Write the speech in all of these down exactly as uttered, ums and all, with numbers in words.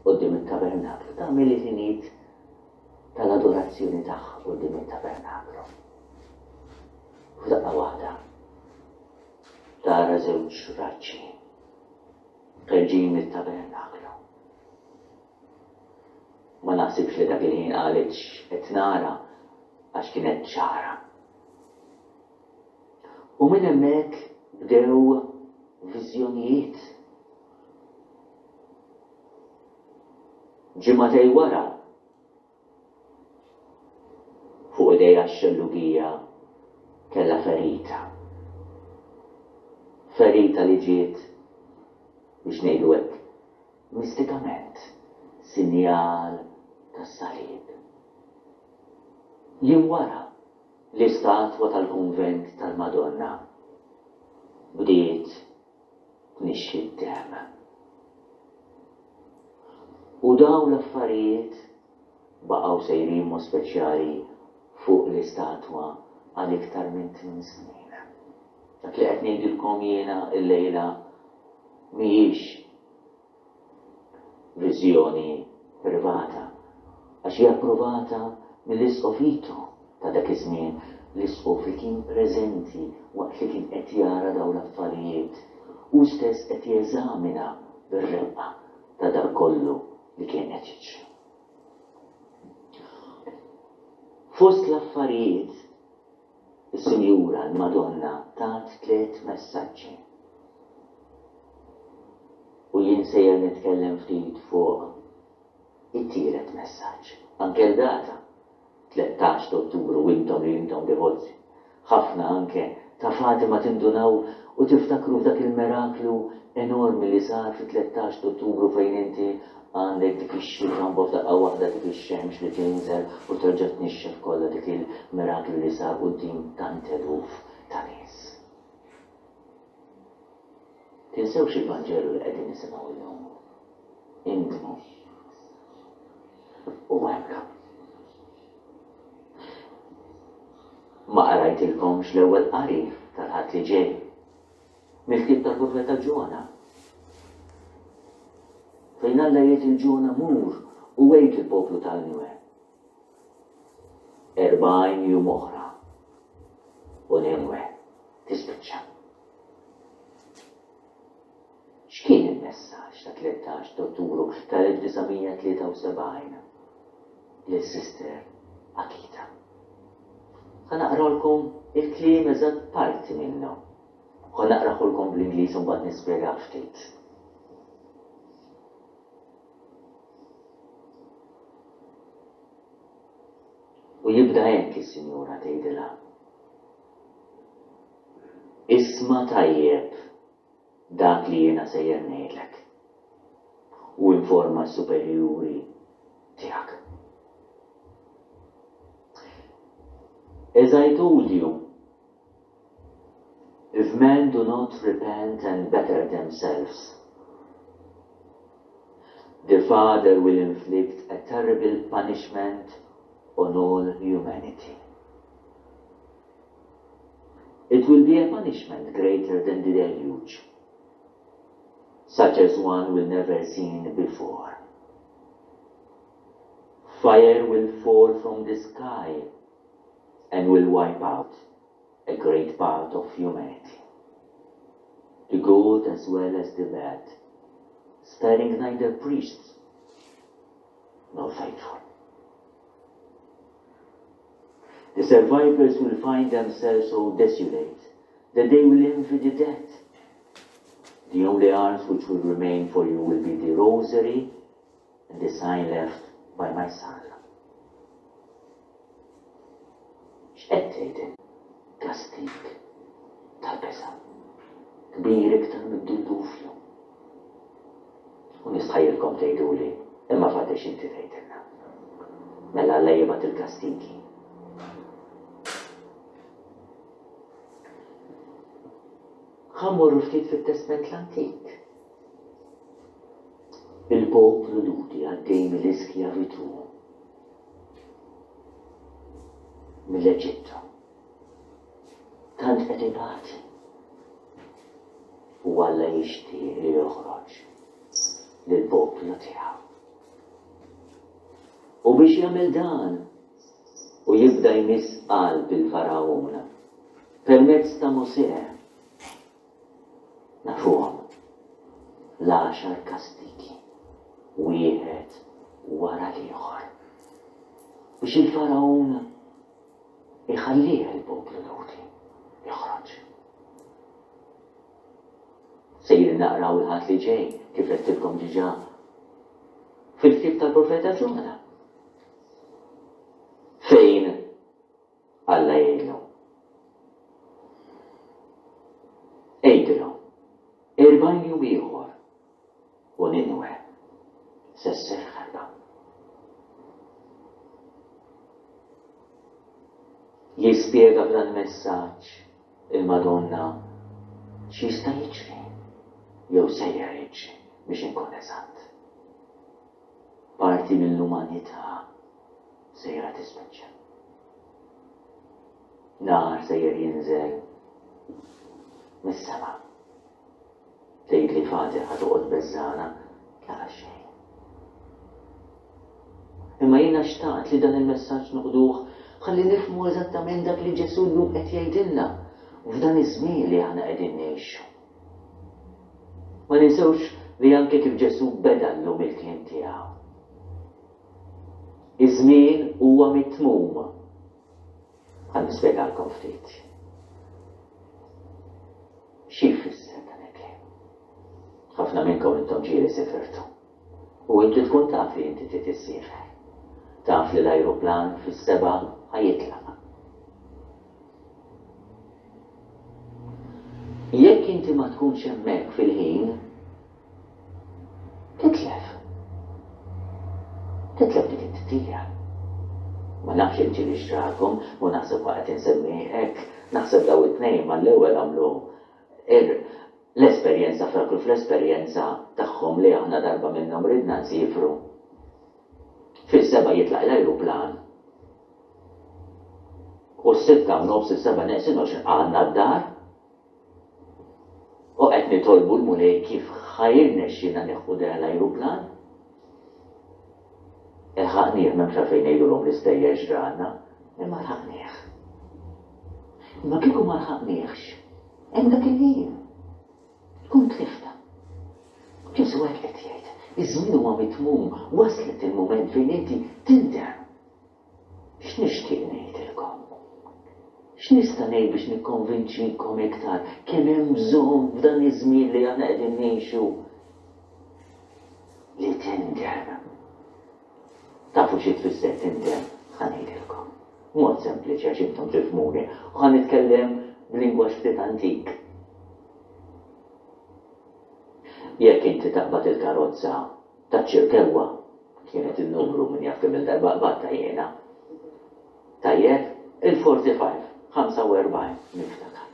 quddiem it-tabernaklu, tagħmel il-ħinijiet tal-adorazzjoni tagħha quddiem it-tabernaklu. F'daqqa waħda tara żewġ raġġi ħerġin mit-tabernaklu. Ma naħsibx li dak il-ħin qalet x'qed nara għax kienet ċara. U minn hemmhekk bdew viżjonijiet. Ġimagħtejn wara fuq idejha x-xellugija kellha ferita. Ferita li ġiet biex ngħidu hekk mistikament sinjal tas-salib. Jiem wara l-istatwa tal-kunvent tal-Madonna bdiet tnixxi d-demm. U dawn l-affarijiet baqgħu sejrin mod speċjali fuq l-istatwa għal iktar minn tmien snin. Dak li qed ngħidilkom jiena llejla mhijiex viżjoni privata għax hija approvata mill-Isqof Ito ta' dak iż-żmien, l-isqof li kien preżenti waqt li kien qed jara dawn l-affarijiet, hu stess qed jeżamina bir-reqqa ta' dak kollu li kien qed jiġri. Fost l-affarijiet, is-Sinjura l-Madonna tat tliet messaġġi. U jien sejjer nitkellem ftit fuq it-tielet messaġġ. Anke l-data, tlettax ta' Ottubru, intom li intom devoti ħafna anke ta' Fatima tindunaw u tiftakru f'dak il-miraklu enormi li sar fit-tlettax ta' Ottubru fejn inti għandek dik ix-xita mbagħad f'daqqa waħda dik ix-xemx li tinżel u terġa' tnixxef kollha dik il-miraklu li sar quddiem tant eluf ta' nies. Tinsewx il-Vanġelu li qegħdin nisimgħu llum. Indmu u emmnu. Ma qrajtilkomx l-ewwel qari tal-Ħadd li ġej mill-ktieb tal-profeta Ġona. Fejn Alla jgħid il Ġona mur u għid il-poplu ta' Ninwe. Erbgħin jum oħra u Ninwe tispiċċa. X'kien il-messaġġ ta' tlettax ta' Ottubru tal-elf disa' mija tlieta u sebgħin lil Sister Akita? Ħa naqralkom il-kliem eżatt parti minnu. Ħa naqrahulkom bl-Ingliż u mbagħad nispjegah ftit. U jibda hekk is-Sinjura tgħidilha. Isma' tajjeb dak li jiena sejjer ngħidlek u informa s-superjuri tiegħek. As I told you, if men do not repent and better themselves, the Father will inflict a terrible punishment on all humanity. It will be a punishment greater than the deluge, such as one will never seen before. Fire will fall from the sky and will wipe out a great part of humanity, the good as well as the bad, sparing neither priests nor faithful. The survivors will find themselves so desolate that they will envy the dead. The only arms which will remain for you will be the rosary and the sign left by my son. X'qed tgħid? Kastig tal-biża' kbir iktar mid-dilluvju. U nistħajjilkom tgħiduli, imma faddex inti tgħidilna. Mela Alla jibgħat il-kastigi. Ħa mmorru ftit fit-Testment l-Antik. Il-poplu Lhudi għaddej mill-iskjavitu mill-Eġittu. Tant qed ibati. U Alla jixtieq li joħroġ lill-poplu tiegħu. U biex jagħmel dan u jibda jmiss qalb il-Fargħun permezz ta' Mosè, nafuhom l-għaxar kastigi wieħed wara l-ieħor biex il-Fargħun iħallih il-poplu Lhudi joħroġ. Sejrin naqraw il-Ħadd li ġej, kif għedtilkom diġà, fil-ktieb tal-profeta Ġona. Fejn Alla jgħidlu. Għidlu, erbgħin jum ieħor u Ninwe se ssir ħerba. Jispjega f'dan il-messaġġ il-Madonna x'jista' jiġri jew sejjer jiġri biex inkun eżatt. Parti mill-umanità sejra tispiċċa. Nar sejjer jinżel mis-sema. Tgħidli Fati ħa toqgħod beżgħana, la xejn. Imma jiena xtaqt li dan il-messaġġ noħduh ħalli nifhmu eżattament dak li Ġesù llum qed jgħidilna f'dan iż-żmien li aħna qegħdin ngħixu. Ma ninsewx li anke kif Ġesù beda llum il-kliem tiegħu. Iż-żmien huwa mitmum. Ħa nispjegalkom ftit. Xi jfisser dan il-kliem? Ħafna minnkom intom ġieli sifirtu. U inti tkun taf li inti trid issiefer. Taf li l-ajruplan fis-sebgħa ħa jitlaq. Jekk inti ma tkunx hemmhekk fil-ħin, titlef. Titlef dik it-titjira. Ma nafx jekk ġieli xtrakom, u naħseb waqt insemmi hekk, naħseb daw it-tnejn mal-ewwel għamlu l-esperjenza ftakru fl-esperjenza tagħhom li aħna darba minnhom ridna nsiefru. Fis-sebgħa jitlaq l-ajruplan u s-sitta u nofs is-sebgħa neqsin għoxrin għandna d-dar u qed nitolbu l-Mulej kif ħa jirnexxina nieħu dan l-ajruplan. Ilħaqnieh, m'hemmx għalfejn ngħidulhom l-istejjer x'ġralna, imma lħaqnieh. Imma kieku ma lħaqniehx, hemm dak il-ħin tkun tlifta. Ġesù hekk qed jgħid, iż-żmien huwa mitmum, waslet il-mument fejn inti tindem. X'nixtieq ngħidilkom? X'nista' ngħid biex nikkonvinċikom iktar kemm hemm bżonn f'dan iż-żmien li aħna qegħdin ngħixu li tindem? Tafu xi tfisser tindem? Ħa ngħidilkom. Mod sempliċi għax intom tifhmuni u ħa nitkellem b'lingwaġġ ftit antik. Jekk inti taqbad il-karozza taċ-Ċirkewwa, kienet in-numru min jaf kemm il-darba qbadtha jiena. Tajjeb, il-forty five, ħamsa u erbgħin, niftakar.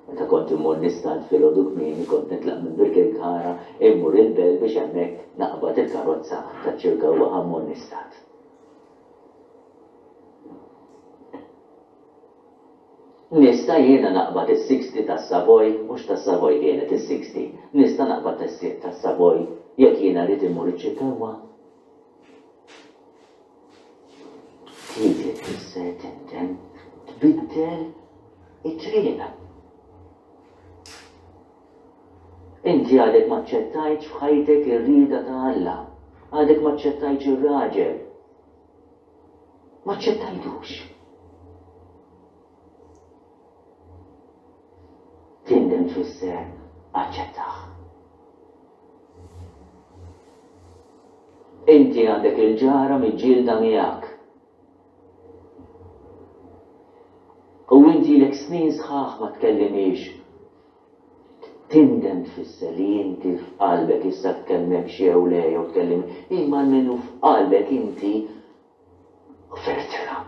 Meta kont immur nistad filgħodu kmieni kont nitlaq minn Birkirkara immur il-Belt biex hemmhekk naqbad il-karozza taċ-Ċirkewwa ħa mmur nistad. Nista' jiena naqbad is-sixty tas-Savoy, mhux tas-Savoy kienet is-sixty, nista' naqbad tas-Savoy jekk jiena rrid immur iċ-Ċirkewwa? Trid li tfisser tindem, tbiddel it-triq. Inti għadek ma aċċettajtx f'ħajtek ir-rieda ta' Alla, għadek ma aċċettajtx ir-raġel. Ma aċċettajtux. Tindem tfisser aċċettah. Inti għandek il-ġara miġġielda miegħek. U inti ilek snin sħaħ ma tkellimhiex. Tindem tfisser li inti f'qalbek issa tkellmekx jew le jew tkellim, imma almenu f'qalbek inti ħfirtilha.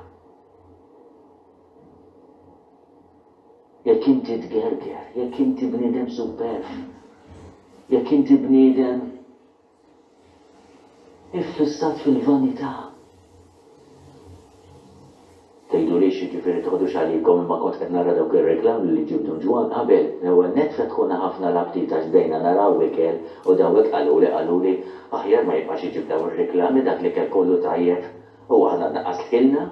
Jekk inti tgerger, jekk inti bniedem superb, jekk inti bniedem iffissat fil-vanità. Tgħidulix, jiġifieri toħdux għalikom, imma kont qed nara dawk ir-reklami li ġieb Dun Ġwann qabel. L-ewwel nett fetħulna ħafna l-aptit għax bdejna naraw ikel u dawn hekk qaluli, qaluli, aħjar ma jibqax iġib dawn ir-reklami, dak l-ikel kollu tajjeb. U aħna naqqas tkilna.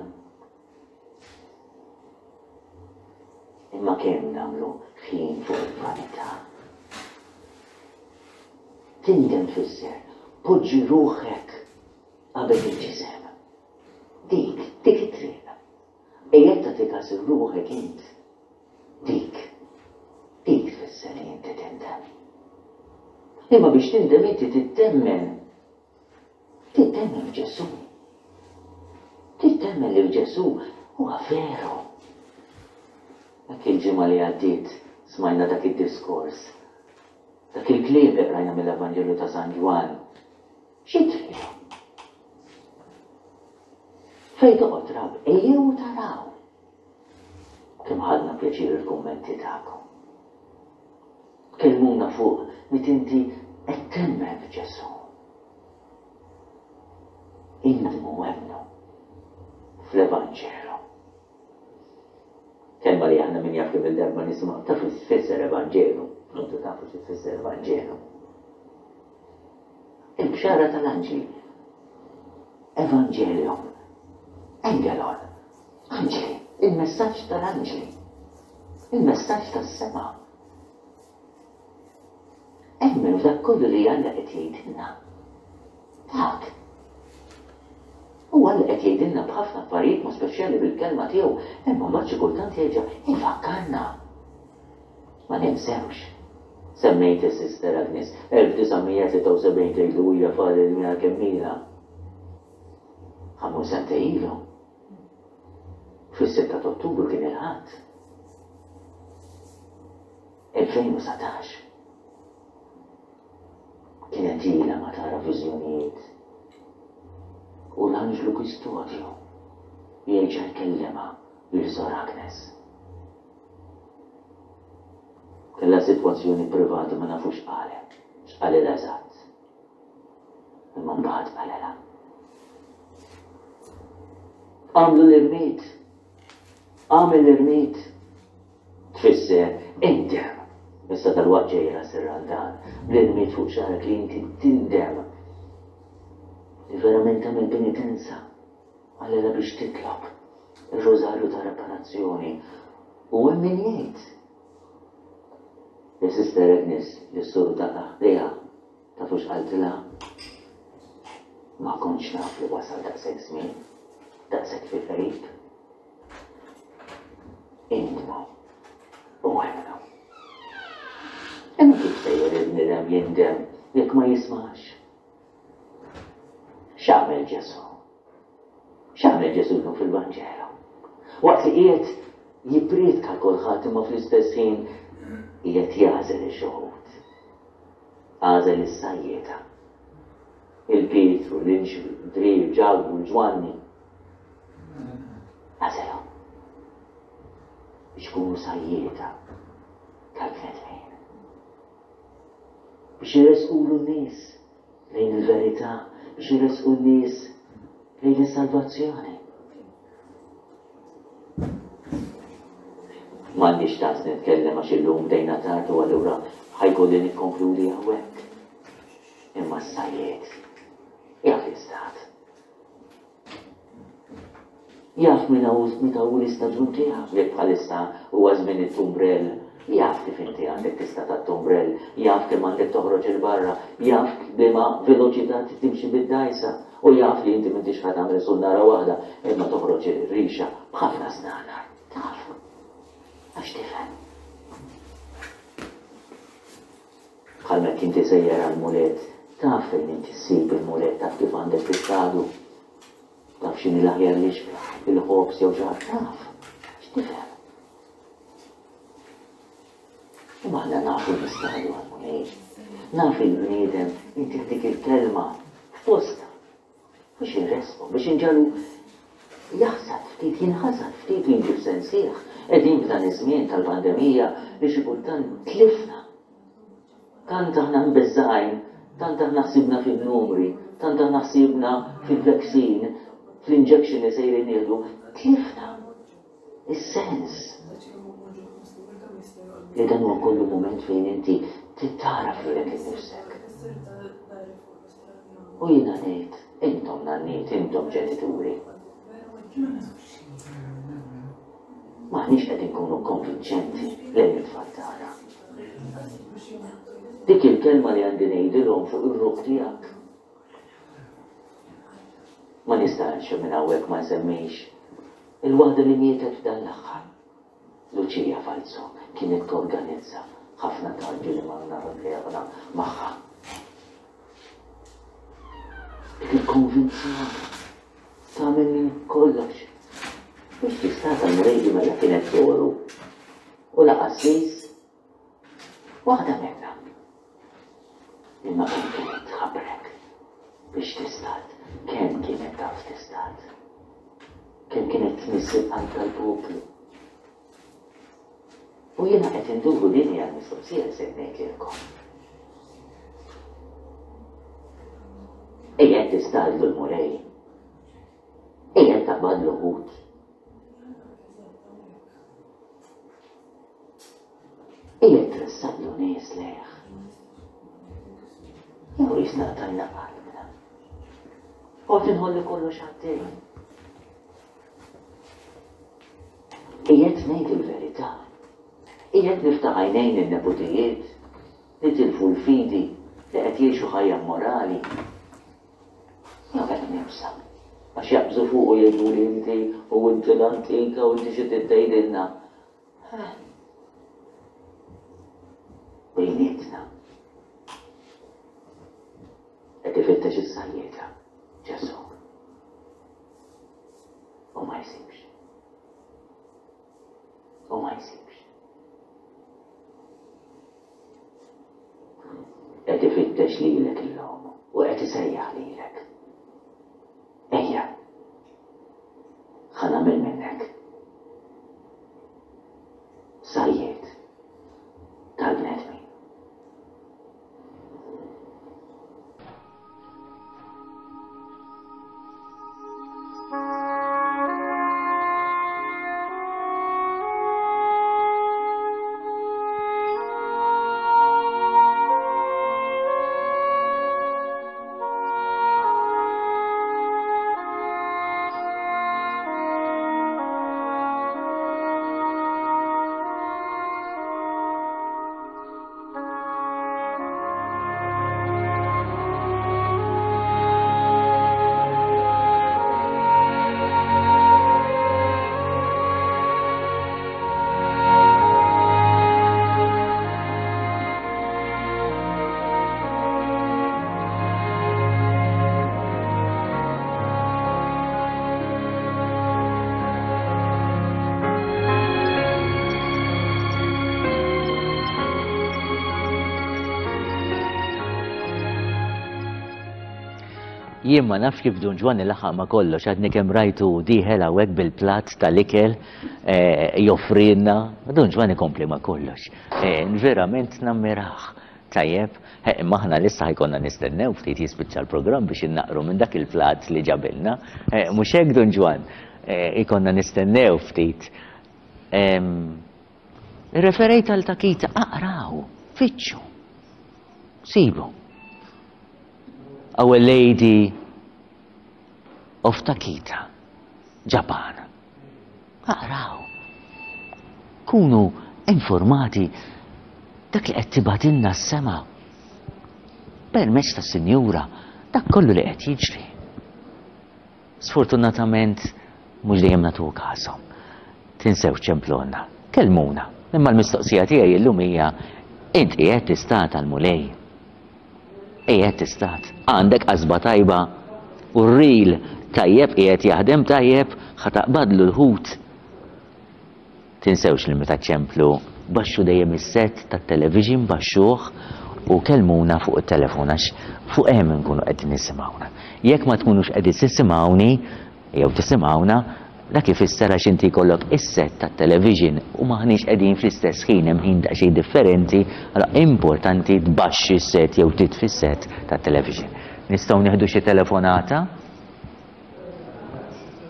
Imma kemm nagħmlu ħin fuq il-vanità. Tindem tfisser poġġi ruħek qabel il-ġisem. Dik, dik it-triq. Ejjed tagħti każ ruħek int. Dik, dik tfisser li inti tindem. Imma biex tindem inti tittemmen. Tittemmen f'Ġesù. Tittemmen li f'Ġesù huwa veru. Dak il-ġimgħa li għaddiet smajna dak id-diskors. Dak il-kliem li qrajna mill-Evanġelju ta' San Ġwann. Xi tridu? Fejn toqgħod rab, ejjew taraw. Kemm ħadna pjaċir il-kummenti tagħkom. Kellmuna fuq mit inti qed temmen f'Ġesù. Indmu emmnu fl-Evanġelu. Kelma li aħna min jaf kemm il-darba nisimgħu taf tfisser Evanġelu. Intu tafu xi tfisser Evanġelu. Il-bxara tal-anġli. Evangelium. Angelon. Anġli. Il-messaġġ tal-anġli. Il-messaġġ tas-sema. Emmen f'dak kollu li Alla qed jgħidilna. Dak. U Alla qed jgħidilna b'ħafna affarijiet ma speċjali bil-kelma tiegħu, imma mbagħad xi kultant jerġa' ifakkarna. Ma ninsewx. Semmejt is-Sister Agnes, elf disa' mija tlieta u sebgħin tgħidlu hija Father mija kemm ilha. Ħamur sentejn ilu. Fis-sitta ta' Ottubru kien il-Ħadd. elfejn u satax. Kienet ilha ma tara viżjonijiet. U l-anġlu kustodju jerġa' jkellimha lil Sor Agnes. Kellha sitwazzjoni privata ma nafux x'qalet, x'qalilha eżatt. Imma mbagħad qalilha. Għamlu l-irmied. Għamel l-irmied. Tfisser indem. Issa dal-waqt ġej ras ir-Randan, bl-irmied fuq xagħrek li inti tindem. Li verament tagħmel penitenza. Qalilha biex titlob ir-rożarju ta' reparazzjoni. U hemm min jgħid li Sister Agnes li s-soru ta' ħdejha tafu x'qaltilha? Ma kontx naf li wasal daqshekk żmien, daqshekk fil-qrib. Indmu u emmnu. Imma kif sejjer il-bniedem jindem jekk ma jismax? X'għamel Ġesù? X'għamel Ġesù llum fil-Vanġelu? Waqt li qiegħed jippriedka kulħadd imma fl-istess ħin qiegħed jagħżel ix-xuħud. Għażel is-sajjieda. Il-Pietru, l-Indri, Ġakbu, l-Ġwanni. Għażelhom biex ikunu sajjieda tal-bnedmin. Biex iressqulu n-nies lejn il-verità, biex iressqu n-nies lejn is-salvazzjoni. M'għandix ċans nitkellem għax illum bdejna tard u allura ħajkolli nikkonkludi hawnhekk. Imma s-sajjied jaf l-istat. Jaf minn hawn meta hu l-istaġun tiegħu, jekk bħalissa huwa żmien it-tumbrell, jaf kif inti għandek tista' tat-tumbrell, jaf kemm għandek toħroġ il barra, jaf b'liema veloċità trid timxi bid-dgħajsa, u jaf li inti m'intix ħa tagħmel sunnara waħda, imma toħroġ ir-rixa b'ħafna snanar. Taf. Għax tifhem. Bħalma jekk inti sejjer għall-mulet, taf fejn inti ssib il-mulet, taf kif għandek tistadu. Taf x'inhi l-aħjar lixka, il-ħobż jew xi ħaġa, taf. X'tifhem? Imma aħna nafu nistadu għall-Mulej. Naf il-bniedem inti dik il-kelma f'posta biex inresqu, biex inġalu jaħsad ftit, jinħasad ftit u jiġi f'sensih. Qegħdin f'dan iż-żmien tal-pandemija li xi kultant tlifna. Tant aħna mbeżżgħin, tant aħna ħsibna fin-numri, tant aħna ħsibna fil-vaccine, fl-injection li sejrin nieħdu, tlifna is-sens. Li dan huwa kollu mument fejn inti tittaraf lilek innifsek. U jiena ngħid, intom nanniet, intom ġenituri. M'aħniex qed inkunu konvinċenti lejn it-tfal tagħna. Dik il-kelma li għandi ngħidilhom fuq ir-ruħ tiegħek. Ma nistax minn hawnhekk ma nsemmix il-waħda li mietet f'dan l-aħħar. Lucia Falzo kienet torganizza ħafna tarġi li manna magħha. Dik il-konvinzjoni tagħmel minn kollox. Biex tista' tal-Mulej mela kienet soru u la qassis waħda minnha. Imma kemm kienet tħabrek biex tistad, kemm kienet taf tistad, kemm kienet tmiss il-qalb tal-poplu. U jiena qed induru din hija l-mistoqsija li se ngħidilkom. Ejja tistadlu l-Mulej. Ejja taqbadlu ħut. Ejja tressaqlu nies lejh. Jew jisna tajna qalbna. U tinħolli kollox għaddej. Qiegħed ngħid il-verità. Qiegħed niftaħ għajnejn in-neputijiet li tilfu l-fidi li qed jgħixu ħajja morali. Jew qed nibsa. Għax jaqbżu fuq u jgħidu li inti u inti l-antika u inti xi tgħidilna. Bejnietna. Qed ifittex is-sajjieda Ġesù. U ma jsibx. U ma jsibx. Qed ifittex lilek illum u qed isejjaħ lilek. Ejja, ħa nagħmel minnek sajjied tal-bnedmin. Jien ma nafx kif Dun Ġwanni laħaq ma kollox, għadni kemm rajtu dieħel hawnhekk bil-platt tal-ikel joffrilna. Dun Ġwanni kompli ma kollox. Verament nammirah. Tajjeb, imma aħna lissa ħajkonna nistennew ftit jispiċċa l-programm biex innaqru minn dak il-platt li ġabilna. Mhux hekk Dun Ġwann, ikonna nistennew ftit. Referejt għal Takita, aqraw, fittxu, sibu. Our Lady of Takita, Japan. Aqraw. Kunu informati dak li qed tibgħatilna s-sema. Permezz tas-Sinjura, dak kollu li qed jiġri. Sfortunatament mhux dejjem nagħtu każhom. Tinsew ċemplonna, kellmuna. Imma l-mistoqsija tiegħi llum hija int qiegħed tistat għall-Mulej. Qiegħed tistat. Għandek qasba tajba u r-ril tajjeb qiegħed jaħdem tajjeb ħa taqbadlu l-ħut. Tinsewx li meta ċemplu baxxu dejjem is-set tat-television baxxuh u kellmuna fuq it-telefon għax fuq hemm inkunu qegħdin nisimgħuna. Jekk ma tkunux qegħdin tisimgħuni jew tisimgħuna, dak ifisser għax inti jkollok is-set tat-television u maħniex qegħdin fl-istess ħin, hemm ħin daqsxejn differenti, allura importanti tbaxxi s-set jew titfi s-set tat-television. Nistgħu nieħdu xi telefonata?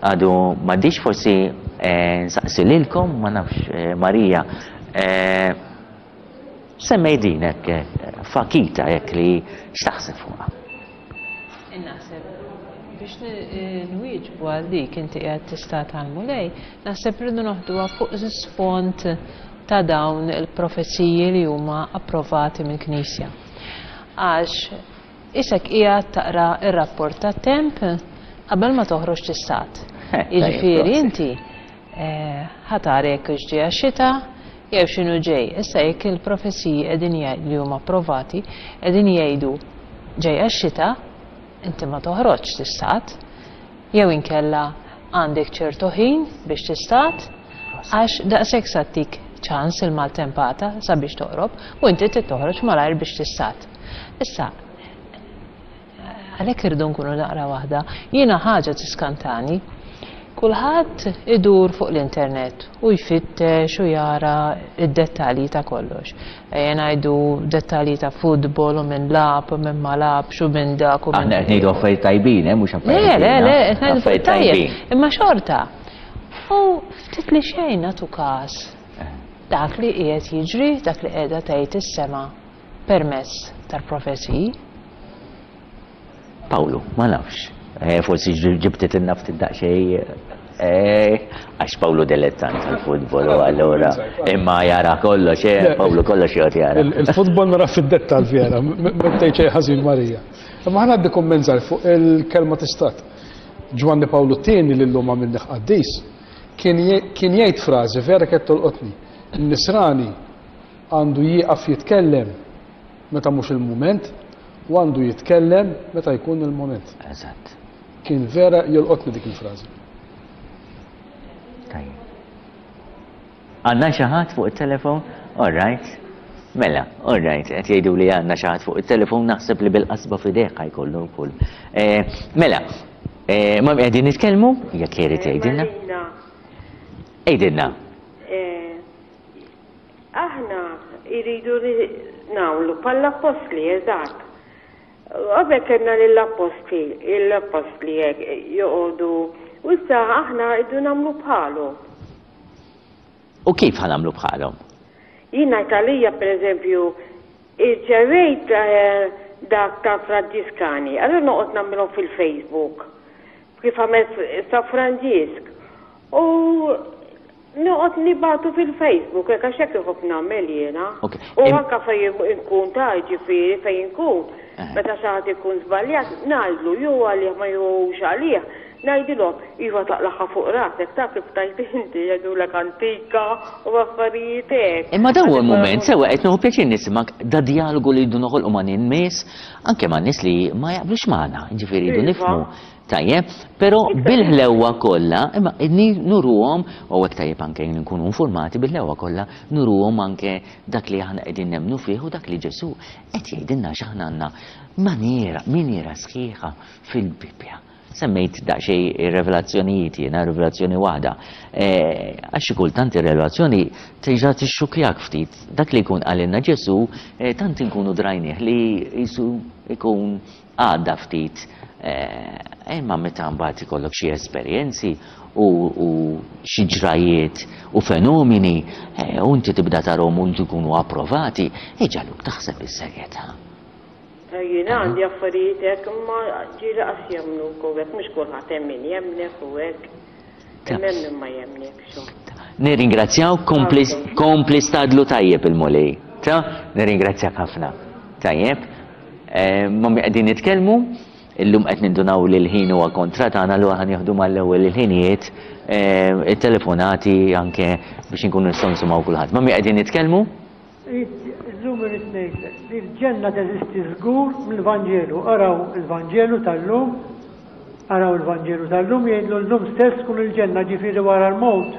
Għadu m'għaddix forsi nsaqsi lilkom, ma nafx Marija. Semmej din hekk fakita hekk li x'taħseb fuqha? Innaħseb Biex nwieġbu għal dik inti qiegħed tistad għall-Mulej, naħseb irridu noħduha fuq sfond ta' dawn il-profeziji li huma approvati mill-Knisja. Għax isek qiegħed taqra ir-rapport tat-temp qabel ma toħroġ tistad. Jiġifieri inti ħa tara jekk hux ġejja xita jew x'inhu ġej. Issa jekk il-profeziji qegħdin li huma approvati qegħdin jgħidu ġejja x-xita, inti ma toħroġx tistad, jew inkella għandek ċertu ħin biex tistad, għax daqshekk sa ttik ċans il-maltempata sabiex toqrob u inti trid toħroġ malajr biex tistad. Issa, għalhekk irridu nkunu naqra waħda. Jiena ħaġa tiskantani. Kulħadd idur fuq l-internet u jfittex u jara id-dettalji ta' kollox. Ejja ngħidu dettalji ta' futbol u minn lagħab u minn ma lagħabx u minn dak u minn. Aħna qed ngħidu affarijiet tajbin, eh, mhux affarijiet. Le, le, le, qed ngħidu affarijiet tajjeb. Imma xorta. U ftit li xejn nagħtu każ dak li qiegħed jiġri, dak li qiegħda tgħid is-sema permezz tal-profeziji. Pawlu, ma nafx. Forsi ġibtet il-naftit daqxej, għax Pawlu dilettant tal-futbol u allura imma jara kollox, Pawlu kollox jgħod jara. Il-futbol nara fid-dettal vera, ma tgħid xejn ħażin Marija. Imma ħa ngħaddi kumment żgħir fuq il-kelma tistad. Ġwanni Pawlu t-tieni li llum għamilnih qaddis, kien jgħid frażi vera kienet tolqotni. In-nisrani għandu jieqaf jitkellem meta mhux il-mument u għandu jitkellem meta jkun il-moment. Eżatt. Kien vera jolqotni dik il-frażi. Tajjeb. Għandna xi ħadd fuq it-telefon? All right. Mela, all right, qed jgħidu li għandna xi ħadd fuq it-telefon, naħseb li bil-qasba f'idejh ħajkollu wkoll. Mela, ma qegħdin nitkellmu? Jekk irid jgħidilna. Għidilna. Aħna jridu nagħmlu bħall-appostli, eżatt. Qabel kellna lill-appostli, l-appostli joqogħdu, u issa aħna rridu nagħmlu bħalhom. U kif ħa nagħmlu bħalhom? Jien ngħid għalija pereżempju, irċevejt dak ta' Franġiskani, allura noqgħod nagħmilhom fil-Facebook kif għamel sa Franġisk. U noqgħod nibatu fil-Facebook, hekk għax hekk inħobb nagħmel jiena. U anke fejn inkun ta' ġifieri fejn inkun, meta xi ħadd ikun żbaljat, ngħidlu jew għalih ma jew għalih, ngħidilhom iva taqlaħħa fuq rasek ta' kif tajt inti jgħidulek antika u affarijiet hekk. Imma dawn huwa l-mument sewwa qed nieħu pjaċir nisimgħek da dialogu li jridu noħolqu ma' nies, anke ma' nies li ma jaqblux magħna, ġifieri jridu nifhmu. Tajjeb, però bil-ħlewwa kollha, imma nuruhom, u hekk tajjeb anke nkunu informati bil-ħlewwa kollha, nuruhom anke dak li aħna qegħdin nemmnu fih u dak li Ġesù qed jgħidilna x'aħna għandna maniera, miniera sħiħa fil-Bibbja. Semmejt daqsxejn ir-revelazzjonijiet jiena, rivelazzjoni waħda. Għax xi kultant ir-revelazzjoni terġa' tixxukjak ftit. Dak li jkun qalilna Ġesù, tant inkunu drajnih li jisu ikun għadda ftit. Imma meta mbagħad ikollok xi esperjenzi u xi ġrajiet u fenomeni u inti tibda tarhom u inti jkunu approvati, iġaluk taħseb is-serjetà. Jiena għandi affarijiet hekk imma ġieli qas jemmnuk u hekk, mhux kulħadd hemm min jemmnek u hekk. Imma hemm min ma jemmnekx. Nirringrazzjaw, kompli stadlu tajjeb il-Mulej. Ta, nirringrazzjak ħafna. Tajjeb, ma qegħdin nitkellmu, illum qed nindunaw li l-ħin huwa kontra tagħna, allura ħa nieħdu mal-ewwel il-ħinijiet, it-telefonati anke biex inkunu nistgħu nisimgħu kulħadd. Ma qegħdin nitkellmu? Illum irid ngħidlek li l-ġenna teżisti żgur mill-Vanġelu. Araw il-Vanġelu tal-lum, araw il-Vanġelu tal-lum jgħidlu llum stess tkun il-ġenna, ġifieri wara l-mewt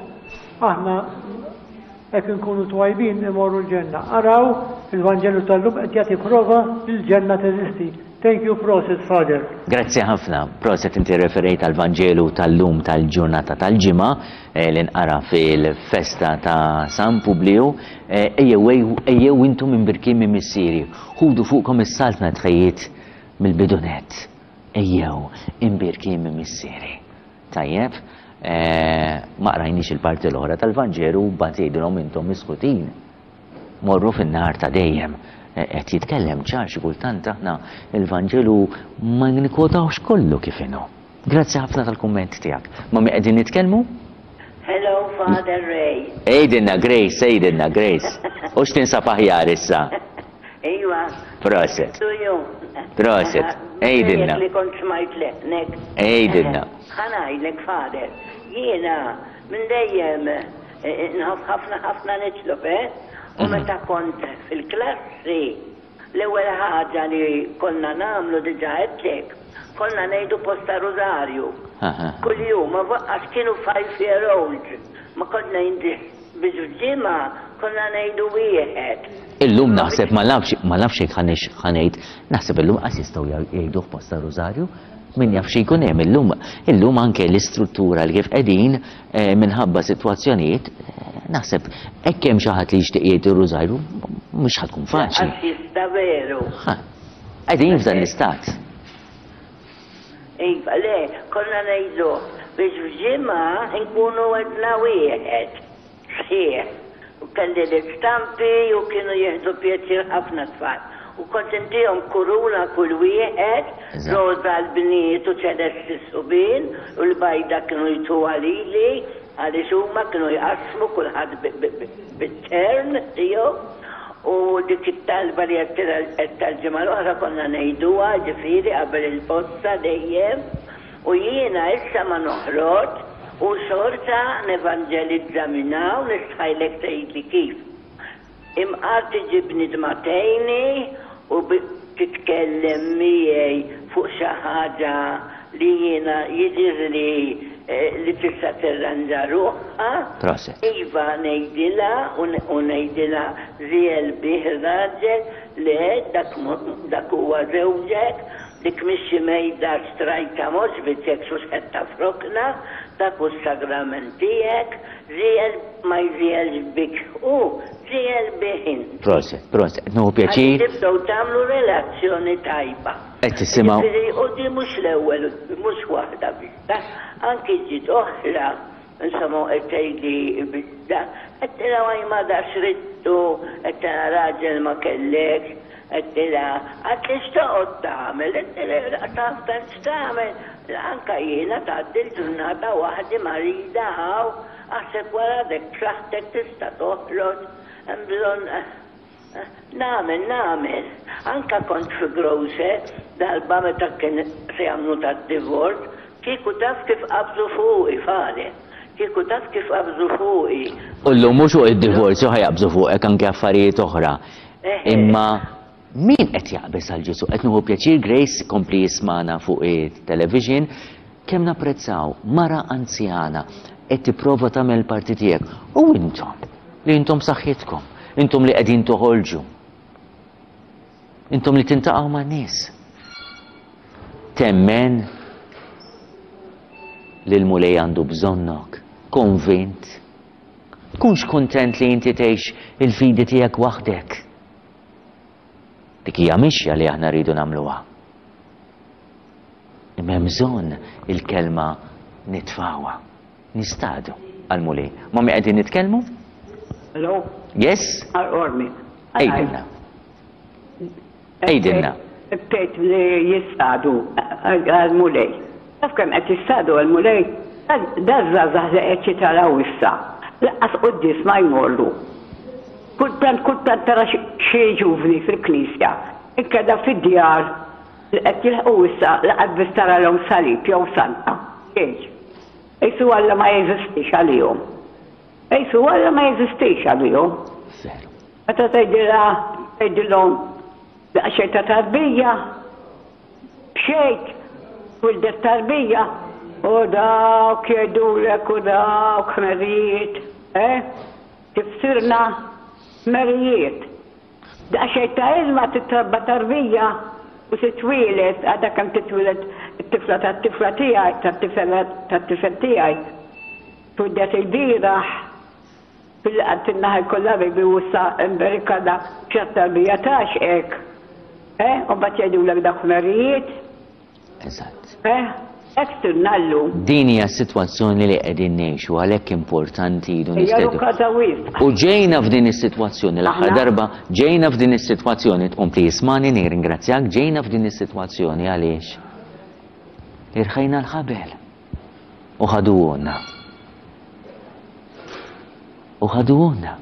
aħna hekk inkunu twajbin imorru l-ġenna. Araw il-Vanġelu tal-lum qed jagħti prova li l-ġenna teżisti. Thank you, proset, Father. Grazzi ħafna. Proset, inti referejt għal Vanġelu tal-lum tal-ġurnata tal-ġimgħa li nqara fil-festa ta' San Publiju. Ejjew intom imbirkin minn missieri, ħudu fuqkom is-saltna tħejjiet mill-bidunet. Ejjew imbirkin minn missieri. Tajjeb, ma qrajniex il-parti l-oħra tal-Vanġelu, mbagħad jgħidulhom intom miskutin. Morru fin-nar ta' dejjem. Qed jitkellem ċar, xi kultant aħna il-Vanġelu ma nikkwotawx kollu kif inhu. Grazzi ħafna tal-kumment tiegħek. Ma mi qegħdin nitkellmu? Hello, Father Ray. Ejdinna Grace, ejdinna Grace. U x'tinsab aħjar issa? Iva. Proset. To you. Proset. Ejdinna. Li kont smajt leħnek. Ejdinna. Ħa ngħidlek, Father. Jiena minn dejjem nħobb ħafna ħafna nitlob, eh? U meta kont fil-klassi, l-ewwel ħaġa li konna nagħmlu diġà għedtlek, konna ngħidu posta rużarju. Kull-jum, ma għax kienu five year old. Ma konna ngħidu biex f'ġimgħa konna ngħidu wieħed. Illum naħseb ma nafx ma nafx jekk ħa ngħid, naħseb illum qas jistgħu jgħidu posta rużarju. Min jaf xi jkun hemm illum. Illum anke l-istruttura li kif qegħdin minħabba sitwazzjonijiet, naħseb hekk hemm xi ħadd li jixtieq jgħid ir-rużarju mhux ħa tkun faċli. Għax jista' veru. Qegħdin f'dan l-istat. Iva, le, konna ngħidu biex f'ġimgħa nkunu għedna wieħed. Sħiħ. U kelli l-istampi u kienu jieħdu pjaċir ħafna tfal. U kont intihom kuruna kull wieħed, roża l-bniet u ċelesti subien, u l-bajda kienu jtuha lili, għaliex huma kienu jqassmu kulħadd bit-turn tiegħu. U dik it-talba li qed tal-ġimgħa l-oħra konna ngħiduha, ġifieri qabel il-posta dejjem. U jiena issa ma noħroġ u xorta nevanġelizza minn hawn, nistħajlek tgħidli kif. Imqar tiġi bniedma tgħinni u titkellem miegħi fuq xi ħaġa li jiena jidhirli li tista' tirranġa ruħha. Proset. Iva ngħidilha u ngħidilha żiel bih raġel le dak dak huwa żewġek, dik mhix xi mejda xtrajta m'għoġbitek xu xħetta f'rokna, dak hu s-sagrament tiegħek, żiel ma jżielx bik hu, żiel bih int. Proset, proset, qed nieħu pjaċir. Għax tibdew tagħmlu relazzjoni tajba. Qed tisimgħu. Jiġifieri u di mhux l-ewwel, mhux waħda biss, anki ġiet oħra, insomma qed tgħidli bidda, għedtilha għaj ma da xridtu, għedtilha raġel ma kellekx, għedtilha għad li x'toqgħod tagħmel, għedtilha taf tant x'tagħmel, anka jiena tgħaddi l-ġurnata waħdi marida hawn, aħseb wara dek b'saħħtek tista' toħroġ, hemm bżonn nagħmel nagħmel. Anka kont fi grocer darba meta kien se jagħmlu tad-divorz, kieku taf kif qabżu fuqi, Father. Kieku taf kif qabżu fuqi. U llum mhux fuq id-divorzju ħa jaqbżu fuqek anke affarijiet oħra. Imma min qed jaqbeż għal Ġesù? Qed nieħu pjaċir Grace kompli jismana fuq it-television kemm napprezzaw mara anzjana qed tipprova tagħmel il-parti tiegħek. U intom li intom saħħitkom, intom li qegħdin toħolġu, intom li tintaqgħu man-nies. Temmen li l-Mulej għandu bżonnok, konvint. Tkunx kuntent li inti tgħix il-fidi tiegħek waħdek. Dik hija mixja li aħna rridu nagħmluha. Imma hemm bżonn il-kelma nitfawha, nistadu għall-Mulej. Ma mi qegħdin nitkellmu? Hello? Yes? Ormi. Ejdinna. Ejdinna. Tgħid li jistadu għall-Mulej. Taf kemm qed jistadu għall-Mulej? Daż-żgħażagħ li qed jitalaw issa. Lanqas quddies ma jmorru. Kultant kultant tara xi ġuvni fil-knisja. Inkella fid-djar li qed jilħqu issa laqas biss taralhom salib jew santa. Xejn. Qisu Alla ma jeżistix għalihom. Qisu Alla ma jeżistix għalihom. Meta tgħidilha tgħidilhom daqsxejn ta' tarbija, bxejt, wildet tarbija, u dawk jgħidulek u dawk ħmerijiet, eh? Kif sirna ħmerijiet. Daqsxejn ta' ilma titrabba tarbija u titwieled, għadha kemm titwieled it-tifla tat-tifla tiegħi, tat-tifel tat-tifel tiegħi. Twildet il-bieraħ fil-qatt in-naħa jkollha baby u issa imberikana xi tarbija tgħaxqek. Eh, u mbagħad jgħidulek dawk ħmerijiet. Eżatt. Eh, hekk sirna llum. Din hija s-sitwazzjoni li qegħdin ngħixu, għalhekk importanti jridu Hija nistednu. rukata wisq. U ġejna f'din is-sitwazzjoni l-aħħar Aħna? darba, ġejna f'din is-sitwazzjoni, tkompli jismani, nirringrazzjak, ġejna f'din is-sitwazzjoni għaliex? Irħejna l-ħabel u ħaduhulna. U ħaduhulna.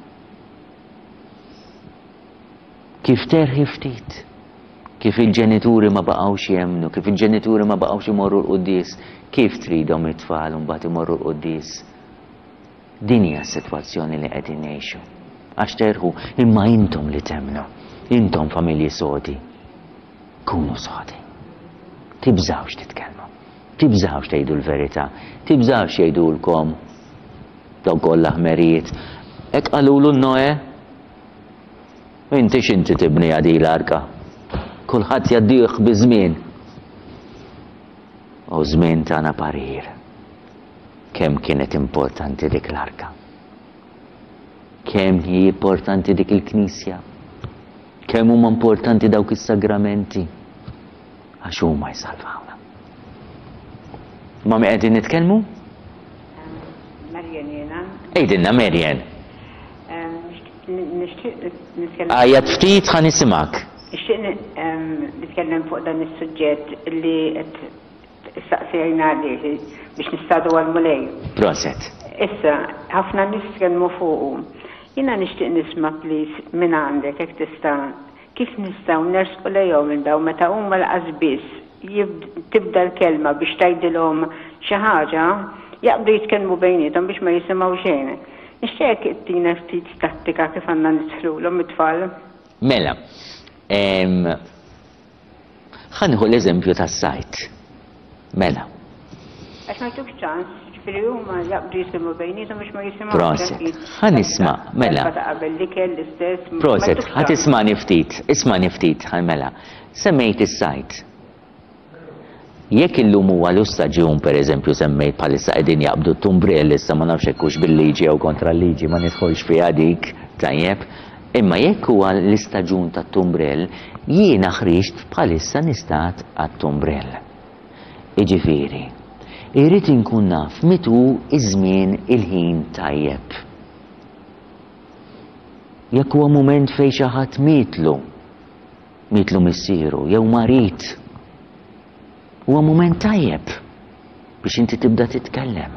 Kif terħi ftit, kif il-ġenituri ma baqgħux jemmnu, kif il-ġenituri ma baqgħux imorru l-quddies, kif tridhom it-tfal mbagħad imorru l-quddies. Din hija s-sitwazzjoni li qegħdin ngħixu. Għax terħu, imma intom li temmnu, intom familji sodi. Kunu sodi. Tibżgħux titkellmu. Tibżgħux tgħidu l-verità. Tibżgħux jgħidulkom dawk kollha ħmerijiet. Hekk qalulu Noe, inti x'inti tibni għadi l-arka. Kulħadd jgħaddih biż-żmien. U żmien tagħna parir. Kemm kienet importanti dik l-arka. Kemm hi importanti dik il-knisja. Kemm huma importanti dawk is-sagramenti. Għax huma jsalvawna. Ma' min qegħdin nitkellmu? Marian jiena. Għidilna Marian. Nixtieq nitkellem. Għajjat ftit ħa nisimgħek. Nixtieq nitkellem fuq dan is-suġġett li qed issaqsejna għalih biex nistadu għall-Mulej. Proset. Issa, ħafna nies tkellmu fuqu. Jiena nixtieq nisma' please minn għandek jekk tista' kif nistgħu nersqu lejhom minn daw meta huma lanqas biss tibda l-kelma biex tgħidilhom xi ħaġa, jaqbdu jitkellmu bejniethom biex ma jisimgħu xejn. Nixtieq ittina ftit tattika kif għandna nidħlulhom it-tfal. Mela, ħa nieħu l-eżempju tas-sajd. Mela. Għax ma jtukx ċans, ġifieri huma jaqbdu jitkellmu bejniethom biex ma jisimgħu. Proset. Ħa nisma', mela. Ta' qabel l-ikel l-istess. Proset, ħa tismani ftit, ismani ftit, ħa mela. Semmejt is-sajd. Jekk illum huwa l-istaġun, per eżempju, semmejt bħalissa qegħdin jaqbdu t-tumbrell, issa ma nafx hekk hux bil-liġi jew kontra l-liġi, ma nidħolx fiha dik, tajjeb. Imma jekk huwa l-istaġun tat-tumbrell, jiena ħriġt bħalissa nistat għat-tumbrell. Jiġifieri, irrid inkun naf meta hu iż-żmien il-ħin tajjeb. Jekk huwa mument fejn xi ħadd mietlu, mietlu missieru jew marid, huwa mument tajjeb biex inti tibda titkellem.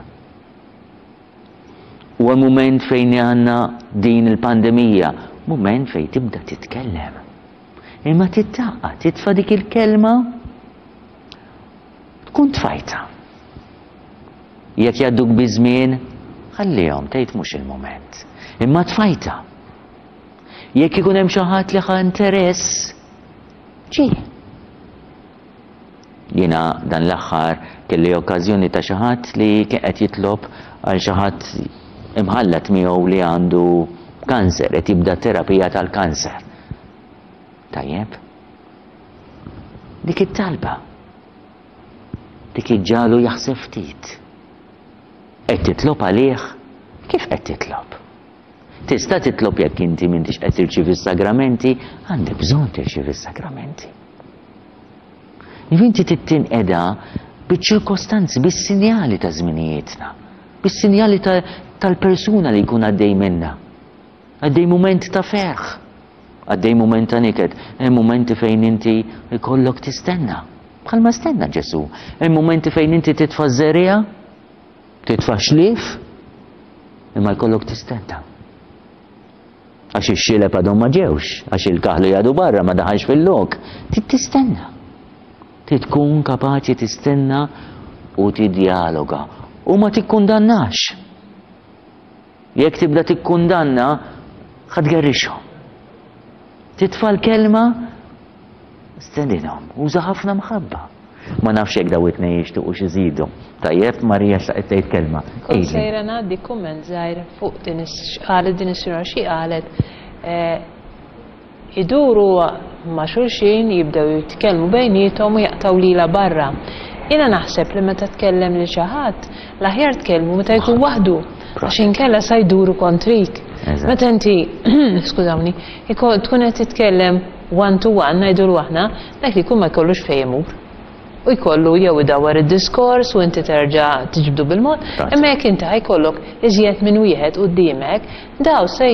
Huwa mument fejn għandna din il-pandemija, mument fejn tibda titkellem. Imma tittaqqa, titfa' dik il-kelma, tkun tfajta. Jekk jgħadduk biż-żmien, ħallihom tgħid mhux il-mument. Imma tfajta. Jekk ikun hemm xi ħadd li ħa interess, ġie. Jiena dan l-aħħar kelli okkażjoni ta' xi ħadd li kien qed jitlob għal xi ħadd imħallat miegħu li għandu kanser, qed jibda terapija tal-kanser. Tajjeb? Dik it-talba. Dik iġġagħlu jaħseb ftit. Qed titlob għalih? Kif qed titlob? Tista' titlob jekk inti m'intix qed tirċievi s-sagramenti, għandek bżonn tirċievi s-sagramenti. Inti tittinqeda biċ-ċirkostanzi, bis-sinjali ta' żminijietna, bis-sinjali tal-persuna li jkun għaddej minna. Għaddej mument ta' ferħ, għaddej mument ta' niket, hemm mumenti fejn inti jkollok tistenna. Bħalma stenna Ġesù. Hemm mumenti fejn inti titfa' żerriegħa, titfa' xlief, imma jkollok tistenna. Għax ix-xileb għadhom ma ġewx, għax il-kaħlu jgħadu barra ma daħalx fil-lok. Trid tistenna. Trid tkun kapaċi tistenna u tidjaloga u ma tikkundannax. Jekk tibda tikkundanna, ħa tgerrixhom. Titfa' l-kelma, stedinhom, uża ħafna mħabba. Ma nafx jekk daw it-tnejn jixtiequ xi jżidu. Tajjeb, Marija xtaqet tgħid kelma. Kont sejra ngħaddi kumment żgħir fuq din qalet din is-sinjora xi qalet iduru ma' xulxin, jibdew jitkellmu bejniethom u jaqtaw lila barra. Jiena naħseb li meta tkellem lil xi ħadd, l-aħjar tkellmu meta jkun waħdu, għax inkella sa jduru kontrik. Meta inti, skużawni, tkun qed titkellem one to one ngħidulu aħna, dak li jkun ma jkollux fejn imur. U jkollu jew idawwar id-diskors u inti terġa' tiġbdu bil-mod, imma jekk inti ħajkollok iżjed minn wieħed quddiemek, daw se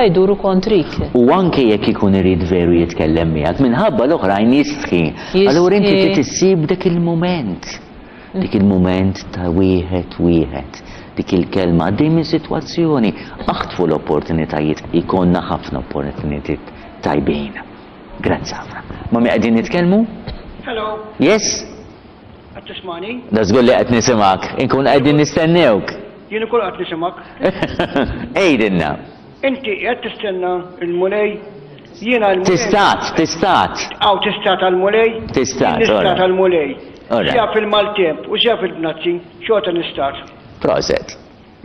jduru kontrik. U anke jekk ikun irid veru jitkellem miegħek, minħabba l-oħrajn jistħi. Allura inti trid issib dak il-mument. Dik il-mument ta' wieħed wieħed, dik il-kelma, għaddej minn sitwazzjoni, aħtfu l-opportunitajiet, ikonna ħafna opportunitajiet tajbin. Grazzi ħafna. Ma mi qegħdin nitkellmu? Hello. Yes? Qed tismani? Da żgur li qed nisimgħek, inkun qegħdin nistennewk. Jien ukoll qed nisimgħek. Għidilna. Inti qed tistenna l-Mulej, jiena l-Mulej. Tistat, tistat. Aw tistat għall-Mulej? Tistat. Nistat għall-Mulej. Sia fil-maltemp u sia fil-bnazzi, xorta nistat. Proset.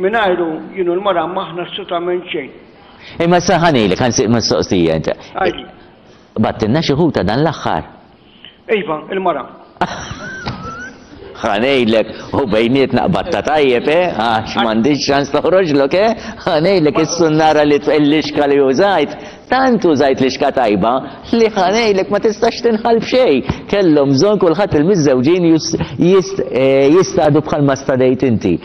Mingħajru jien u l-mara m'aħna assolutament xejn. Imma sa ħanilek, ħansieq mistoqsija inti. Battilna xi ħuta dan l-aħħar. Iva, il-mara. Ħa ngħidlek, u bejnietna qbatta tajjeb, eh? Għax m'għandix ċans toħroġlok, eh? Ħa ngħidlek is-sunnara li l-lixka li użajt, tant użajt lixka tajba li ħa ngħidlek ma tistax tinħall b'xejn. Kellhom bżonn kulħadd il-miżżewġin jistadu bħalma stadejt inti.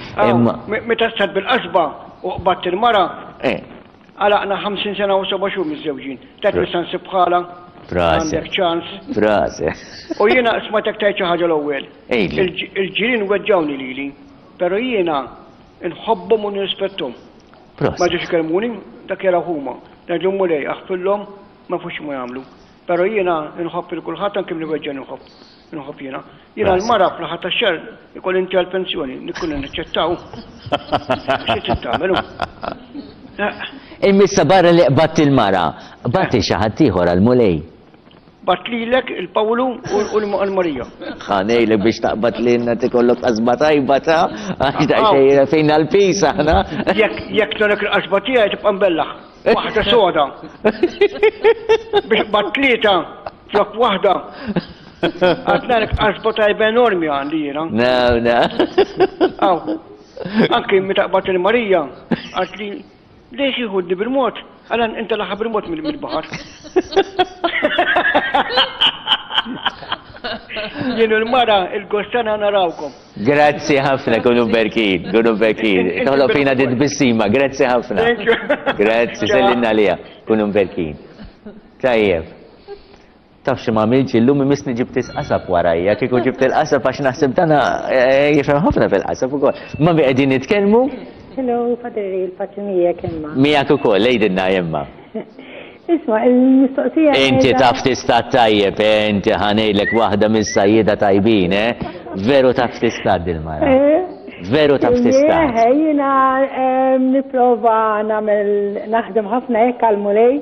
Meta stad bil-qasba u qbatt il-mara, għalaqna ħamsin sena u seba' xhur miżżewġin. Dak nista' nsib bħala. Għandek ċans. Frase. U jiena smajtek tgħid xi ħaġa l-ewwel. Il-ġirien weġġawni lili, però jiena nħobbhom u nirrispetthom. Ma ġewx ikellmuni, dak jaraw huma. Ngħidlhom Mulej, aħfirlhom, ma jafux x'ma jagħmlu. Però jiena nħobb lil kulħadd anke min iweġġani nħobb. Nħobb jiena. Jiena l-mara fl-aħħar tax-xahar ikolli inti għall-pensjoni, nikun naċċettaw. Xi trid tagħmel? Immissa barra li qbadt il-mara, qbadt xi ħadd ieħor għall-Mulej. Bat lilek il-Pawlu u l-Marija. Ħa ngħidlek biex taqbad lilna tikollok qasba tajba ta' għax daqsxejn fejn għall-pis aħna. Jekk tolek il-qasba tiegħi tibqa' mbellaħ. Waħda soda. Biex qbad tlieta flok waħda. Għatnalek qasba tajba enormi għandi jiena. No, no. Aw, anki meta qbad il-Marija, għatli lejx jieħudni bil-mod? Għalan inta laħa bil-mod mill-baħar. Jien il-mara il-gostana narawkom. Grazzi ħafna, kunu berkin, kunu berkin. Toħloq fina dit bissima, grazzi ħafna. Grazzi, sellinna lija, kunu berkin. Tajjeb. Taf xi ma għamilx illum imisni ġibt is-qasab warajja, kieku ġibt il-qasab għax naħseb dana jifhem ħafna fil-qasab ukoll. Ma bi qegħdin nitkellmu? Hello, Padre, il-paċi miegħek Emma. Miegħek ukoll, għidilna Emma. Isma', il-mistoqsija. Inti taf tista' tajjeb, inti ħa ngħidlek waħda mis-sajjieda tajbin, eh? Veru taf tista' dil-mara. Veru taf tista'. Jiena nipprova nagħmel naħdem ħafna hekk għall-Mulej.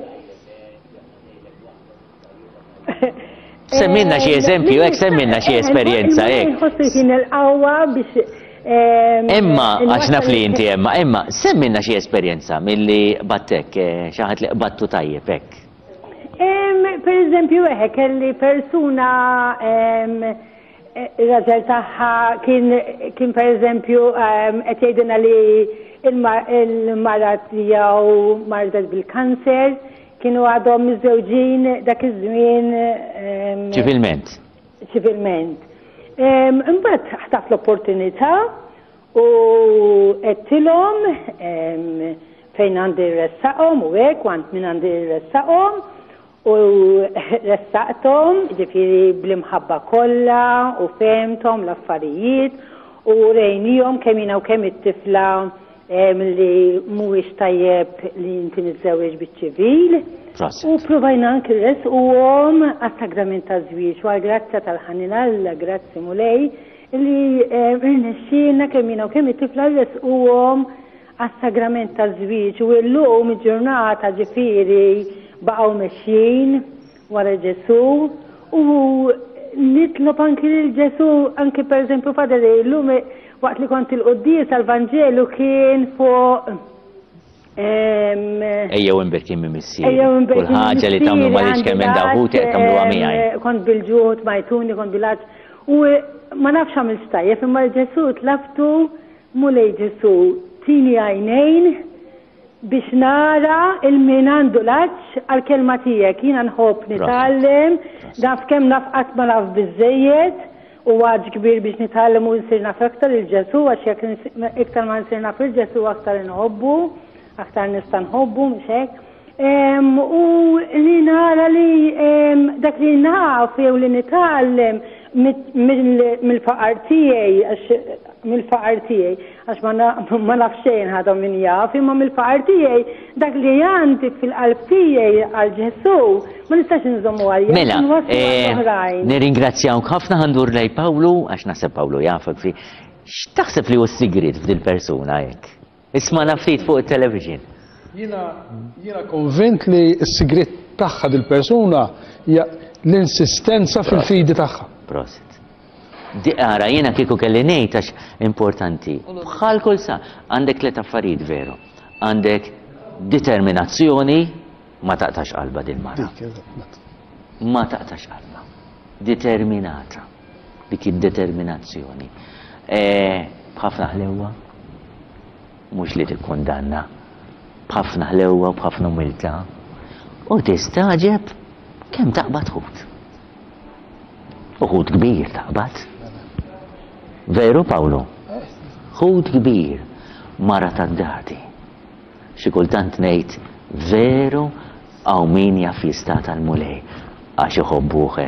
Semmilna xi eżempju, hekk semmilna xi esperjenza hekk. Nħossu jien il-qawwa biex Emma, għax naf li inti Emma, Emma, semmilna xi esperjenza milli battek, xi ħadd li qbattu tajjeb hekk. Per eżempju, eħe, kelli persuna ir-raġel tagħha kien per eżempju qed jgħidilna li il-mara tiegħu mardet bil-kanser, kienu għadhom miżżewġin dak iż-żmien ċivilment. Ċivilment. Imbagħad ħtaf l-opportunità u għedtilhom fejn għandi ressaqhom u hekk u għand min għandi ressaqhom u ressaqthom, ġifieri bl-imħabba kollha u fehmthom l-affarijiet u rejnihom kemm jiena u kemm it-tifla li mhuwiex tajjeb li inti miżżewweġ biċ-ċivil. U provajna anki rresquhom għas-sagrament taż-żwieġ u għall-grazzja tal-ħanin Alla, grazzi Mulej, li rnexxielna kemm jiena u kemm it-tifla rresquhom għas-sagrament taż-żwieġ u llum il-ġurnata ġifieri baqgħu mexjin wara Ġesù u nitlob anki lil Ġesù, anki pereżempju Padre llum waqt li kont il-quddies għall-Vanġelu kien fuq Ejjew imberkin minn missieri. Kull ħaġa li tagħmlu m'għaliex kemm hemm daħut qed tagħmluha miegħi. Kont bil-ġuħ tmajtuni, kont bil-għaġ. U ma nafx għamilt tajjeb, imma Ġesù tlabtu Mulej Ġesù tini għajnejn biex nara il-min għandu l-għaġ għall-kelma tiegħek. Jiena nħobb nitgħallem, naf kemm naf qatt ma naf biżżejjed u għaġ kbir biex nitgħallem u nsir naf aktar il-Ġesù, għax jekk iktar ma nsir naf il-Ġesù aktar inħobbu, aktar nista' nħobbu, mhux hekk. U li nara li dak li naf jew li nitgħallem mill-faqar tiegħi għax mill-faqar tiegħi għax ma naf xejn ħadhom min jaf, imma mill-faqar tiegħi dak li għandi fil-qalb tiegħi għal Ġesù ma nistax inżommu għalija. Mela, nirringrazzjawk ħafna, ħandur lej Pawlu għax naħseb Pawlu jafek fi. X'taħseb li hu s-sigriet f'dil persuna hekk? Isma' ftit fuq it-television. Jiena konvint li s-sigriet tagħha dil-persuna hija l-insistenza fil-fidi tagħha. Prosit. Ara, jiena kieku kelli ngħid għax importanti. Bħal kull sa, għandek tliet affarijiet veru. Għandek determinazzjoni, ma taqtax qalba din mara. Ma taqtax qalba. Determinata. Dik id-determinazzjoni. B'ħafna ħlewwa, mhux li tikkundanna, b'ħafna ħlewwa u b'ħafna umiltà. U tistaġeb kemm taqbad ħut. U ħut kbir taqbad. Veru, Pawlu? Ħut kbir, mara tad-dati. Xi kultant ngħid veru hawn min jaf jista' tal-Mulej għax iħobbuh.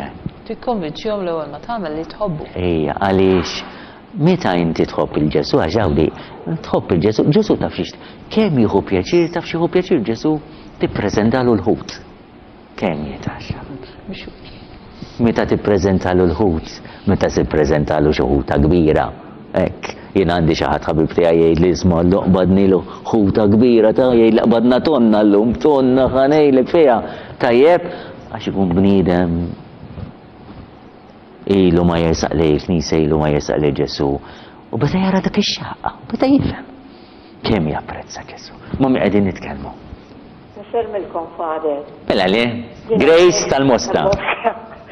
Tikkonvinċihom l-ewwel ma tagħmel li tħobbu. Ejja, għaliex meta inti tħobb il-Ġesù, għax hawn tħobb il-Ġesù, Ġesù taf xiex kemm jieħu pjaċir, taf x'jieħu pjaċir Ġesù tippreżentalu l-ħut. Kemm jitaxxa. Meta tippreżentalu l-ħut, meta tippreżentalu xi ħuta kbira, hekk, jien għandi xi ħadd ħabib tiegħi jgħid li isma' qbadnilu ħuta kbira ta' jgħid li qbadna tonna llum, tonna ħanejlek fiha. Tajjeb, għax ikun bniedem ilu ma jersaq lejn il-Knisja, ilu ma jersaq lejn Ġesù. U beda jara dak ix-xaqqa, beda jifhem kemm japprezza Ġesù. Ma mi qegħdin nitkellmu. Nsermilkom, Father. Mela le, Grace tal-Mosta.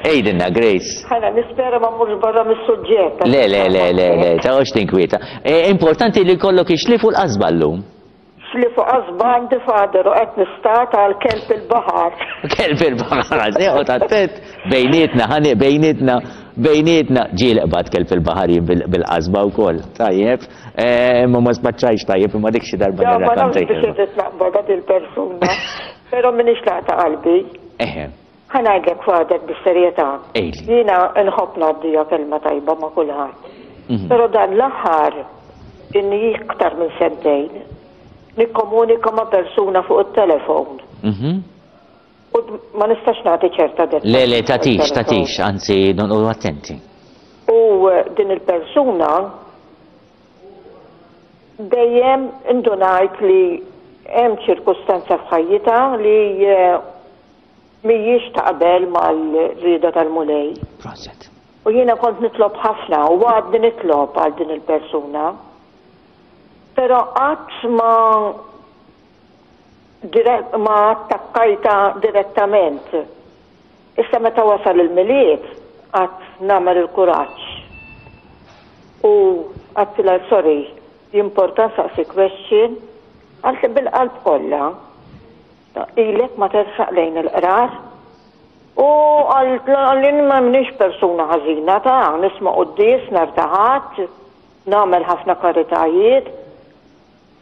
Ejdinna, Grace. Ħana nispera ma mmurx barra mis-suġġett. Le, le, le, le, le, taqgħodx tinkwieta. Importanti li jkollok ixlifu l-qasba llum. Xlifu qasba għandi, Father, u qed nistat għal kelb il-baħar. Kelb il-baħar, seħu attent bejnietna, ħani bejnietna, bejnietna. Ġieli qbad kelb il-baħar jien bil-qasba wkoll. Tajjeb, imma ma spaċċajx tajjeb, imma dik xi darba Ma nafx nirrakkontajt. biex irrid naqbad il-persuna, però m'iniex laqta qalbi. Eħe. Ħa ngħidlek, Father, bis-serjetà. Ejli. Jiena nħobb ngħaddija kelma tajba ma' kulħadd. Però dan l-aħħar inni iktar minn sentejn nikkomunika ma' persuna fuq it-telefon. U ma nistax nagħti ċerta dettalji. Le, le, tatix, tatix, anzi, noqogħdu attenti. U din il-persuna dejjem indunajt li hemm ċirkustanza f'ħajjitha li mhijiex taqbel mal-rieda tal-Mulej. Proset. U jiena kont nitlob ħafna u għadni nitlob għal din il-persuna. Però qatt ma ma attakkajta direttament. Issa meta wasal il-Milied qatt nagħmel il-kuraġġ. U għedtilha sorry, jimporta nsaqsi question, għalt bil-qalb kollha. Ilek ma tersaq lejn il-qrar. U għalli ma minix persuna ħażina ta' nisma' quddies nhar ta' Ħadd, nagħmel ħafna karitajiet.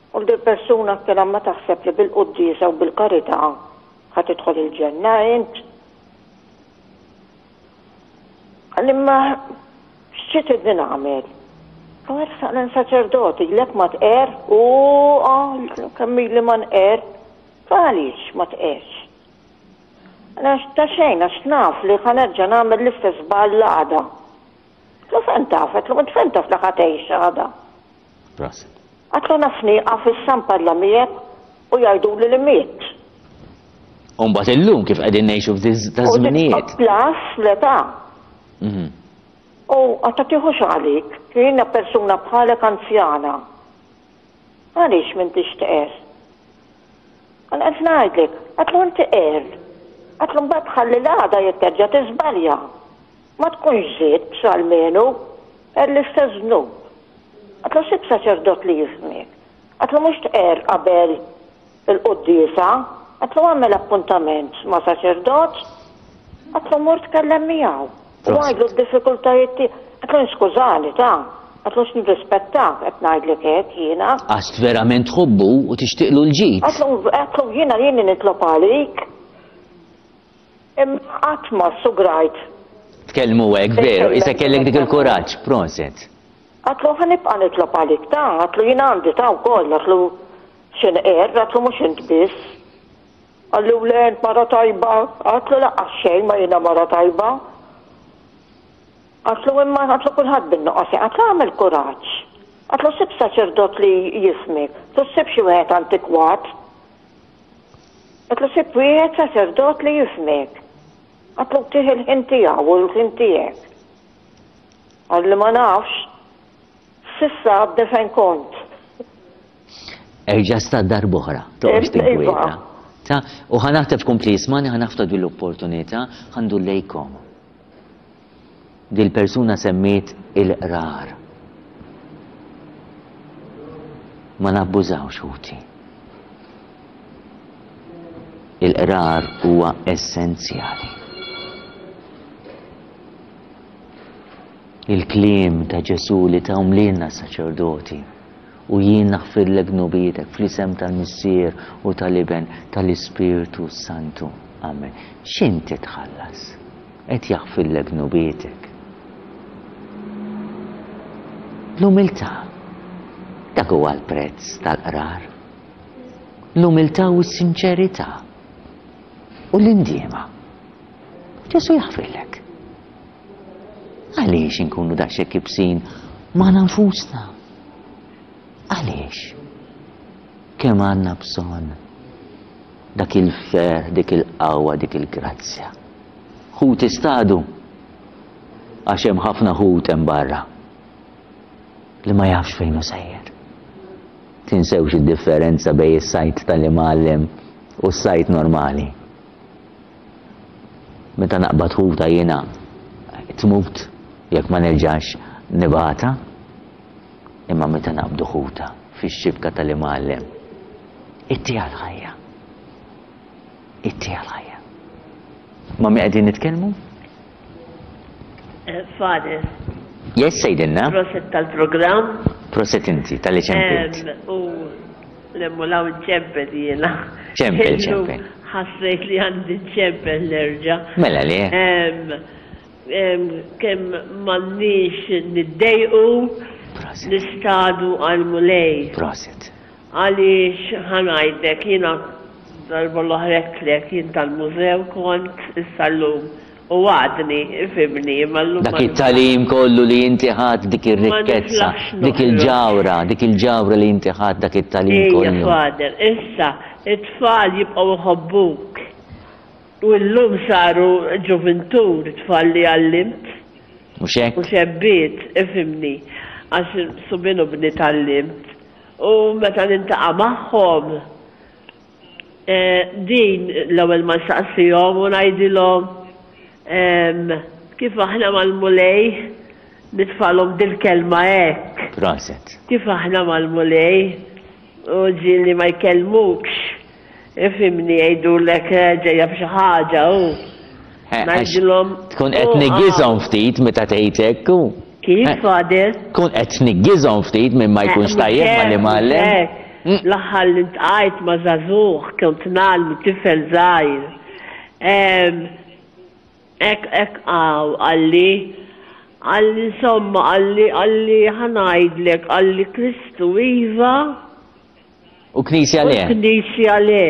U l persuna kien ma taħseb li bil-quddiesa u bil-karità ħa tidħol il-ġenna int. Għalli ma xi tridni nagħmel? U ersaq lejn saċerdoti, lek ma tqer, u kemm ili ma nqer, għaliex ma tqerx? Għax ta' xejn, għax naf li ħa nerġa' nagħmel l-istess żball għada. Lu fejn taf, għedtlu int fejn taf li ħa tgħix għada. Proset. Għedtlu naf nieqaf issa nparla miegħek u jgħiduli li miet. U mbagħad illum kif qegħdin ngħixu f'da żminijiet. Plus l-età. U għatta tieħux għalik, jiena persuna bħalek anzjana. Għaliex m'intix tqer? Għal qed ngħidlek, għedtlu inti qer. Għedtlu mbagħad ħalli l-għada jekk terġa' tiżbalja. Ma tkunx żied almenu, qer l-istess dnub. Għedtlu sib saċerdot li jifhmek. Għedtlu mhux tqer qabel il-quddiesa, għedtlu għamel appuntament ma' saċerdot, għedtlu mur tkellem miegħu. U għajdlu d-diffikultajiet tiegħek. Għedtlu skużani ta' għedtlu x'nirrispettak qed ngħidlek hekk jiena. Għax verament tħobbu u tixtieqlu l-ġid. Għedtlu jiena jiena nitlob għalik. Imma qatt ma sugrajt Tkellmu hekk, veru, issa kellek dik il-kuraġġ, proset. Għatlu ħa nibqa' nitlob għalik ta, għatlu jien għandi ta wkoll, għatlu x'inqerr, għatlu mhux int biss. Qalli le int mara tajba, għatlu laqqas xejn ma jiena mara tajba. Għatlu imma għatlu kulħadd bin-nuqqas, għatlu agħmel kuraġġ. Għatlu sib saċerdot li jifhmek, għatlu ssib xi wieħed antikwat. Għatlu sib wieħed saċerdot li jifhmek. Għatlu tih il-ħin tiegħu u l-ħin tiegħek. Qalli ma nafx, s'issa għadni fejn kont. Erġa' sta darb'oħra, toqgħodx tinkwieta. Ta, u ħa naħtef kompli jismani, ħa naħtaf din l-opportunità, ħa ndur lejkom. Dil-persuna semmiet il-qrar. Ma nabbużawx ħuti. Il-qrar huwa essenzjali. Il-kliem ta' Ġesù li tahom lilna s-saċerdoti, u jien naħfirlek dnubietek fl-isem tal-Missier u tal-Iben tal-Ispirtu Santu. Amen. X'inti tħallas? Qed jaħfirlek dnubietek. L-umiltà. Dak huwa l-prezz tal-qrar. L-umiltà u s-sinċerità. U l-indiema. Ġesù jaħfirlek. Għaliex inkunu daqshekk ibsin magħna nfusna? Għaliex? Kemm għandna bżonn dak il-ferħ, dik il-qawwa, dik il-grazzja. Ħut istadu, għax hemm ħafna ħut hemm barra li ma jafx fejn hu sejjer. Tinsewx id-differenza bejn is-sajt tal-imgħallem u s-sajt normali. Meta naqbad ħuta jiena tmut jekk ma nerġax nibata, imma meta naqbdu ħuta fix-xibka tal-imgħallem, ittiha l-ħajja. Ittiha l-ħajja. Ma' min qegħdin nitkellmu? Father. Yes, sejdilna. Proset tal-programm. Proset inti, tal-li ċempilt. U l-emmulaw ċempel jiena. Ċempel, ċempel. Ħassejt li għandi ċempel nerġa'. Mela li. Kemm m'għandniex niddejqu nistadu għall-Mulej. Proset. Għaliex ħa ngħidlek jiena darba l-oħra għedtlek jien tal-mużew kont issa llum u għadni ifhimni imma llum Dak it-tagħlim kollu li inti ħadt dik ir-rikkezza, dik il-ġawhra, dik il-ġawhra li inti ħadt dak it-tagħlim kollu. Ejja Father, issa it-tfal jibqgħu jħobbuk. U llum saru ġuvintur it-tfal li għallimt. Mhux hekk? U xebbiet, ifhimni, għax subien u bniet għallimt. U meta nintaqa' magħhom, din l-ewwel ma nsaqsihom u ngħidilhom kif aħna mal-Mulej, nitfagħlhom dil-kelma hekk. Proset. Kif aħna mal-Mulej, u ġieli ma jkellmukx, ifhimni jgħidulek ġejja b'xi ħaġa u ngħidilhom. Tkun qed tniggizhom ftit meta tgħid hekk u. Kif, Father? Tkun qed tniggizhom ftit minn ma jkunx tajjeb mal-imgħallem. L-aħħar li ntqajt ma' żagħżugħ kont ngħallmu tifel żgħir. Hekk hekk hawn qalli, qalli insomma qalli qalli ħa ngħidlek qalli Kristu iva. U Knisja le. U Knisja le.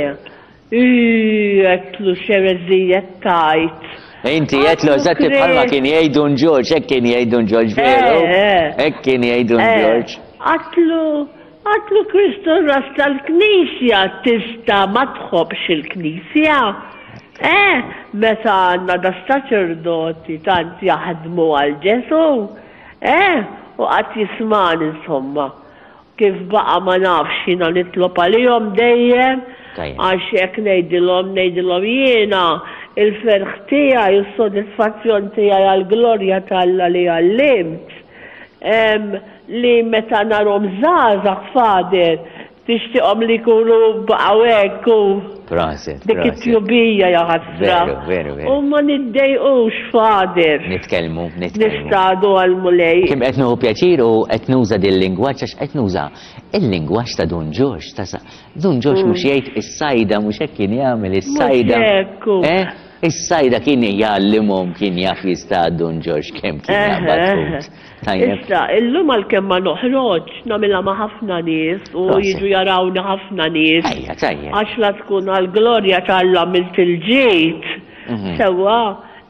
Ii, għedtlu x'ereżija qed tgħid. Inti għedtlu eżatti bħalma kien jgħid Dun Ġorġ, hekk kien jgħid Dun Ġorġ veru? Hekk kien jgħid Dun Ġorġ. Għedtlu, għedtlu Kristu r-ras tal-Knisja tista' ma tħobbx il-Knisja? Eh, meta għandna da saċerdoti tant jaħdmu għal Ġesù, eh, u qatt jismagħni insomma. Kif baqa' ma nafx, jiena nitlob għalihom dejjem, għax hekk ngħidilhom, ngħidilhom jiena il-ferħ tiegħi u s-sodisfazzjon tiegħi għall-glorja t'Alla li għallimt, li meta narhom żgħażagħ, Father, tixtieqhom li jkunu baqgħu hekk u Proset, dik it-tjubija ja ħasra. Veru, veru, veru. U ma niddejqux, Father. Nitkellmu, nitkellmu. Nistadu għall-Mulej. Kemm qed nieħu pjaċir u qed nuża din il-lingwaġġ għax qed nuża il-lingwaġġ ta' Dun Ġorġ, ta' sa-, Dun Ġorġ mhux jgħid is-sajda, mhux hekk kien jagħmel is-sajda. Mhux hekk hu. Eh? Is-sajda kien jgħallimhom kien jaf jistad Dun Ġorġ kemm kien jaqbad ħut. Tajjeb. Issa, illum għalkemm ma noħroġ nagħmilha ma' ħafna nies u jiġu jarawni ħafna nies. Ejja, tajjeb. Għax la tkun għall-glorja t'Alla għamilt il-ġid, sewwa,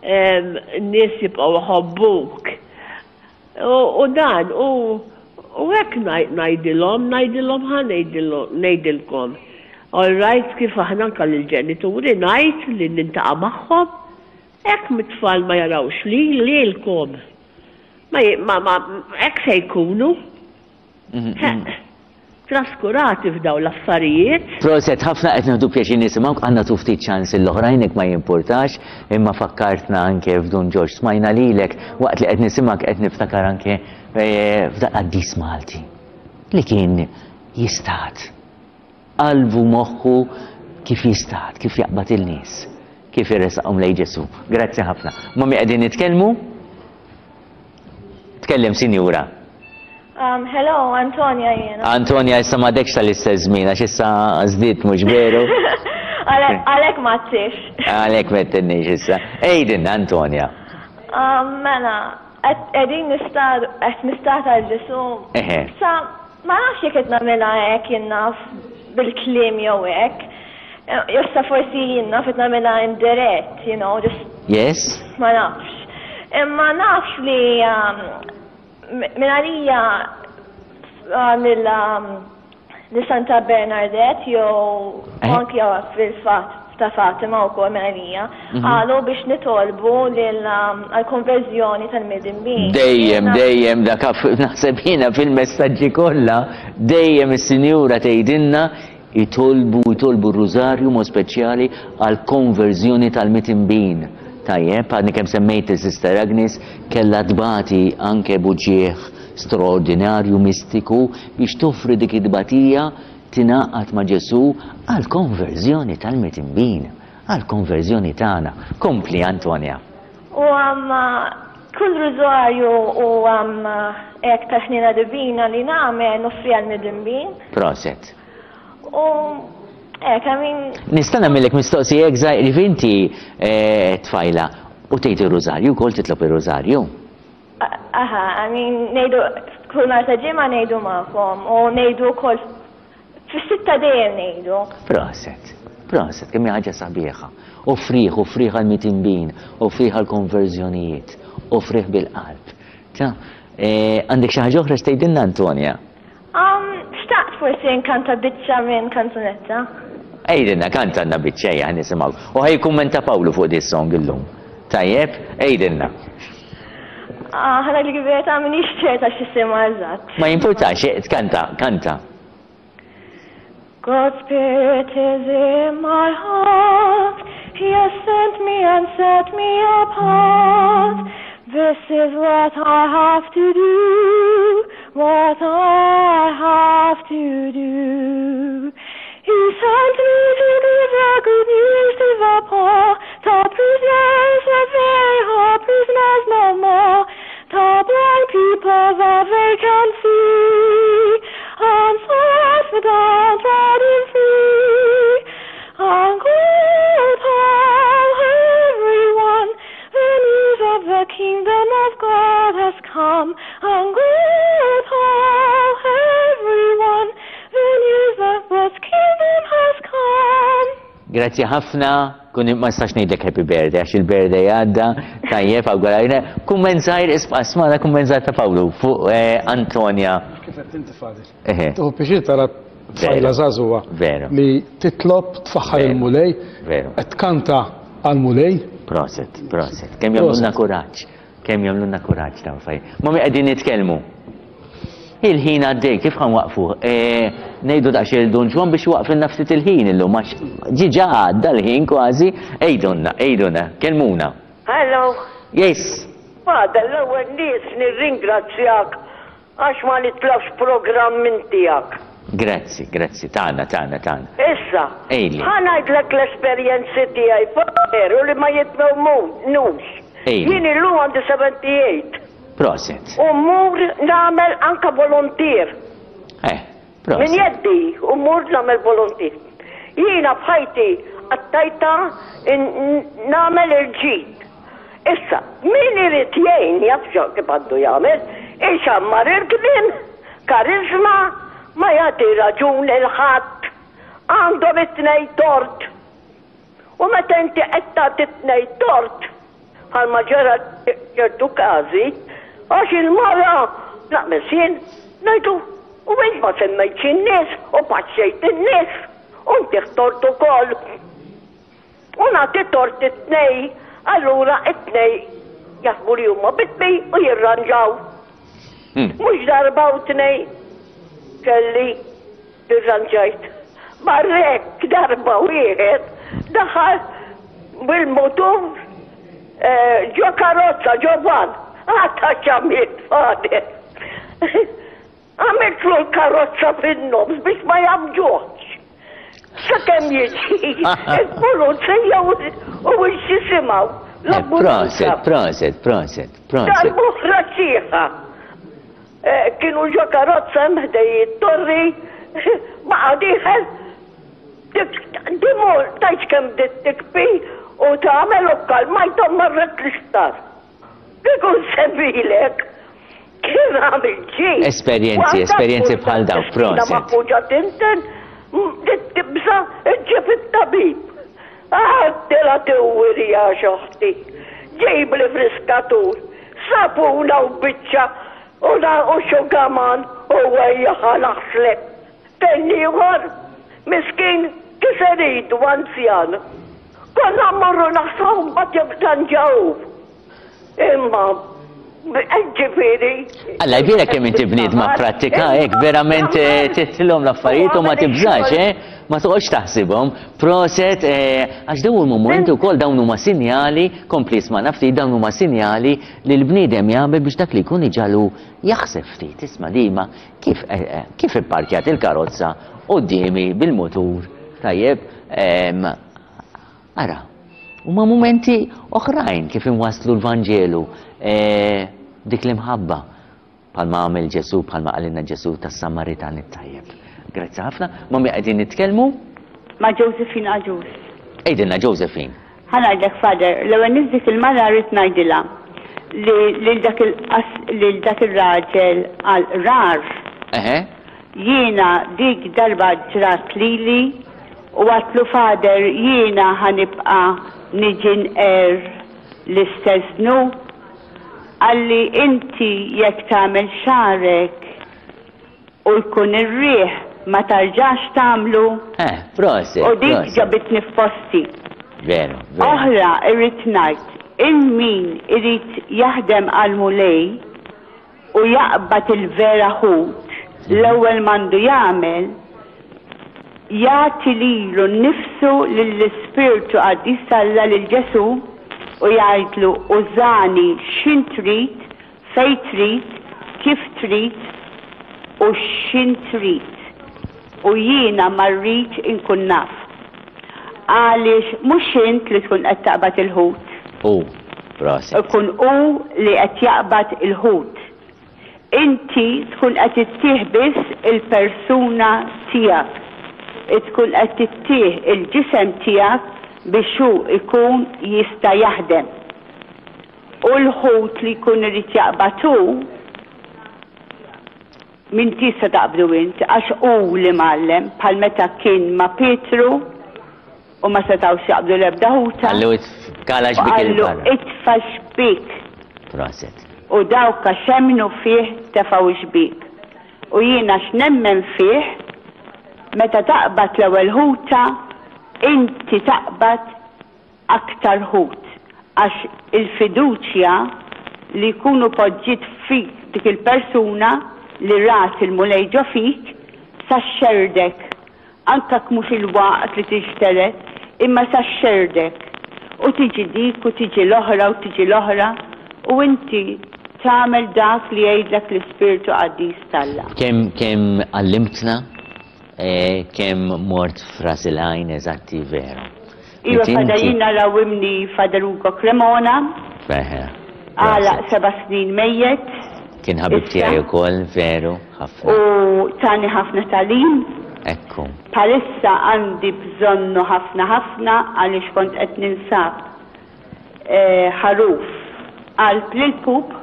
n-nies jibqgħu jħobbuk. U dan, u hekk ngħidilhom, ngħidilhom ħa ngħidilkom. All right, kif aħna anke lill-ġenituri ngħid li nintaqa' magħhom, hekk mit-tfal ma jarawx li lilkom. Ma ma hekk se jkunu. Traskurati f'daw l-affarijiet. Proset, ħafna qed nieħdu pjaċir nisimgħuk, għandna tu ftit ċans l-oħrajn ma jimpurtax, imma fakkartna anke f'Dun Ġorġ, smajna lilek waqt li qed nisimgħek qed niftakar anke f'dak qaddis Malti li kien jistad. Qalbu moħħu kif jistad, kif jaqbad il-nies, kif irresaqhom lejn Ġesù. Grazzi ħafna. Mami qegħdin nitkellmu? Tkellem, sinjura. Um, hello, Antonia jiena. Antonia, issa m'għadekx tal-istess żmien, għax issa żdied mhux veru. Għalhekk m'għadtix. Għalhekk m'għedtilniex issa. Ejdin, Antonia. Um, mela, qegħdin nistad qed nistad għal Ġesù. Eħe. Sa ma nafx jekk qed nagħmilha hekk jien naf bil-kliem jew hekk. Issa forsi jien naf qed nagħmilha indirett, you know, just Yes. Ma nafx. Imma naf li um, minn għalija li Santa Bernadette jew anki fil-fatt ta' Fatima wkoll minn għalija qalu biex nitolbu għall-konverżjoni tal-midinbin. Dejjem, dejjem dak naħseb jiena fil-messaġġi kollha, dejjem is-sinjura tgħidilna jitolbu jitolbu r-rużarju mod speċjali għall-konverżjoni tal-midinbin. Tajjeb, għadni kemm semmejt il-Sister Agnes, kellha tbati anke buġieħ straordinarju mistiku biex toffri dik it-tbatija tingħaqad ma' Ġesù għall-konverżjoni tal-midinbin, għall-konverżjoni tagħna. Kompli, Antonia. U kull rużarju u hekk tal-ħniena divina li nagħmel noffri għall-midinbin. Proset. U hekk, I mean. Nista' nagħmellek mistoqsija hekk żgħir, li inti tfajla u tgħid ir-rużarju wkoll titlob ir-rużarju? Aha, I mean, ngħidu kull nhar ta' ġimgħa ngħidu magħkom u ngħidu wkoll fis-sitta dejjem ngħidu. Proset, proset, kemm hija ħaġa sabiħa. Offriħ, offriħ għall-midinbin, offriħ għall-konverżjonijiet, offriħ bil-qalb. Ta, għandek xi ħaġa oħra x'tgħidilna, Antonia? Xtaqt forsi nkanta biċċa minn kanzunetta. Ejdilna, kantanna biċċa, ejja, nisimgħu. U ħaj kummenta Pawlu fuq dis song illum. Tajjeb, ejdilna. Ħana li verità m'iniex ċerta x'isimha eżatt. Ma jimpurtax, kanta, kanta. God's Spirit is in my heart. He has sent me and set me apart. This is what I have to do, what I have to do. He sent me to give the good news to the poor, to prisoners that they are prisoners no more, to blind people that they can see, and set the downtrodden free. And go tell everyone the news of the kingdom of God has come. And go tell everyone the news of God's kingdom has come. Grazzi ħafna, kun ma nistax ngħidlek happy birthday għax il-birthday għadda, tajjeb awgurajna. Kumment żgħir isma' smana kumment żgħir ta' Pawlu fuq Antonia. Kif qed inti Fadil? Tieħu pjaċir tara tfajla żagħżugħa li titlob tfaħħar il-Mulej, qed tkanta għall-Mulej. Proset, proset. Kemm jagħmlulna kuraġġ, kemm jagħmlulna kuraġġ dawn fajn. Mami qegħdin nitkellmu. Il-ħin għaddej, kif ħan waqfu? Ngħidu daqsxejn Dun Ġwann biex waqfilna ftit il-ħin illum, għax ġiġa għadda l-ħin kważi. Ejdunna, ejdunna, kellmuna. Hello. Yes. Fadal, l-ewwel nies nirringrazzjak għax ma nitlafx programm minn tiegħek. Grazzi, grazzi, tagħna, tagħna, tagħna. Issa, Ejli. ħa ngħidlek l-esperjenzi tiegħi veru li ma jitmewmux. Ejli. Jien illum għandi seventy-eight. Proset. U mmur nagħmel anka volontier. Eh, proset. Min jeddi u mmur nagħmel volontier. Jiena bħajti Qattajtha nagħmel il-ġid. Issa, min irid jgħin jaf kif għandu jagħmel, ixammar il-kliem, kariżma, ma jagħti raġun lil ħadd. Għandhom it-tnejn tort. U meta inti qed tagħti t-tnejn tort, bħalma ġara ċertu każi, għax il-mara naqbeż jien, ngħidu, u int ma semmejtx in-nies u paxxejt in-nies u ntih tort ukoll. U nagħti tort it-tnejn, allura it-tnejn jaħsbu li huma vittmi u jirranġaw. Mhux darba u tnejn kelli irranġajt. Barrek darba wieħed daħal bil-mutur ġo karozza, ġo van. Għata x'għamilt, Father. Għamiltlu l-karozza fin-nofs biex ma jgħammġuhx. Sakemm jiġi il-pulizija u x'jisimgħu l-ambulanza. Proset, proset, proset, proset. Darb'oħra sieħa. Kienu ġo karozza hemm ħdej it-torri, baqa' dieħel dimur, tgħidx kemm bdiet tikbi u tagħmel u kkalmajthom marret l-isptar. Kieku nsemmilek kien għamil ġid. Esperjenzi, esperjenzi bħal dawk, proset. Maħmuġa tinten, bdiet tibża' ġġib it-tabib. Għadtilha tiwwiri għax oħti. Ġibli friskatur, sapuna u biċċa u xugaman u ejja ħa naħslek. Kien ieħor, miskin, kiser idu anzjan. Konna mmorru naħsluh mbagħad jirranġa hu. Imma ġifieri. Alla jbierek kemm inti bniedma prattika hekk verament tittilhom l-affarijiet u ma tibżax, eh? Ma toqgħodx taħsibhom. Proset, għax dawn huma mumenti wkoll dawn huma sinjali, kompli ismagħna ftit, dawn huma sinjali li l-bniedem jagħmel biex dak li jkun iġagħlu jaħseb ftit. Isma' dima kif kif ipparkjat il-karozza quddiemi bil-mutur, tajjeb, ara. Huma mumenti oħrajn kif inwasslu l-Vanġelu, dik l-imħabba bħalma għamel Ġesù, bħalma qalilna Ġesù tas-Samaritan it-tajjeb. Grazzi ħafna. Ma' min qegħdin nitkellmu? Ma' Josephine Agius. Għidilna Josephine. Ħa ngħidlek Father, l-ewwel nett dik il-mara rrid ngħidilha li lil dak lil dak ir-raġel għal qrar. Eħe. Jiena dik darba ġrat lili u għadtlu Father jiena ħa nibqa' niġi nqerr l-istess dnub? Qalli inti jekk tagħmel xagħrek u jkun ir-riħ ma tarġax tagħmlu? Eh, proset, U dik proset. ġabitni f'posti. Veru, veru. Oħra irrid ngħid, il min irid jaħdem għall-Mulej u jaqbad il-vera ħut, l-ewwel m'għandu jagħmel, jagħti lilu nnifsu lill-Ispirtu Qaddis t'Alla lil Ġesù u jgħidlu użani x'in trid, fejn trid, kif trid u x'in trid. U jiena ma rridx inkun naf. Għaliex mhux int li tkun qed taqbad il-ħut. Hu, proset. Ikun hu li qed jaqbad il-ħut. Inti tkun qed ittih biss il-persuna tiegħek. Tkun qed ittih il-ġisem tiegħek biex hu jkun jista' jaħdem. U l-ħut li jkun irid jaqbad hu, m'intix se taqbdu int, għax hu l-imgħallem, bħal meta kien ma' Pietru u ma setgħux jaqbdu l-ebda ħuta. Qallu kala xbik U qallu il-barra. itfa' xbik. Proset. U dawk għax emmnu fih tefgħu x-xbiek. U jien għax nemmen fih, meta taqbad l-ewwel ħuta, inti taqbad aktar ħut. Għax il-fiduċja li jkunu poġġiet fik dik il-persuna li rat il-Mulej ġo fik, sa xxerdek. Anke jekk mhux il-waqt li tinxtered, imma sa xxerdek. U tiġi dik u tiġi l-oħra u tiġi l-oħra u inti tagħmel dak li jgħidlek l-Ispirtu Qaddis t'Alla. Kemm, kemm għallimtna, eh, kemm mort f'ras il-għajn eżatti veru. Iva, Inti Father, inti jiena rawimni Father Ugo Cremona. Eħe, Għalaq proset. seba' snin mejjet. Kien ħabib Issa. tiegħi wkoll, veru, ħafna. U tani ħafna tagħlim. Ekku. Bħalissa għandi bżonnu ħafna ħafna għaliex kont qed ninsab ħaruf qalb l-pup.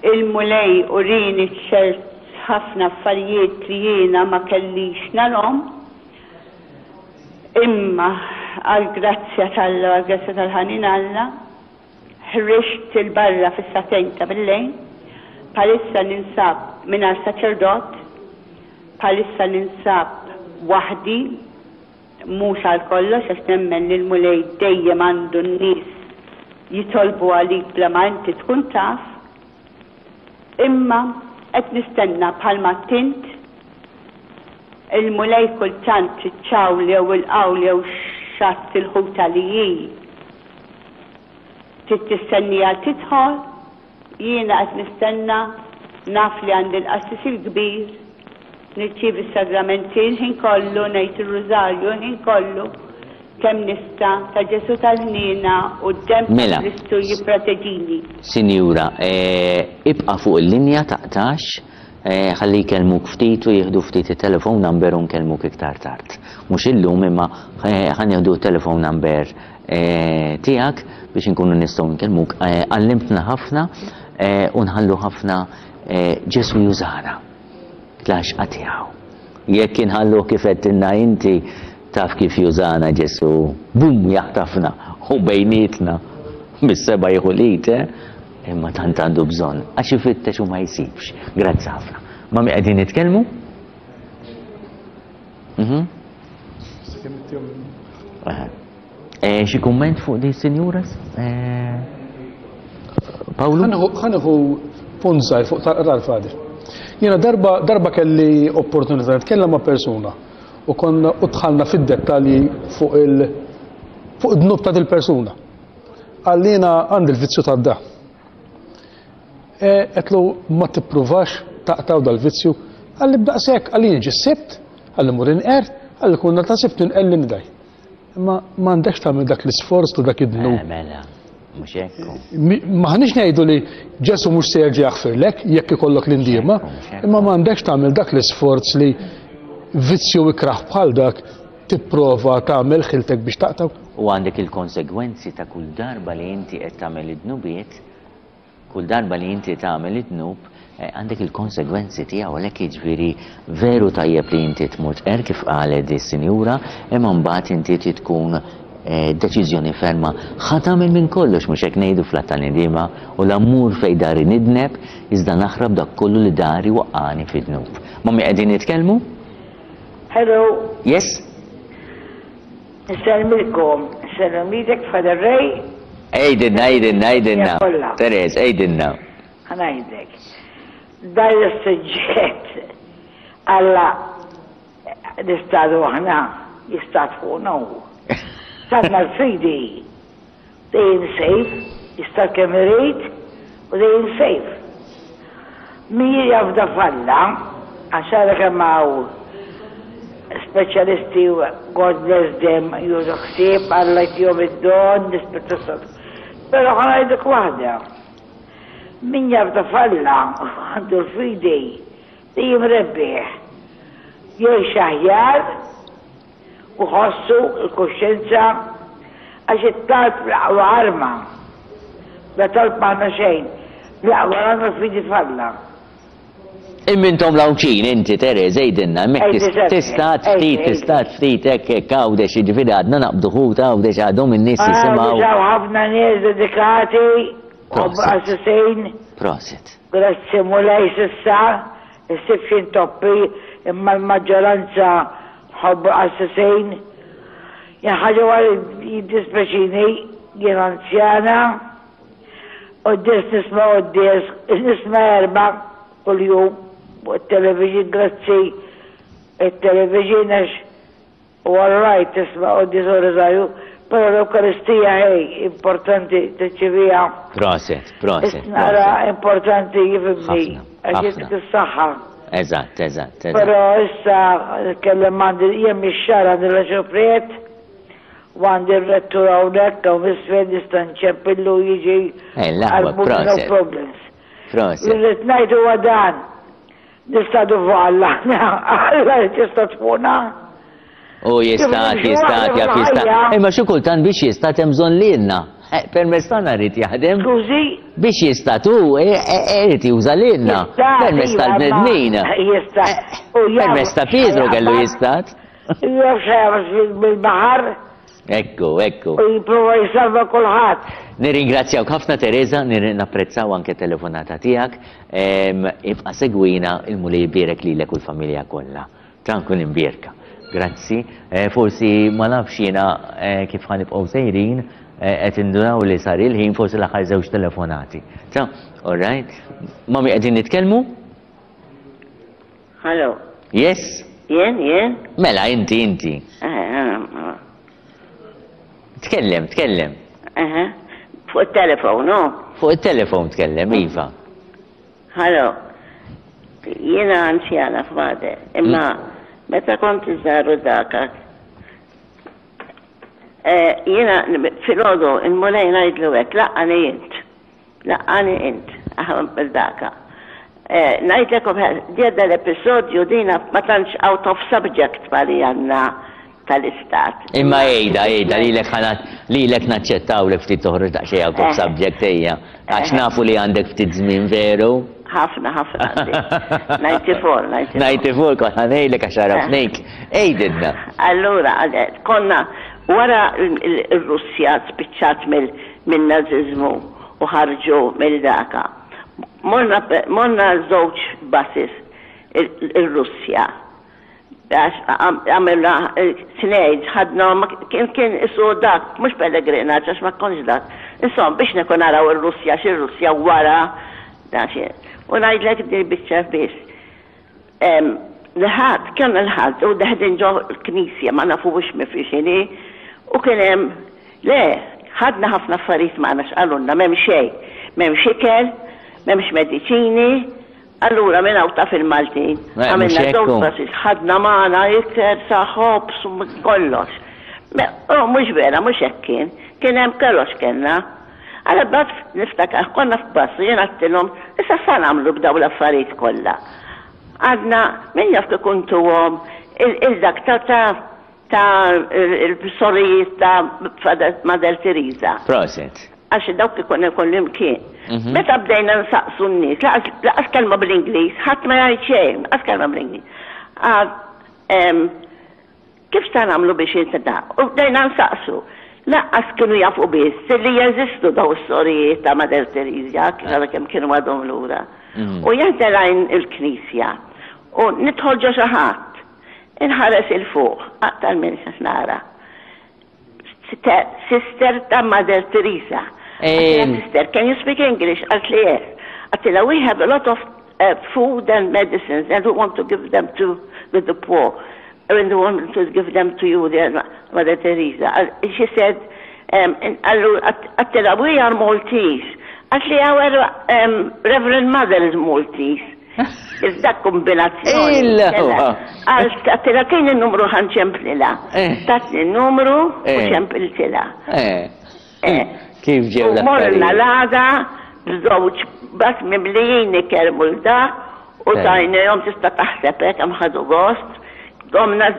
Il-Mulej urini ċert ħafna affarijiet li jiena ma kellix narhom. Imma għall-grazzja t'Alla, għall-grazzja tal-ħanin Alla, ħriġt il-barra fis-sagħtejn ta' billejl. Bħalissa ninsab mingħajr saċerdot, bħalissa ninsab waħdi, mhux għal kollox għax nemmen li l-Mulej dejjem għandu n-nies jitolbu għalik bla ma inti tkun taf. Imma qed nistenna bħalma tint il-Mulej kultant iċ-ċawl jew il-qawl jew xatt il-ħuta li hi trid tistennija tidħol, jiena qed nistenna, naf li għandi l-qassis il-kbir, nirċievi s-sagramenti l-ħin kollu, ngħid ir-rużarju l-ħin kollu, kemm nista' ta' Ġesù tal-ħniena u d-demm ta' Mela. Kristu jipproteġini. Sinjura, ibqa' fuq il-linja taqtax, ħalli jkellmuk ftit u jieħdu ftit it-telephone number u nkellmuk iktar tard. Mhux illum imma ħa nieħdu t-telephone number tiegħek biex inkunu nistgħu nkellmuk. Għallimtna ħafna u nħallu ħafna Ġesù jużana l-għaxqa tiegħu. Jekk inħalluh kif għedtilna inti, taf kif jużana Ġesù, bum jaħtafna u bejnietna mis-seba' jieħu l-id, eh? Imma tant għandu bżonn għax ifittex u ma jsibx. Grazzi ħafna. Ma' min qegħdin nitkellmu? Mhm. Eh, xi kumment fuq di sinjura? Eh, Pawlu? Ħa nieħu punt żgħir fuq tal-qrar, Father. Jiena darba, darba kelli opportunità nitkellem ma' persuna u konna u dħalna fid-dettalji fuq il fuq id-dnub ta' dil-persuna. Għallina għandi l-vizzju tad-da. Għedtlu ma tippruvax taqtaw dal-vizzju, għalli b'daqshekk, għalli jiġi s-Sibt, għalli mur inqer, għalli kunna ta' Sibt inqelli nidaj. Imma m'għandekx tagħmel dak l-isforz ta' dak id-dnub. Eh, mela, mhux hekk. M'aħniex ngħidu li Ġesù mhux se jerġa' jaħfirlek jekk ikollok l-indiema, imma m'għandekx tagħmel dak l-isforz li vizzju ikrah bħal dak tipprova tagħmel ħiltek biex taqtaw. U għandek il-konsegwenzi ta' kull darba li inti qed tagħmel id-dnubiet, kull darba li inti tagħmel id-dnub, għandek il-konsegwenzi tiegħu, għalhekk jiġifieri veru tajjeb li inti tmur tqer kif qalet di sinjura, imma mbagħad inti trid tkun deċiżjoni ferma. Ħa tagħmel minn kollox, mhux hekk ngħidu fl-att tal-indiema, u la mmur fejn dari nidneb, iżda naħrab dak kollu li dari waqqani fid-dnub. Ma' min qegħdin nitkellmu? Hello. Yes? Nsellmilkom, nsellem lilek Father Ray. Għidilna, għidilna, għidilna. Kollha. Teres, għidilna. Ħa ngħidlek. Dan is-suġġett Alla nistadu aħna jistad fuqna hu. Sanna l-fidi dejjem safe, jistad kemm irid u dejjem safe. Min jafda f'Alla, għax ara kemm hawn speċjalisti, God bless them, jużu ħsieb, Alla jtihom id-don, l-Ispirtu Santu. Però ħa ngħidlek waħda. Min jafda f'Alla għandu l-fidi dejjem rebbieħ. Jgħix aħjar u ħossu l-kuxjenza għax it-talb l-aqwa arma. Bla talb m'aħna xejn, l-aqwa arma l-fidi f'Alla. Imma intom l-Għawdxin, inti Teres, għidilna, hemmhekk Ejdi, tista' ftit, tista' ftit hekk hekk Għawdex, jiġifieri għadna naqbdu ħut Għawdex għadhom in-nies jisimgħu. Għawdex ħafna nies dedikati u Prosit. qassisin. Prosit. Grazzi Mulej s'issa, issib xi intoppi imma l-maġġoranza ħobbu qassisin. Jien ħaġa waħda jiddispeċini, jien anzjana, quddies nisma' quddies, nisma' erba' kuljum fuq it-television, grazzi it-television għax u all right tisma' quddies u rużarju, però l-Ewkaristija hej importanti tirċiviha. Prosit, prosit, Nara prosit. importanti jifhimni Ħafna, għax ħafna. jittik is-saħħa. Eżatt, eżatt, eżatt. Però issa nitkellem għandi jien mix-xahar għandi l-arċipriet u għandi r-rettur hawnhekk hawn isfel nista' nċempillu jiġi Eh, l-aħwa, għal no prosit. problems. Prosit. Li rrid ngħid huwa dan. Nistadu fuq Alla, Alla jista' tfuna. U jista' jista' jaf jista'. Imma xi kultant biex jista' hemm bżonn lilna. Eh, permezz tagħna rrid jaħdem. Skużi? Biex jista' tu, irid juża lilna. Permezz tal-bnedmin. Jista'. Permezz ta' Pietru kellu jistat. Jaf xejn bil-baħar. Ekku, ekku. U jipprova jsalva kulħadd. Nirringrazzjawk ħafna Teresa, napprezzaw anke telefonata tiegħek. Ibqa' segwina, il-Mulej jbierek lilek u l-familja kollha. Ta' nkun imbierka. Grazzi. Forsi ma nafx jiena kif ħa nibqgħu sejrin, qed indunaw li sar il-ħin, forsi l-aħħar żewġ telefonati. Ta' all right. Mami, qegħdin nitkellmu? Hello. Yes? Jien, jien? Mela, inti, inti. Tkellem, tkellem. Fuq il-telefon, no? Fuq il-telefon tkellem, iva. Hello. Jiena anzjana f'Made, imma meta kont iżgħar daka. Jiena filgħodu il-Mulej ngħidlu hekk, laqqani int. Laqqani int, bil-daka. Ngħidlek djeda l-episodju dina ma tantx out of subject pali għandna tal-istat. Imma ejda, ejda, lilek ħanat, lilek naċċettaw li ftit toħroġ daqsxejn out of subject ejja. Għax nafu li għandek ftit żmien veru. Ħafna, ħafna. ninety-four, ninety-four. ninety-four, kont ħa ngħidlek għax għarafnik. Ejdilna. Allura, konna wara il-Russja spiċċat mill-naziżmu u ħarġu mill-daka. Morna żewġ buses il-Russja. Għamilna tnejn, ħadna, kien kien isu dak, mhux pellegrinaġġ għax ma kontx dak. Insomma, biex nekun naraw ir-Russja, x'ir-Russja wara da xi. U ngħidlek din biċċa biss. L-ħadd, kemm il-ħadd, u deħdin ġo l-knisja, ma nafux mi fi xini, u kien hemm, le, ħadna ħafna affarijiet magħna x'qalulna, m'hemm xejn, m'hemmx ikel, m'hemmx mediċini. Allura minn hawn taf il-Maltin, għamilna żewġ buses, ħadna magħna ikel sa ħobż u kollox. Oh, mhux vera, mhux hekk kien, kien hemm kollox kellna. Għala bad niftakar, konna f'bus, jien għedtilhom, issa sa nagħmlu b'daw l-affarijiet kollha. Għadna, min jaf kif kuntuhom il-dak ta' ta' il-sorijiet ta' Mother Teresa. Proset. Għax dawk ikun ikun imkien. Meta bdejna nsaqsu n-nies, laqas kelma bl-Ingliż, ħadd ma jgħid xejn, laqas kelma bl-Ingliż. Kif sa nagħmlu biex inta? U bdejna nsaqsu. Laqas kienu jafu biss li jeżistu daw is-sorijiet ta' Mother Teresa, kif għadha kemm kienu għadhom lura. U jien telgħin il-knisja u nidħol ġo xi ħadd, inħares il fuq, aktar minn nara. Sister ta' Mother Teresa. Sister, can you speak English? Għalt li yes. Għedtilha, we have a lot of uh, food and medicines and we want to give them to the, the poor. And we want to give them to you, the Mother Teresa. She said, um, għedtilha, we are Maltese. Għalt li, our um, Reverend Mother is Maltese. Iżda kombinazzjoni. Għedtilha, kien il-numru ħa nċemplilha. Tatni il-numru u ċempiltilha. Kif ġew U morna l-għada, b'żewġ bus mimlijin ikel dak, u tajnihom tista' taħseb hekk hemm ħadu gost. Domna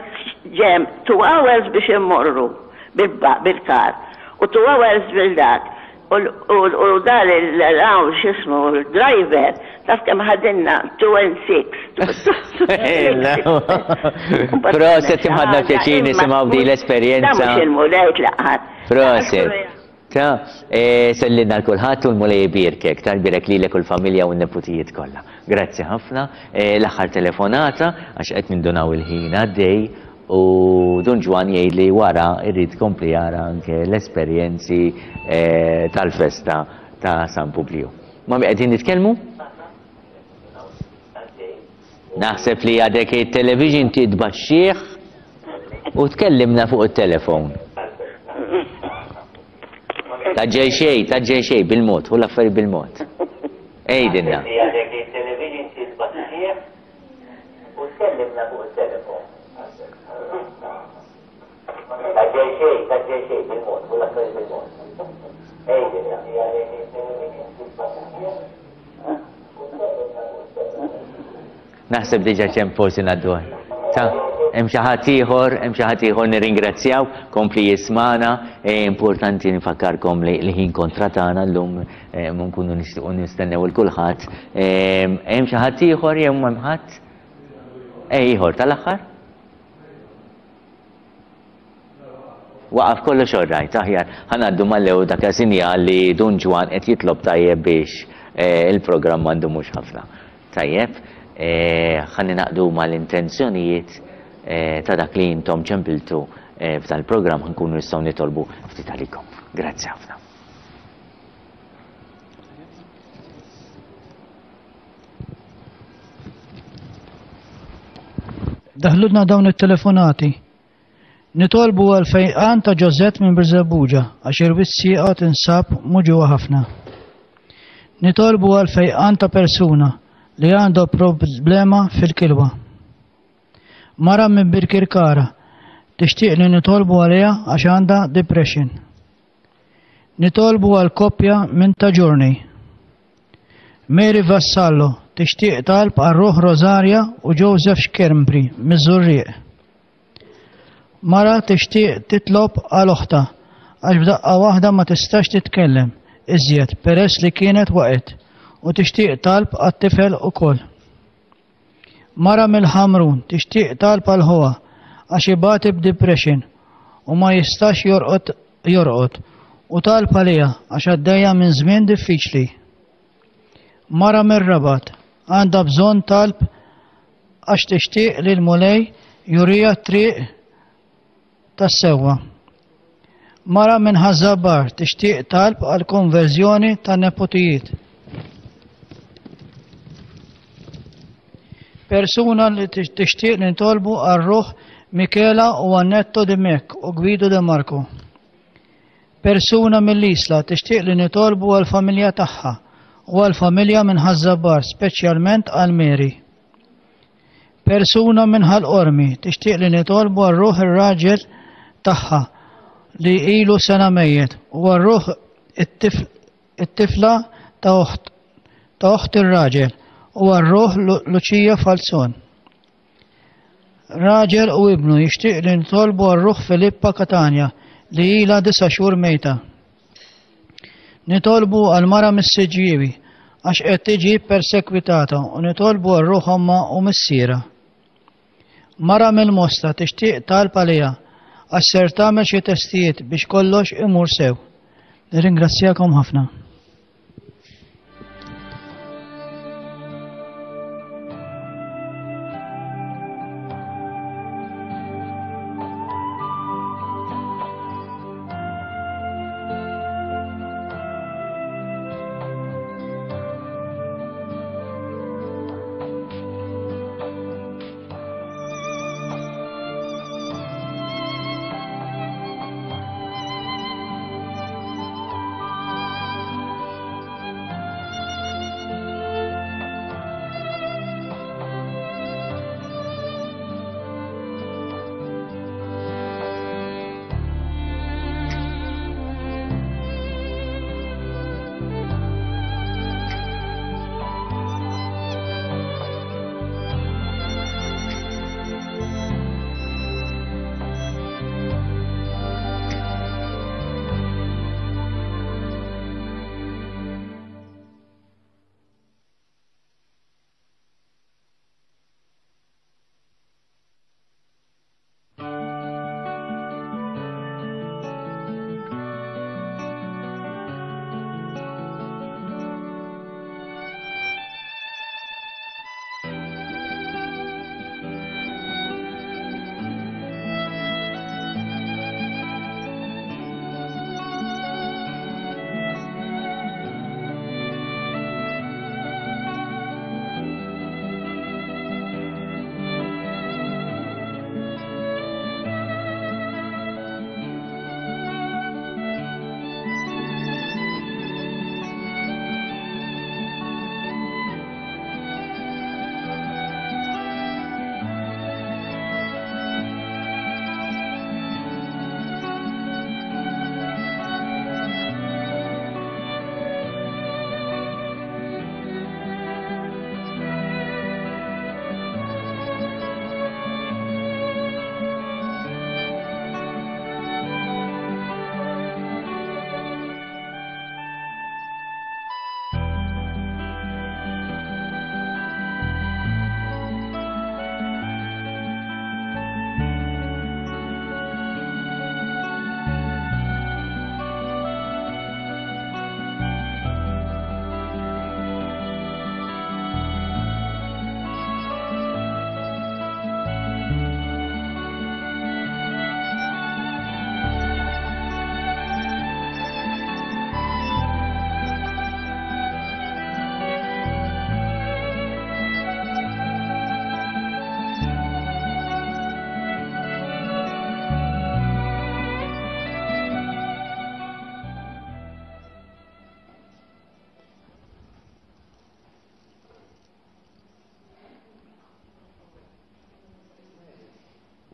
ġem two hours biex immorru bil-kar u two hours bil-dak. U dal il-għaw xismu, il-driver, taf kemm ħadinna two and six. Proset, kemm ħadna pjaċir nisimgħu din l-esperjenza. Da mhux il-Mulej tlaqħat. Proset. Ta, sellilna l-kulħadd u l-Mulej jbierkek, tal-birek lilek u l-familja u n-neputijiet kollha. Grazzi ħafna. L-aħħar telefonata għax qed nindunaw il-ħin għaddej u Dun Ġwann jgħid li wara irrid kompli jara anke l-esperjenzi tal-festa ta' San Publiju. Ma mi qegħdin nitkellmu? Naħseb li għadek il-television titbaxxih u tkellimna fuq il-telefon. Taġġel xej, taġġel xej, bil-mod, u l-affari bil-mod. Ejdinna. Naħseb diġà ċem forsi ngħaddu. Ta' hemm xi ħadd ieħor, hemm xi ħadd ieħor nirringrazzjaw, kompli jismana, e, importanti nfakkarkom li l-ħin kontra tagħna llum e, ma nkunu nixtiequ nistennew il kulħadd. E, hemm xi ħadd ieħor jew m'hemm ħadd? E ieħor tal-aħħar? Waqaf kollox orrajt, aħjar. Ħa ngħaddu mal-ewwel dak sinjal li Dun Ġwann qed jitlob tajjeb biex il-programm m'għandu mhux ħafna. Tajjeb, ħa ningħaqdu mal-intenzjonijiet ta' dak li intom ċempiltu f'dan il-programm, ħa nkunu nistgħu nitolbu ftit għalikom. Grazzi ħafna. Daħlulna dawn it-telefonati. Nitolbu għal fejqan ta' Ġożett minn Birżebbuġa għax ir-wissieqa tinsab muġugħa ħafna. Nitolbu għal fejqan ta' persuna li għandha problema fil-kilwa. Mara minn Birkirkara tixtieq li nitolbu għaliha għax għandha depression. Nitolbu għal koppja minn ta' Ġurni. Mary Vassallo tixtieq talb għal ruħ Rosaria u Joseph Xkermbri miż-Żurrieq. Mara tixtieq titlob għal oħta għax b'daqqa waħda ma tistax titkellem iżjed peress li kienet waqgħet u tixtieq talb għat-tifel ukoll. Mara mill-Ħamrun tixtieq talb għal ħuha għax ibati b'depression u ma jistax jorqod jorqod u talb għaliha għax għaddejja minn żmien diffiċli. Mara mir-Rabat għandha bżonn talb għax tixtieq li l-Mulej jurija t-triq tas-sewwa. Mara minn Ħaż-Żabbar tixtieq talb għal konverżjoni ta' nepotijiet. Persuna li tixtieq li nitolbu għal ruħ Michela u Annetto Dimech u Guido De Marco. Persuna mill-Isla tixtieq li nitolbu għal familja tagħha u għal familja minn Ħaż-Żabbar, speċjalment għal Mary. Persuna minn Ħal Qormi tixtieq li nitolbu għal ruħ ir-raġel tagħha li ilu sena mejjet u għal ruħ it-tifla ta' oħt ta' oħt ir-raġel u għal ruħ Lucia Falzon. Raġel u ibnu jixtieq li nitolbu għal ruħ Filippa Catania li ilha disa' xhur mejta. Nitolbu għal mara mis-Siġġiewi għax qed tiġi persekwitata u nitolbu għal ruħ ommha u missiera. Mara mill-Mosta tixtieq talb għaliha għax ser tagħmel xi testijiet biex kollox imur sew. Nirringrazzjakom ħafna.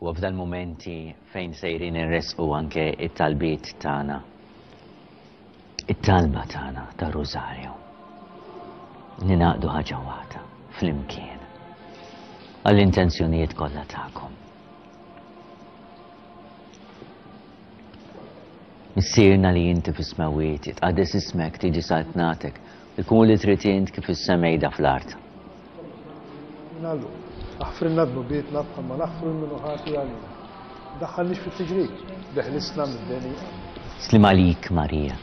U f'dan momenti fejn sejrin inresqu anke it-talbiet tagħna. It-talba tagħna ta' Rosario. Ninaqdu ħaġa waħda flimkien għall-intenzjonijiet kollha tagħkom. Missierna li inti fis-smewwiet, jitqaddes ismek, tiġi saltnatek, ikun li trid int kif is-semejda fl-art. Nallu, aħfrilna dnubietna bħalma naħfru lil min hu ħati għalina. Daħħalniex fit-tiġrib, deħlisna mid-deni. Slim għalik Marija,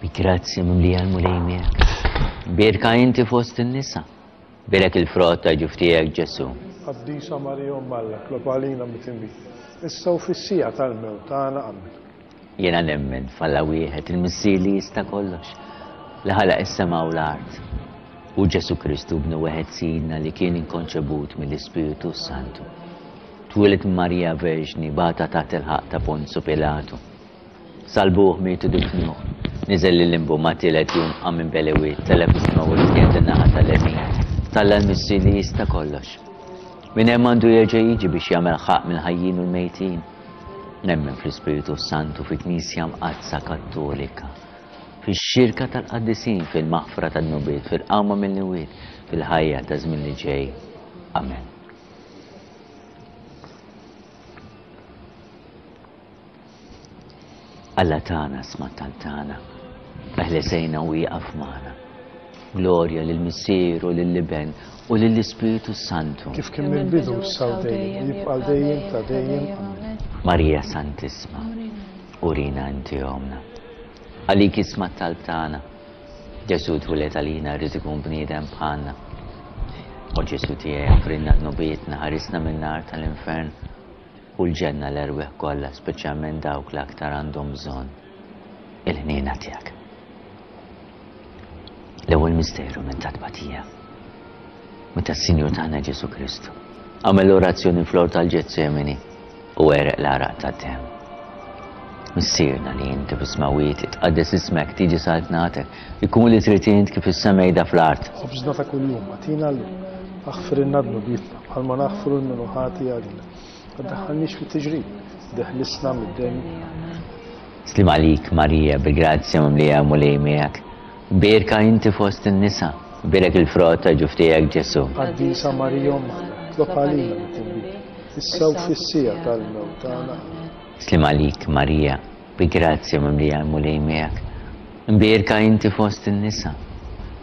bi grazzja mimlija l-Mulej miegħek. Bierka inti fost in-nisa, bierek il-frott ta' ġuf tiegħek Ġesù. Qaddisa Marija Omm Alla, tlob għalina midinbin, issa u fis-siegħa tal-mewt tagħna. Amen. Jiena nemmen f'Alla wieħed, il-Missier li jista' kollox, li ħalaq is-sema u l-art, u Ġesù Kristu bnu wieħed Sidna li kien inkonċebut mill-Ispirtu Santu. Twieled minn Marija Verġni, bata taħt il-ħaqq ta' Ponzu Pilatu. Salbuh, mietu difnuh, niżel lil-limbu ma' tielet jum qam minn belewiet, tela' fis-sema u qiegħed in-naħa tal-lemin t'Alla l-Missier li jista' kollox. Minn hemm għandu jerġa' jiġi biex jagħmel ħaqq mill-ħajjin u l-mejtin. Nemmen fl-Ispirtu Santu, fi Knisja Mqaddsa Kattolika, fix-xirka tal-qaddisin, fil-maħfra tad-dnubiet, fil-qawma mill-imwiet, fil-ħajja ta' żmien li ġej. Amen. Alla tagħna, sma' t-talb tagħna, eħlesejna u ieqaf magħna. Glorja lill-Missier u lill-Iben u lill-Ispirtu Santu. Kif kien mill-bidu, issa u dejjem, u jibqa' għal dejjem ta' dejjem. Amen. Marija Santissma, urina inti omna. Għalik isma' t-talb tagħna. Ġesù twieled għalina, rrid ikun bniedem bħalna. O Ġesù tiegħi, aħfrilna dnubietna, ħarisna min-nar tal-infern u l-ġenna l-erwieħ kollha, speċjalment dawk li aktar għandhom bżonn il-ħniena tiegħek. L-ewwel misteru minn ta' tbatija. Meta s-Sinjur tagħna Ġesù Kristu għamel l-orazzjoni fl-ort tal-Ġetsemani u għereq l-għaraq tad-demm. Missierna li inti fis-smewwiet, itqaddes ismek, tiġi saltnatek, ikun li trid int kif is-semejda fl-art. Ħobżna ta' kuljum agħtina llum. Aħfrilna dnubietna bħalma naħfru lil min hu ħati għalina. Ma tdaħħalniex fit-tiġrib, deħlisna mid-deni. Amen. Slim għalik Marija, bi grazzja mimlija Mulej miegħek. Bierka inti fost in-nisa, bierek il-frott ta' ġuf tiegħek Ġesù. Qaddisa Marija Omm Alla, tlob għalina midinbin, issa u fis-siegħa tal-mewt tagħna. Amen. Slim għalik Marija, bi grazzja mimlija l-Mulej miegħek. Mbierka inti fost in-nisa,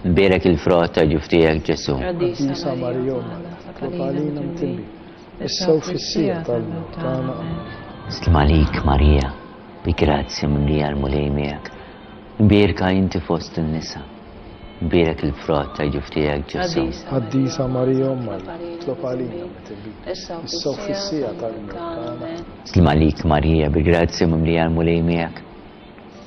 mbierek il-frott ta' ġuf tiegħek Ġesù. Qaddisa Marija Omm Alla, tlob għalina midinbin, issa u fis-siegħa tal-mewt tagħna. Amen. Slim għalik Marija, bi grazzja mimlija l-Mulej miegħek. Mbierka inti fost in-nisa, mbierek il-frott ta' ġuf tiegħek Ġesù. Qaddisa Marija Omm Alla, tlob għalina midinbin, issa u fis-siegħa tal-mewt tagħna. Slim għalik Marija, bi grazzja mimlija l-Mulej miegħek.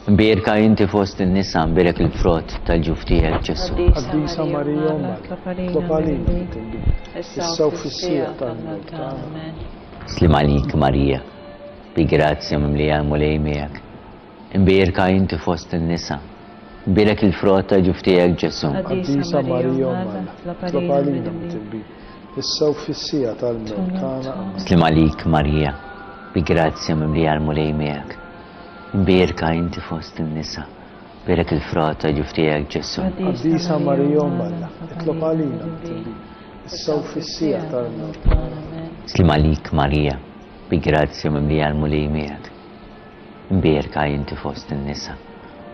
Mbierka inti fost in-nisa, mbierek il-frott tal-ġuf tiegħek Ġesù. Qaddisa Marija Omm Alla, tlob għalina midinbin, issa u fis-siegħa tal-mewt tagħna. Slim għalik Marija, bi grazzja mimlija l-Mulej miegħek. Imbierka inti fost in-nisa, mbierek il-frott ta' ġuf tiegħek Ġesù. Qaddisa Marija Omm Alla, tlob għalina midinbin, issa u fis-siegħa tal-mewt tagħna. Amen. Slim għalik Marija, bi grazzja mimlija l-Mulej miegħek. Imbierka inti fost in-nisa, mbierek il-frott ta' ġuf tiegħek Ġesù. Qaddisa Marija Omm Alla, itlob għalina midinbin, issa u fis-siegħa tal-mewt tagħna. Amen. Slim għalik Marija, bi grazzja mimlija l-Mulej miegħek. Mbierka inti fost in-nisa,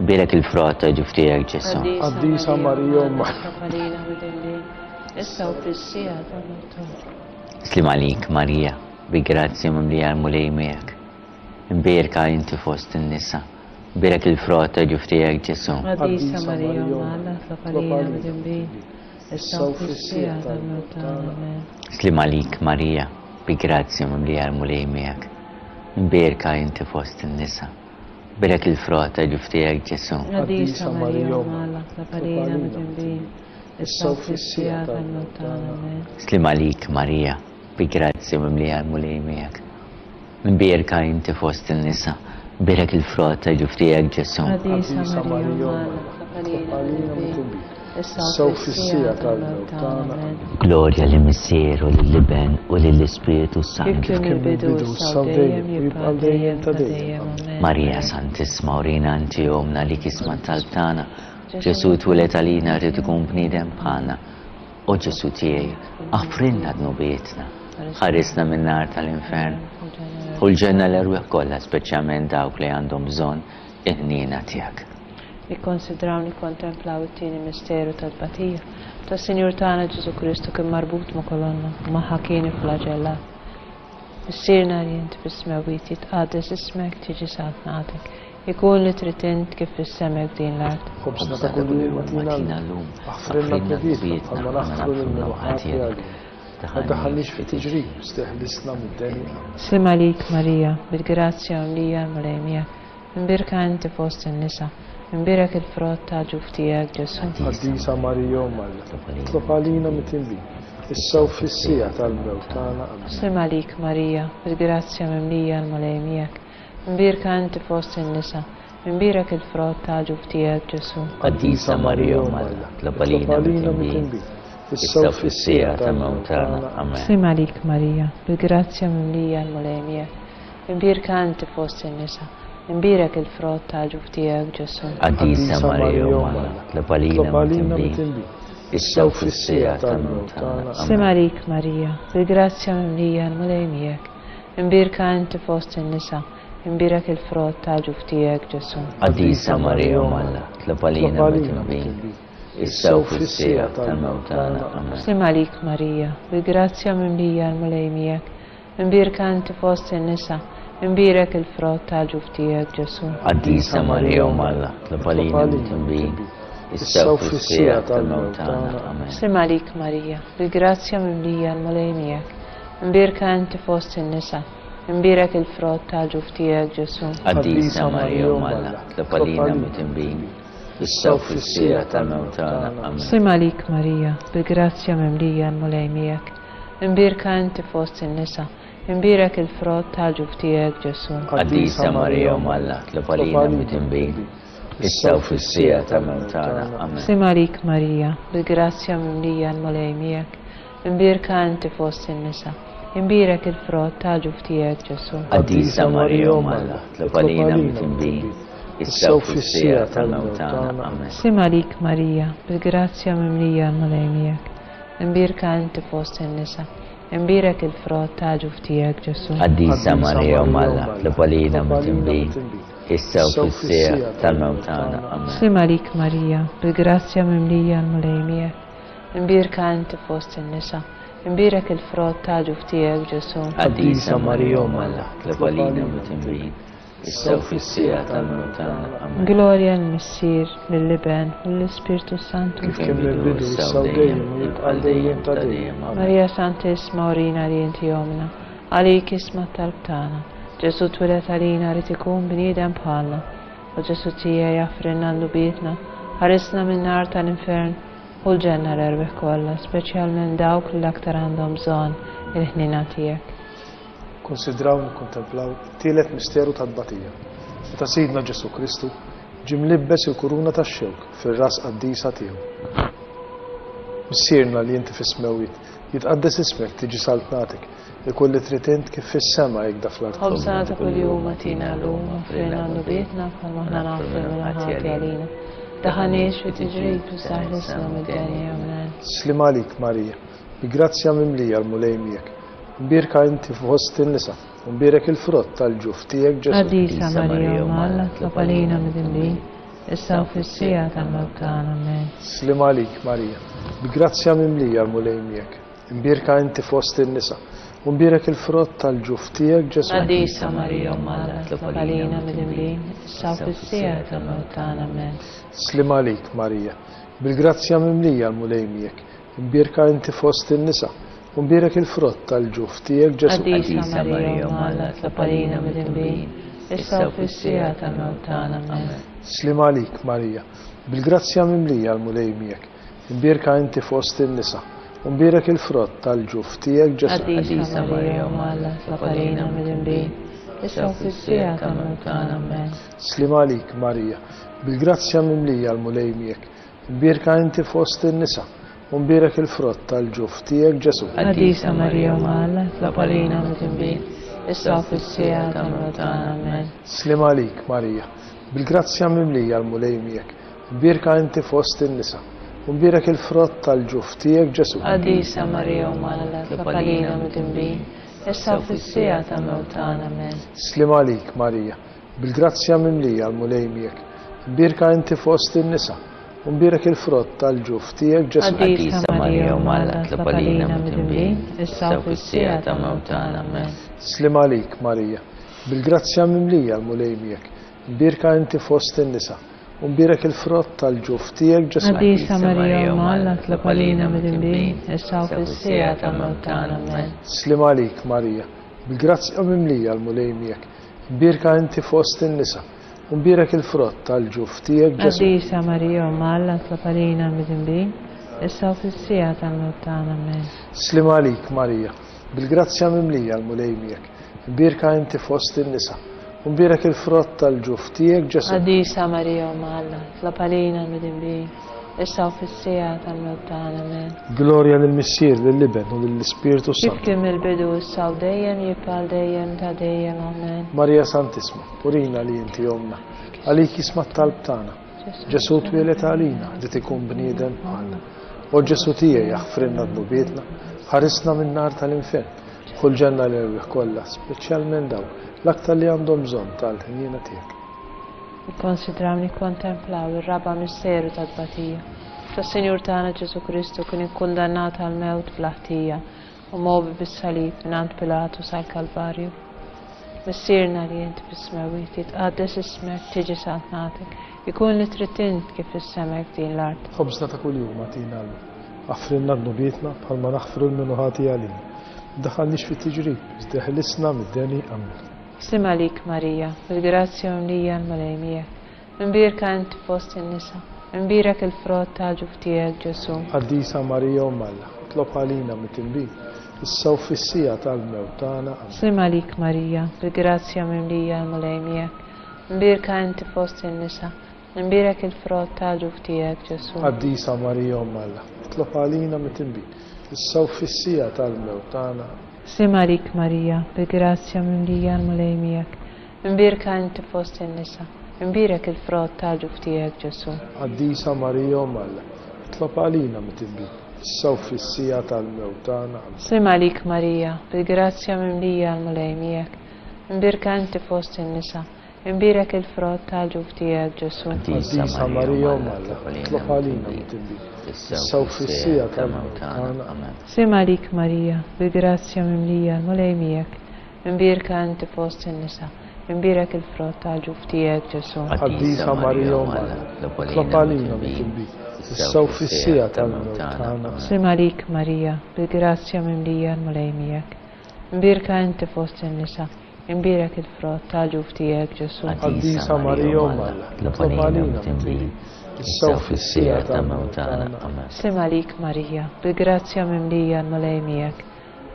mbierek il-frott ta' ġuf tiegħek Ġesù. Qaddisa Marija Omm Alla. Slim għalik Marija, bi grazzja mimlija l-Mulej miegħek. Mbierka inti fost in-nisa, mbierek il-frott ta' ġuf tiegħek Ġesù. Qaddisa Marija Omm Alla, tlob għalina midinbin, issa u fis-siegħa tal-mewt tagħna. Amen. Slim għalik Marija, bi grazzja mimlija l-Mulej miegħek. Mbierka inti fost in-nisa, mbierek il-frott ta' ġuf tiegħek Ġesù. Qaddisa Marija Omm Alla, tlob għalina midinbin, issa u fis-siegħa tal-mewt tagħna. Amen. Slim għalik Marija, bi grazzja mimlija l-Mulej miegħek. Mbierka inti fost in-nisa, mbierek il-frott ta' ġuf tiegħek Ġesù. Qaddisa Marija Omm Alla, tlob għalina midinbin, Issa u fis-siegħa tal-mewt tagħna. Amen. Glorja lill-Missier u lill-Iben u lill-Ispirtu s-Santu. Kif kien mill-bidu, issa u dejjem, u jibqa' għal dejjem ta' dejjem. Amen. Marija Santissima, urina inti ommna li isma' t-talb tagħna. Ġesù twieled għalina rrid ikun bniedem bħalna. O Ġesù tiegħi, aħfrilna dnubietna, ħarisna min-nar tal-infern, u l-ġenna l-erwieħ kollha, speċjalment dawk li għandhom bżonn il-ħniena tiegħek. Nikkonsidraw nikkontemplaw it-tieni misteru tat-tbatija tas-Sinjur tagħna Ġesù Kristu kien marbut ma' kolonna u magħha kien ifflaġellat. Missierna li int fis-smewwiet, jitqaddes ismek, tiġi saltnatek, ikun li trid int kif fis-sema hekk f'din l-art. Ħobżna ta' kuljum agħtina llum, aħfrilna dnubietna bħalma naħfru lil min hu ħati għalina. Ma ddaħħalniex fi tiġrib, iżda eħlisna mid-deni. Amen. Sliem għalik Marija, bil-grazzja mimlija l-Mulej miegħek, imbierka inti fost in-nisa, imbierek il-frott tal-ġuf tiegħek Ġesù. Qaddisa Marija Omm Alla, itlob għalina mitinbin, issa u fis-siegħa tal-mewt tagħna. Amen. Sliem għalik Marija, bil-grazzja mimlija l-Mulej miegħek, imbierka inti fost in-nisa, imbierek il-frott tal-ġuf tiegħek Ġesù. Qaddisa Marija Omm Alla, itlob għalina mitinbin, issa u fis-siegħa tal-mewt tagħna. Amen. Sliem għalik Marija, bil-grazzja mimlija l-Mulej miegħek, imbierka inti fost in-nisa, imbierek il-frott tal-ġuf tiegħek Ġesù. Qaddisa Marija Omm Alla, itlob għalina mitinbin, issa u fis-siegħa tal-mewt tagħna. Sliem għalik Marija, bil-grazzja mimlija l-Mulej miegħek, imbierka inti fost in-nisa, imbierek il-frott tal-ġuf tiegħek Ġesù. Qaddisa Marija Omm Alla, itlob għalina mitinbin, issa u fis-siegħa tal-mewt tagħna. Amen. Sliem għalik Marija, bil-grazzja mimlija l-Mulej miegħek, imbierka inti fost in-nisa, imbierek il-frott tal-ġuf tiegħek Ġesù. Qaddisa Marija Omm Alla, itlob għalina mitinbin, issa u fis-siegħa tal-mewt tagħna. Amen. Sliem għalik Marija, bil-grazzja mimlija l-Mulej miegħek, imbierka inti fost in-nisa, imbierek il-frott tal-ġuf tiegħek Ġesù. Qaddisa Marija Omm Alla, itlob għalina mitinbin, issa u fis-siegħa tal-mewt tagħna. Amen. Sliem għalik Marija, bil-grazzja mimlija l-Mulej miegħek, imbierka inti fost in-nisa, imbierek il-frott tal-ġuf tiegħek Ġesù. Qaddisa Marija Omm Alla, itlob għalina mitinbin, issa u fis-siegħa tal-mewt tagħna. Amen. Sliem għalik Marija, bil-grazzja mimlija l-Mulej miegħek, imbierka inti fost in-nisa, imbierek il-frott tal-ġuf tiegħek Ġesù. Qaddisa Marija Omm Alla, itlob għalina mitinbin, issa u fis-siegħa tal-mewt tagħna. Amen. Sliem għalik Marija, bil-grazzja mimlija l-Mulej miegħek, imbierka inti fost in-nisa, imbierek il-frott tal-ġuf tiegħek Ġesù. Qaddisa Marija Omm Alla, itlob għalina mitinbin, issa u fis-siegħa tal-mewt tagħna. Amen. Sliem għalik Marija, bil-grazzja mimlija l-Mulej miegħek, imbierka inti fost in-nisa, imbierek il-frott tal-ġuf tiegħek Ġesù. Qaddisa Marija Omm Alla, itlob għalina mitinbin, issa u fis-siegħa tal-mewt tagħna. Amen. Glorja lill-Missier, lill-Iben u lill-Ispirtu Santu. Kif kien mill-bidu, issa u dejjem, u jibqa' għal dejjem ta' dejjem. Amen. Marija Santissima, urina li inti ommna, għalik isma' t-talb tagħna. Ġesù twieled għalina rrid ikun bniedem bħalna. O Ġesù tiegħi, aħfrilna dnubietna, ħarisna min-nar tal-infern u l-ġenna l-erwieħ kollha, speċjalment dawk li l-aktar għandhom bżonn il-ħniena tiegħek. Konsidraw nikkontemplaw it-tielet misteru tat-tbatija, meta Sidna Ġesù Kristu ġie mlibbes il-kuruna tax-xewk fir-ras qaddisa tiegħu. Missierna li inti fis-smewwiet, jitqaddes ismek, tiġi saltnatek, ikun li trid int kif fis-sema hekk da fl-art. Ħobżna ta' kuljum agħtina llum, aħfrilna dnubietna bħalma aħna naħfru lil min hu ħati għalina. Daħħalniex fi tiġrib, iżda ħlisna mid-deni. Amen. Sliem għalik Marija, bi grazzja mimlija l-Mulej miegħek, imbierka inti fost in-nisa, u mbierek il-frott tal-ġuf tiegħek Ġesù. Qaddisa Marija Omm Alla, itlob għalina midinbin, issa u fis-siegħa tal-mewt tagħna. Amen. Sliem għalik Marija, bi grazzja mimlija l-Mulej miegħek, imbierka inti fost in-nisa, u mbierek il-frott tal-ġuf tiegħek Ġesù. Qaddisa Marija Omm Alla, itlob għalina midinbin, issa u fis-siegħa tal-mewt tagħna. Amen. Sliem għalik Marija, bil-grazzja mimlija l-Mulej miegħek, imbierka inti fost in-nisa, u mbierek il-frott tal-ġuf tiegħek Ġesù. Qaddisa Marija Omm Alla, itlob għalina midinbin, issa u fis-siegħa tal-mewt tagħna. Amen. Sliem għalik Marija, bil-grazzja mimlija l-Mulej miegħek, imbierka inti fost in-nisa, u mbierek il-frott tal-ġuf tiegħek Ġesù. Qaddisa Marija Omm Alla, itlob għalina midinbin, issa u fis-siegħa tal-mewt tagħna. Amen. Sliem għalik Marija, bil-grazzja mimlija l-Mulej miegħek, Imbierka inti fost in-nisa, u mbierek il-frott tal-ġuf tiegħek Ġesù. Qaddisa Marija Omm Alla, itlob għalina midinbin, issa u fis-siegħa tal-mewt tagħna. Amen. Sliem għalik, Marija, bil-grazzja mimlija l-Mulej miegħek. Imbierka inti fost in-nisa, u mbierek il-frott tal-ġuf tiegħek Ġesù. Qaddisa Marija Omm Alla, itlob għalina midinbin, issa u fis-siegħa tal-mewt tagħna. Amen. Sliem għalik, Marija, bil-grazzja mimlija l-Mulej miegħek. Imbierka inti fost in-nisa, u mbierek il-frott tal-ġuf tiegħek Ġesù. Qaddisa Marija Omm Alla, itlob għalina midinbin, issa u fis-siegħa tal-mewt tagħna. Amen. Sliem għalik, Marija, bil-grazzja mimlija l-Mulej miegħek. Imbierka inti fost in-nisa, u mbierek il-frott tal-ġuf tiegħek Ġesù. Qaddisa Marija Omm Alla, itlob għalina midinbin, issa u fis-siegħa tal-mewt tagħna. Amen. Sliem għalik, Marija, bil-grazzja mimlija l-Mulej miegħek. Imbierka inti fost in-nisa, u mbierek il-frott tal-ġuf tiegħek Ġesù. Qaddisa Marija Omm Alla, itlob għalina midinbin, issa u fis-siegħa tal-mewt tagħna. Amen. Sliem għalik, Marija, bil-grazzja mimlija l-Mulej miegħek. Imbierka inti fost in-nisa, u mbierek il-frott tal-ġuf tiegħek Ġesù. Qaddisa Marija Omm Alla, itlob għalina midinbin, issa u fis-siegħa tal-mewt tagħna. Amen. Glorja lill-Missier, lill-Iben u lill-Ispirtu Kif Santu. kien mill-bidu issa u dejjem jibqa' għal dejjem ta' dejjem. Amen. Marija Santissima, urina li inti ommna, għalik jisma' t-talb tagħna. Ġesù twieled għalina, li ikun bniedem bħalna. O Ġesù tiegħi aħfrilna dnubietna, ħarisna min-nar tal-infern, ħu l-ġenna l-erwieħ kollha, speċjalment dawk l-aktar li għandhom bżonn tal-ħniena tiegħek. Nikkonsidraw nikkontemplaw ir-raba' misteru tat-tbatija. Tas-Sinjur tagħna Ġesù Kristu kien ikkundannat għall-mewt bla ħtija u mgħobbi bis-salib mingħand Pilatu sal-Kalvarju. Missierna li int fis-smewwiet, jitqaddes ismek, tiġi saltnatek, ikun li trid int kif fis-sema hekk din l-art. Ħobżna ta' kuljum agħtina llum. Aħfrilna dnubietna bħalma naħfru lil min hu ħati għalina. Daħħalniex fit-tiġrib, iżda ħelisna mid-deni. Amen. Sliem għalik Marija, bil-grazzja mimlija l-Mulej miegħek. Imbierka inti fost in-nisa, imbierek il-frott tal-ġuf tiegħek Ġesù. Qaddisa Marija Omm Alla, itlob għalina midinbin, issa u fis-siegħa tal-mewt tagħna. Amen. Sliem għalik Marija, bil-grazzja mimlija l-Mulej miegħek. Imbierka inti fost in-nisa, imbierek il-frott tal-ġuf tiegħek Ġesù. Qaddisa Marija Omm Alla, itlob għalina midinbin, issa u fis-siegħa tal-mewt tagħna. Sliem għalik Marija, bil-grazzja mimlija l-Mulej miegħek. Imbierka inti fost in-nisa, imbierek il-frott tal-ġuf tiegħek Ġesù. Qaddisa Marija Omm Alla, itlob għalina midinbin, issa u fis-siegħa tal-mewt tagħna. Amen. Sliem għalik Marija, bil-grazzja mimlija l-Mulej miegħek. Imbierka inti fost in-nisa, imbierek il-frott tal-ġuf tiegħek Ġesù. Qaddisa Marija Omm Alla, itlob għalina midinbin, issa u fis-siegħa tal-mewt tagħna. Amen. Sliem għalik Marija, bil-grazzja mimlija l-Mulej miegħek. Imbierka inti fost in-nisa, imbierek il-frott tal-ġuf tiegħek Ġesù. Qaddisa Marija Omm Alla, itlob għalina midinbin, issa u fis-siegħa tal-mewt tagħna. Sliem għalik Marija, bil-grazzja mimlija l-Mulej miegħek. Imbierka inti fost in-nisa, imbierek il-frott tal-ġuf tiegħek Ġesù. Qaddisa Marija Omm Alla, itlob għalina midinbin, issa u fis-siegħa tal-mewt tagħna. Amen. Sliem għalik Marija, bil-grazzja mimlija l-Mulej miegħek.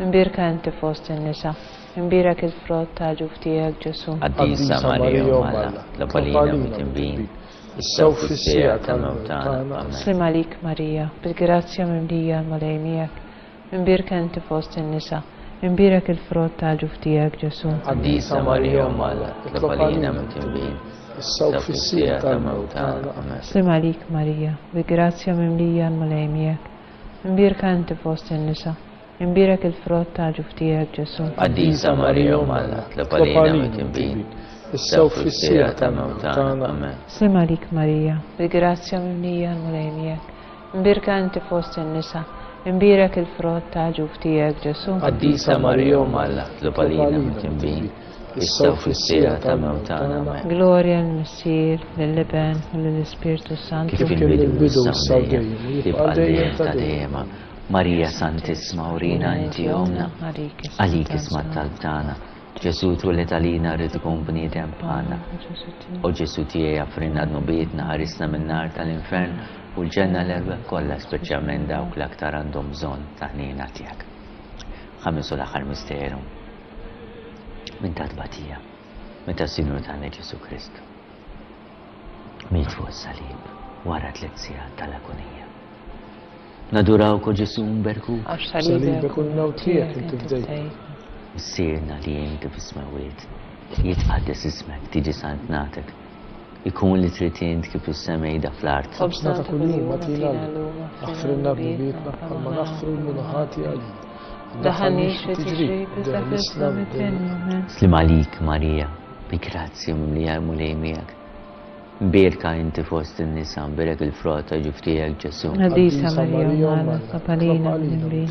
Imbierka inti fost in-nisa, imbierek il-frott tal-ġuf tiegħek Ġesù. Qaddisa Marija Omm Alla, itlob għalina midinbin, issa u fis-siegħa tal-mewt tagħna. Amen. Sliem għalik Marija, bil-grazzja mimlija l-Mulej miegħek. Imbierka inti fost in-nisa, imbierek il-frott tal-ġuf tiegħek Ġesù. Qaddisa Marija Omm Alla, itlob għalina midinbin, issa u fis-siegħa tal-mewt tagħna. Amen. Sliem għalik Marija, bil-grazzja mimlija l-Mulej miegħek. Imbierka inti fost in-nisa, imbierek il-frott tal-ġuf tiegħek Ġesù. Qaddisa Marija Omm Alla, itlob għalina midinbin, issa u fis-siegħa tal-mewt tagħna. Amen. Sliem għalik Marija, bil-grazzja mimlija l-Mulej miegħek. Imbierka inti fost in-nisa, imbierek il-frott tal-ġuf tiegħek Ġesù. Qaddisa Marija Omm Alla, itlob għalina midinbin, issa u fis-siegħa tal-mewt tagħna. Amen. Glorja lill-Missier, lill-Iben u lill-Ispirtu Santu. Kif il-bidu issa u dejjem, jibqa' dejjem ta' dejjem. Marija Santissima, urina inti ommna, għalik isma' t-talb tagħna. Ġesù twieled għalina rrid ikun bniedem bħalna. O Ġesù tiegħi aħfrilna dnubietna, ħarisna min-nar tal-infern u l-ġenna l-erwieħ kollha, speċjalment dawk l-aktar għandhom bżonn ta' ħniena tiegħek. Ħames u l-aħħar misteru minn ta' tbatija, meta s-Sinjur tagħna Ġesù Kristu miet fuq is-salib. wara tliet sigħat tal-agonija. Nadurawk o Ġesù mberkuk. Għax Salibek u l-mewt tiegħek inti fdejt. Missierna li inti fis-smewwiet, jitqaddes ismek, tiġi saltnatek. Ikun li trid int kif fis-sema ida fl-art. Ħobżna ta' kuljum agħtina llum. Aħfrilna dnubietna bħalma naħfru lil min hu ħati għalina. Daħalniex fi tiġrib, iżda ħlisna mid-dnub. Sliem għalik Marija, bi grazzja mimlija l-Mulej miegħek. Mbierka inti fost in-nisa, mbierek il-frott ta' ġuf tiegħek Ġesù. Qaddisa Marija, Omm Alla, itlob għalina midinbin,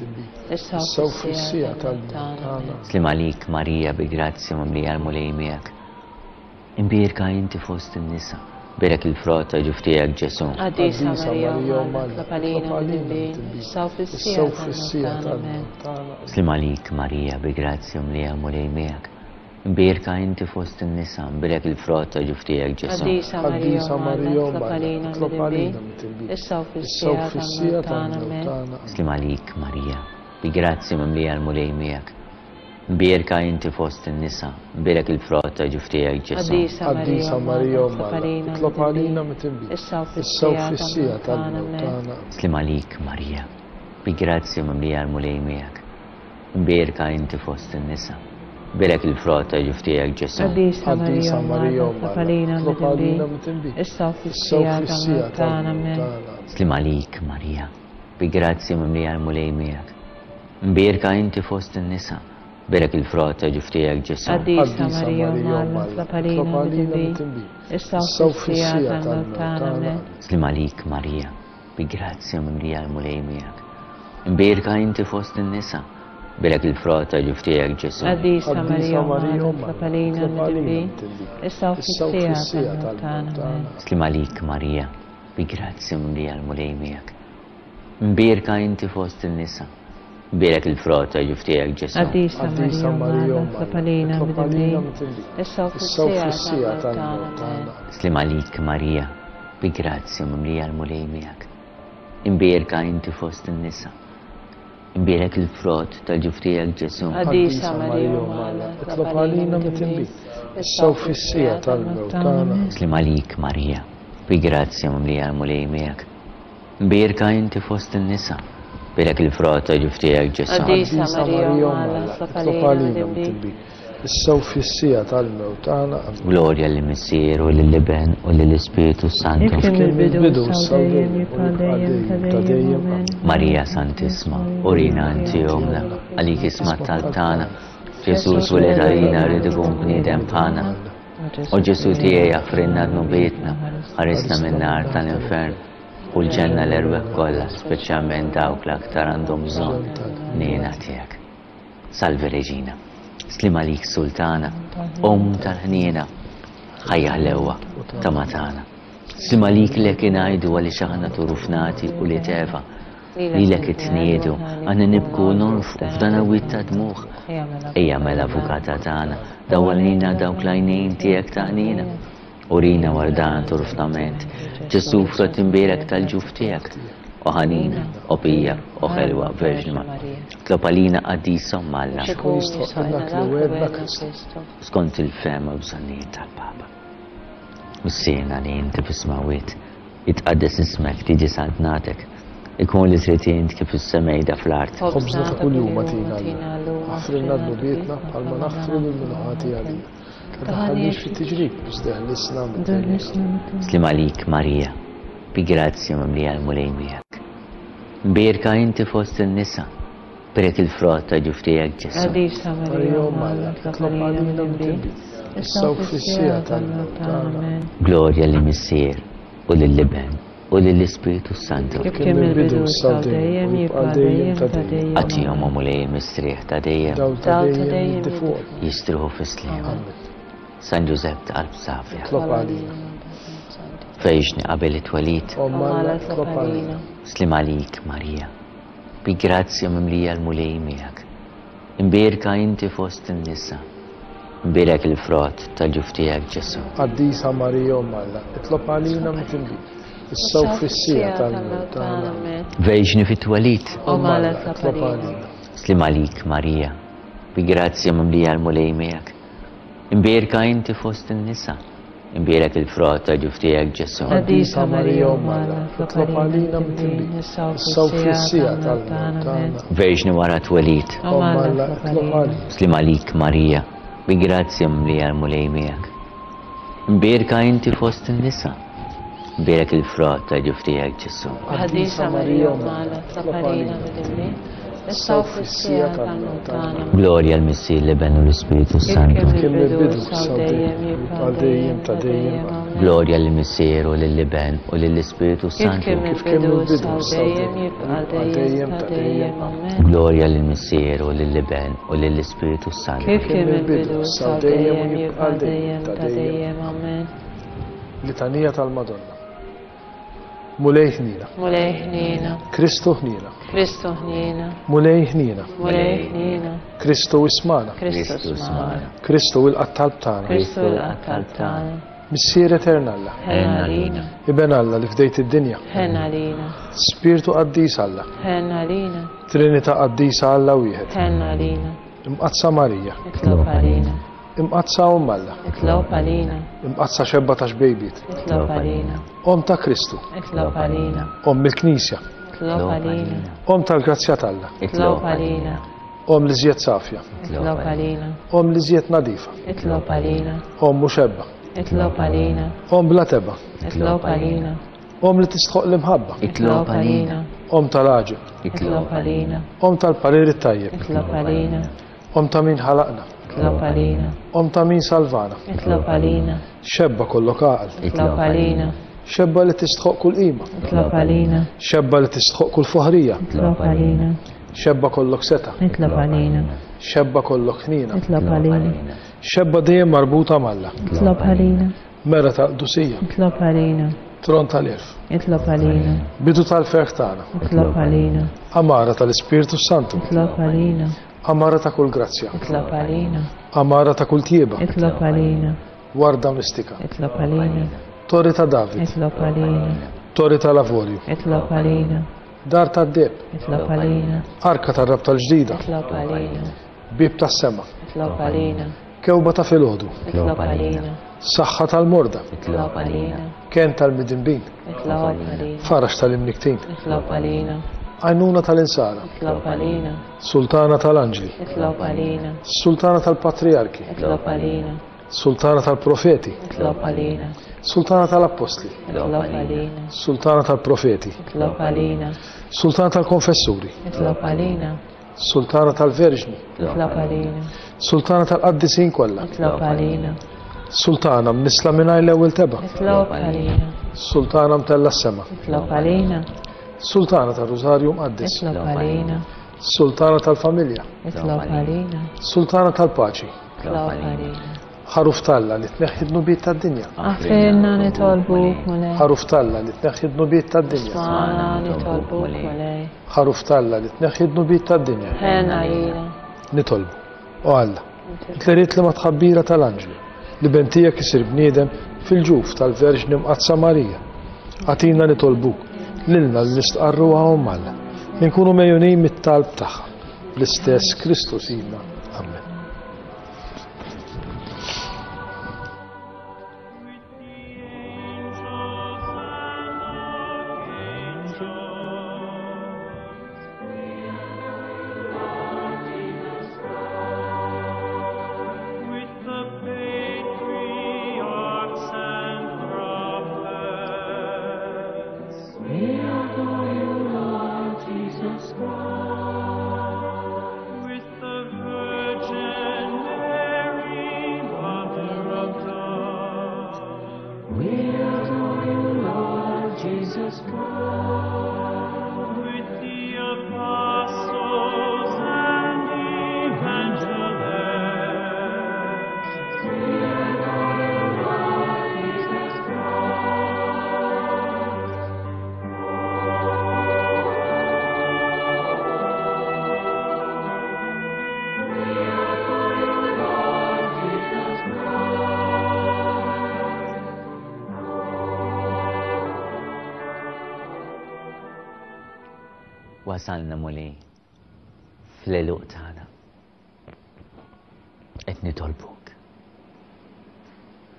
issa u fis-siegħa tal-mewt tagħna. Sliem għalik Marija, bi grazzja mimlija l-Mulej miegħek. Imbierka inti fost in-nisa, mbierek il-frott ta' ġuf tiegħek Ġesù. Qaddisa Marija, Omm Alla, itlob għalina midinbin, issa u fis-siegħa tal-mewt tagħna. Sliem għalik Marija, bi grazzja mimlija l-Mulej miegħek. Imbierka inti fost in-nisa, mbierek il-frott ta' ġuf tiegħek Ġesù. Qaddisa Marija, Omm Alla, itlob għalina midinbin, issa u fis-siegħa tal-mewt tagħna. Sliem għalik Marija, bi grazzja mimlija l-Mulej miegħek. Imbierka inti fost in-nisa, mbierek il-frott ta' ġuf tiegħek Ġesù. Qaddisa Marija, Omm Alla, itlob għalina midinbin, issa u fis-siegħa tal-mewt tagħna. Sliem għalik Marija, bi grazzja mimlija l-Mulej miegħek. Imbierka inti fost in-nisa, mbierek il-frott ta' ġuf tiegħek Ġesù. Qaddisa Marija, Omm Alla, itlob għalina midinbin, issa u fis-siegħa tal-mewt tagħna. Sliem għalik Marija, bi grazzja mimlija l-Mulej miegħek. Imbierka inti fost in-nisa, mbierek il-frott ta' ġuf tiegħek Ġesù. Qaddisa Marija, Omm Alla, itlob għalina midinbin, issa u fis-siegħa tal-mewt tagħna. Sliem għalik Marija, bi grazzja mimlija l-Mulej miegħek. Imbierka inti fost in-nisa, mbierek il-frott ta' ġuf tiegħek Ġesù. Qaddisa Marija, Omm Alla, itlob għalina midinbin, issa u fis-siegħa tal-mewt tagħna. Sliem għalik Marija, bi grazzja mimlija l-Mulej miegħek. Imbierka inti fost in-nisa, mbierek il-frott ta' ġuf tiegħek Ġesù. Qaddisa Marija, Omm Alla, itlob għalina midinbin, issa u fis-siegħa tal-mewt tagħna. Sliem għalik Marija, bi grazzja mimlija l-Mulej miegħek. Imbierka inti fost in-nisa, imbierek il-frott tal-ġuf tiegħek Ġesù. Qaddisa Marija, Omm Alla, itlob għalina midinbin, issa u fis-siegħa tal-mewt tagħna. Sliem għalik Marija, bi grazzja mimlija l-Mulej miegħek. Imbierka inti fost in-nisa, mbierek il-frott ta' ġuf tiegħek Ġesù. Qaddisa Marija, Omm Alla, itlob għalina midinbin, issa u fis-siegħa tal-mewt tagħna. Glorja lill-Missier u lill-Iben u lill-Ispirtu Santu. Kif kien mill-bidu issa u dejjem jibqa' dejjem ta' dejjem. Amen. Marija Santissima, urina inti omna, għalik isma' t-talb tagħna. Ġesù tweled għalina rrid ikun bniedem bħalna. O Ġesù tiegħi aħfrilna dnubietna, ħarisna min-nar tal-infern u l-ġenna l-erwieħ kollha, speċjalment dawk l-aktar għandhom bżonn ħniena tiegħek. Salve Reġina, sliem għalik Sultana, Omm tal-ħniena, ħajja ħlewwa ta' matana. Sliem għalik lek ingħidu għaliex aħna turufnati u li teva, lilek itniedu, aħna nibku u nonfqu f'dan il-wied ta' dmugħ. Ejja mela avukata tagħna, dawwalina dawk l-għajnejn tiegħek ta' ħniena. Urina wara dan turfnament, Ġesù frott imbierek tal-ġuf tiegħek, o ħanina, o pija, o ħelwa Verġni Marija. Tlob għalina qaddisa Omm Alla. Skont il-fehma u bżonnijiet tal-Papa. Missierna li inti fis-smewwiet, jitqaddes ismek, tiġi saltnatek, ikun li trid int kif fis-sema ida fl-art. Ħobżna ta' kuljum agħtina llum. Aħfrilna dnubietna bħalma naħfru lil min hu ħati għalina. Ma tdaħħalniex fit-tiġrib, iżda ħlisna mid-dnub. Sliem għalik Marija, bi grazzja mimlija l-Mulej miegħek. Mbierka inti fost in-nisa, bierek il-frott ta' ġuf tiegħek Ġesù. Qaddisa Marija, Omm Alla, itlob għalina midinbin, issa u fis-siegħa tal-mewt tagħna. Glorja lill-Missier u lill-Iben u lill-Ispirtu Santu. Kif kien mill-bidu issa u dejjem jibqa' dejjem ta' dejjem. Agħtihom, o Mulej, il-mistrieħ ta' dejjem. Dawl ta' dejjem jiddi fuqhom. Jistrieħu fis-sliem. San Ġużepp ta' qalb safja. Itlob għalina. Fejxni qabel it-twelid. Omm Alla, itlob għalina. Sliem għalik Marija, bi grazzja mimlija l-Mulej miegħek. Imbierka inti fost in-nisa, imbierek il-frott tal-ġuf tiegħek Ġesù. Qaddisa Marija Omm Alla, itlob għalina midinbin, issa u fis-siegħa tal-mewt tagħna. Verġni fit-twelid. Omm Alla, itlob għalina. Sliem għalik Marija, bi grazzja mimlija l-Mulej miegħek. Imbierka inti fost in-nisa, Imbierek il-frott ta' ġuf tiegħek Ġesù. Qaddisa Marija Omm Alla, itlob għalina midinbin, issa u fis-siegħa tal-mewt tagħna. Verġni wara twelid. Omm Alla, itlob għalina. Sliem għalik Marija, bi grazzja mimlija l-Mulej miegħek. Imbierka inti fost in-nisa. Imbierek il-frott ta' ġuf tiegħek Ġesù. Qaddisa Marija Omm Alla, itlob għalina midinbin, issa u fis-siegħa tal-mewt tagħna. Glorja l-Missier, l-Iben u l-Ispiritu Santu. Kif kien mill-bidu, issa u dejjem, jibqa' dejjem ta' dejjem. Amen. Glorja lill-Missier u lill-Iben u lill-Ispiritu Kif Santu. kien mill-bidu, issa u dejjem, jibqa' dejjem ta' dejjem. Amen. Glorja lill-Missier u lill-Iben u lill-Ispiritu Santu. Kif kien mill-bidu, issa u dejjem, jibqa' dejjem ta' dejjem. Amen. Litanija tal-Madonna. Mulej ħniena. Mulej ħniena. Kristu ħniena. Kristu ħniena. Mulej ħniena. Mulej ħniena. Kristu ismana. Kristu ismana. Kristu ilqa' t-talb tagħna. Kristu ilqa' t-talb tagħna. Missier etern Alla. Ħenn għalina. Iben Alla li fdejt id-dinja. Ħenn għalina. Spirtu qaddis Alla. Ħenn għalina. Trinità qaddisa Alla wieħed. Ħenn għalina. Imqaddsa Marija. Itlob għalina. Imqaddsa Omm Alla. Itlob għalina. Imqaddsa xebba ta' xbejbiet. Itlob għalina. Omm ta' Kristu. Itlob għalina. Omm il-Knisja. Itlob għalina. Omm tal-grazzja t'Alla. Itlob għalina. Omm li żjed safja. Itlob għalina. Omm li żjed nadifa. Itlob għalina. Omm mhux ebba. Itlob għalina. Omm bla tebgħa. Itlob għalina. Omm li tistħoq l-imħabba. Itlob għalina. Omm tal-għaġeb. Itlob għalina. Omm tal-parir it-tajjeb. Itlob għalina. Omm ta' min ħalaqna. Itlob għalina. Omm ta' min salvana. Itlob għalina. Xebba kollok għaqal. Itlob għalina. Xebba li tistħoq kull qima. Itlob għalina. Xebba li tistħoq kull foħrija. Itlob għalina. Xebba kollok setgħa. Itlob għalina. Xebba kollok ħniena. Itlob għalina. Xebba dejjem marbuta m'Alla. Itlob għalina. Mera tal-qdusija. Itlob għalina. Tron tal-għerf. Itlob għalina. Bidu tal-ferħ tagħna. Itlob għalina. Għamara tal-Ispirtu Santu. Itlob għalina. Għamara ta' kull grazzja. Itlob għalina. Għamara ta' kull tjieba. Itlob għalina. Warda mistika. Itlob għalina. Torri ta' David. Itlob għalina. Torri tal-Avorju. Itlob għalina. Dar tad-deheb. Itlob għalina. Arka tar-Rabta l-ġdida. Itlob għalina. Bieb tas-sema. Itlob għalina. Kewba ta' filgħodu. Itlob għalina. Saħħa tal-morda. Itlob għalina. Kenn tal-midinbin. Itlob għalina. Faraġ tal-imniktin. Itlob għalina. Għajnuna tal-insara. Itlob għalina. Sultana tal-anġli. Itlob għalina. Sultana tal-patrijarki. Itlob għalina. Sultana tal-profeti. Itlob għalina. Sultana tal-appostli. Itlob għalina. Sultana tal-profeti. Itlob għalina. Sultana tal-konfessuri. Itlob għalina. Sultana tal-verġni. Itlob għalina. Sultana tal-qaddisin kollha. Itlob għalina. Sultana mnissla mingħajr l-ewwel tebgħa. Itlob għalina. Sultana mtella s-sema. Itlob għalina. Sultana tar-Rużarju Mqaddes. Itlob għalina. Sultana tal-familja. Itlob għalina. Sultana tal-paċi. Itlob għalina. Ħaruf t'Alla li tneħħi d-dnubiet tad-dinja. Aħfirna nitolbuk Mulej. Ħaruf t'Alla li tneħħi d-dnubiet tad-dinja. Ismagħna nitolbuk Mulej. Ħaruf t'Alla li tneħħi d-dnubiet tad-dinja. Ħenn għalina. Nitolbu. O Alla, int li ridt li mat-tħabbira tal-anġlu, li ben tiegħek isir bniedem fil-ġuf tal-Verġni Mqaddsa Marija. Agħtina nitolbuk, lilna li nistqarruha Omm Alla, li nkunu megħjunin mit-talb tagħha. Bl-istess Kristu Sidna. Amen. Wasalna Mulej fl-għeluq tagħna. Qed nitolbuk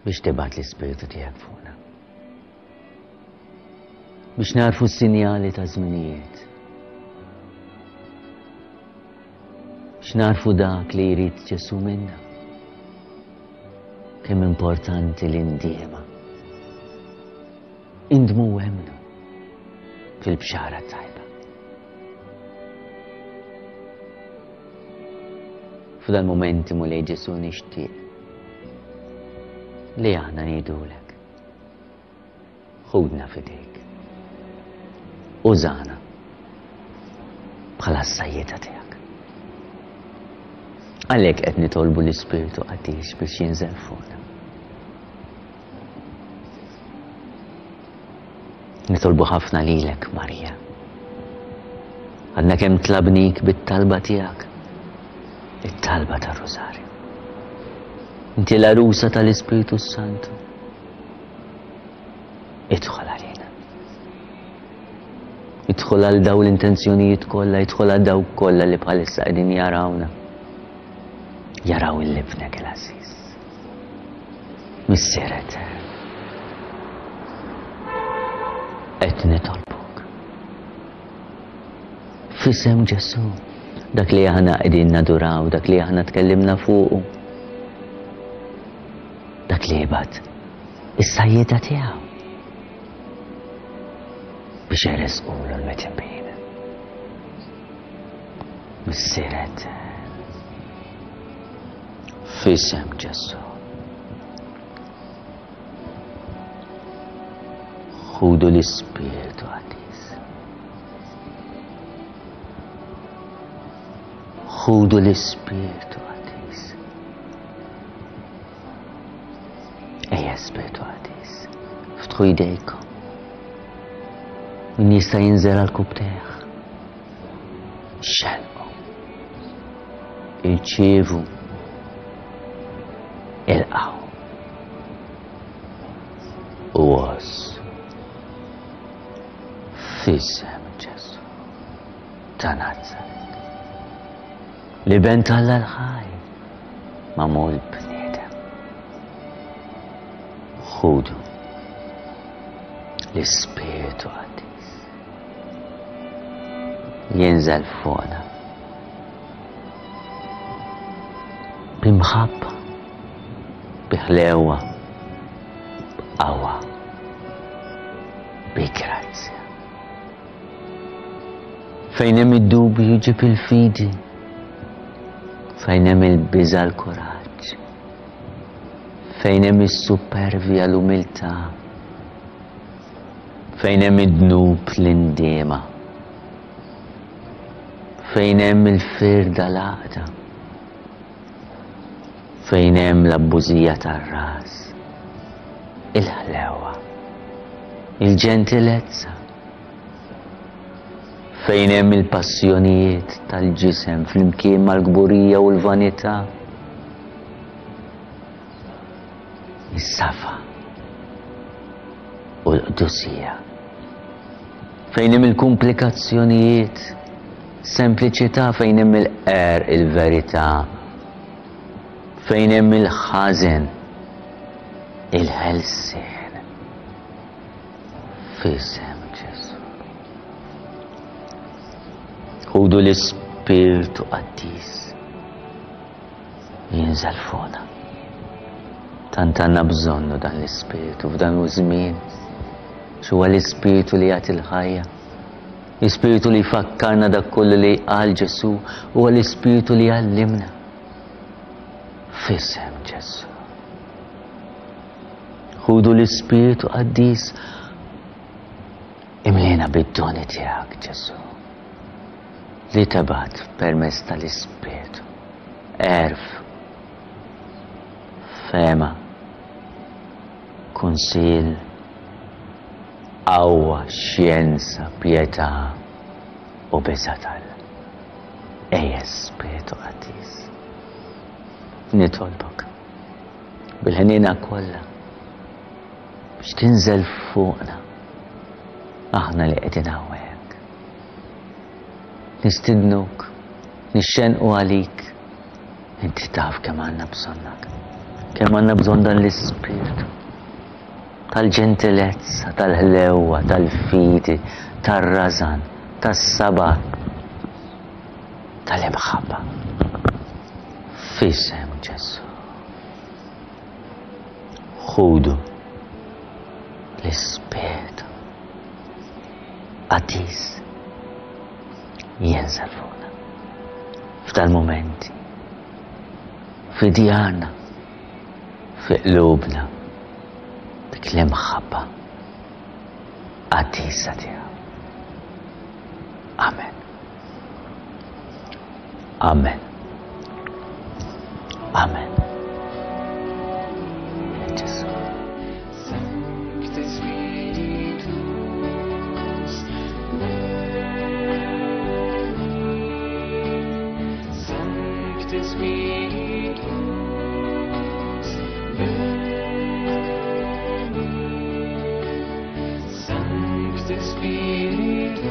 Biex tibgħat l-Ispirtu tiegħek fuqna. Biex narfu s-sinjali ta' żminijiet. Biex narfu dak li jrid Ġesù minna. Kemm importanti l-indiema. Indmu u emmnu fil-bxara tajba. F'dan momenti Mulej Ġesù nixtieq li aħna ngħidulek. Ħudna f'idejk. Użana bħala s-sajjieda tiegħek. Għalhekk qed nitolbu l-Ispirtu Qaddis biex jinżel fuqna. Nitolbu ħafna lilek, Marija. Għadna kemm tlabnik bit-talba tiegħek. It-talba tar-Rużarju. Inti l-għarusa tal-Ispirtu Santu. Idħol għalina. Idħol għal daw l-intenzjonijiet kollha, idħol għal daw kollha li bħalissa qegħdin jarawna. Jaraw il-libnek il-għażiż. Missier etern. Qed nitolbuk. F'isem Ġesù, dak li aħna qegħdin naduraw, dak li aħna tkellimna fuqu. Dak li jibgħat is-sajjieda tiegħu biex jeresqulu l-midinbin. Missier etern. F'isem Ġesù. Ħudu l-Ispirtu Qaddis. Ħudu l-Ispirtu Qaddis. Ejja Spirtu Qaddis, ftħu jdejkom. Min jista' jinżel għal kubtejh. Xelqu. Irċievu. Ilqgħu. U għożżu. F'isem Ġesù ta' Nazaret. L-Iben t'Alla l-ħaj, magħmul bniedem. Ħudu l-Ispirtu Qaddis. Jinżel fuqna. B'imħabba, bi ħlewa, b'qawwa, bi grazzja. Fejn hemm id-dubju ġib il-fidi, fejn hemm il-biża' l-kuraġġ, fejn hemm is-supervja l-umiltà, fejn hemm id-dnub l-indiema, fejn hemm il-firda l-għaqda, fejn hemm l-abbużija tar-ras, il-ħlewa, il-ġentilezza, fejn hemm il-passjonijiet tal-ġisem flimkien mal-kburija u l-vanità, is-safa u l-qdusija, fejn hemm il-komplikazzjonijiet, sempliċità, fejn hemm il-qerq, il-verità, fejn hemm il-ħażen, il-ħelsien. F'isem Ġesù. Ħudu l-Ispirtu Qaddis jinżel fuqna. Tant għandna bżonnu dan l-Ispirtu f'dan iż-żmien. X'huwa l-Ispirtu li jagħti l-ħajja. L-Ispirtu li jfakkarna dak kollu li qal Ġesù, huwa l-Ispirtu li jgħallimna. F'isem Ġesù. Ħudu l-Ispirtu Qaddis, imlina bid-doni tiegħek Ġesù, li tebgħat permezz tal-Ispirtu. Għerf, fehma, kunsill, qawwa, xjenza, pietà u biża' t'Alla. Ejja Spirtu Qaddis, nitolbok bil-ħniena kollha biex tinżel fuqna aħna li qegħdin hawnhekk. Nistidnuk, nixxenqu għalik, inti taf kemm għandna bżonnak. Kemm għandna bżonn dan l-ispirtu tal-ġentilezza, tal-ħlewwa, tal-fidi, tar-rażan, tas-sabar, tal-imħabba. F'isem Ġesù. Ħudu l-ispirtu qaddis jinżel fuqna f'dal-mumenti, fi djarna, fi qlubna, dik l-imħabba qaddisa tiegħu. Amen. Amen. Amen. Ġesù. Sancte Spiritus, veni. Sancte Spiritus, veni. Sancte Spiritus,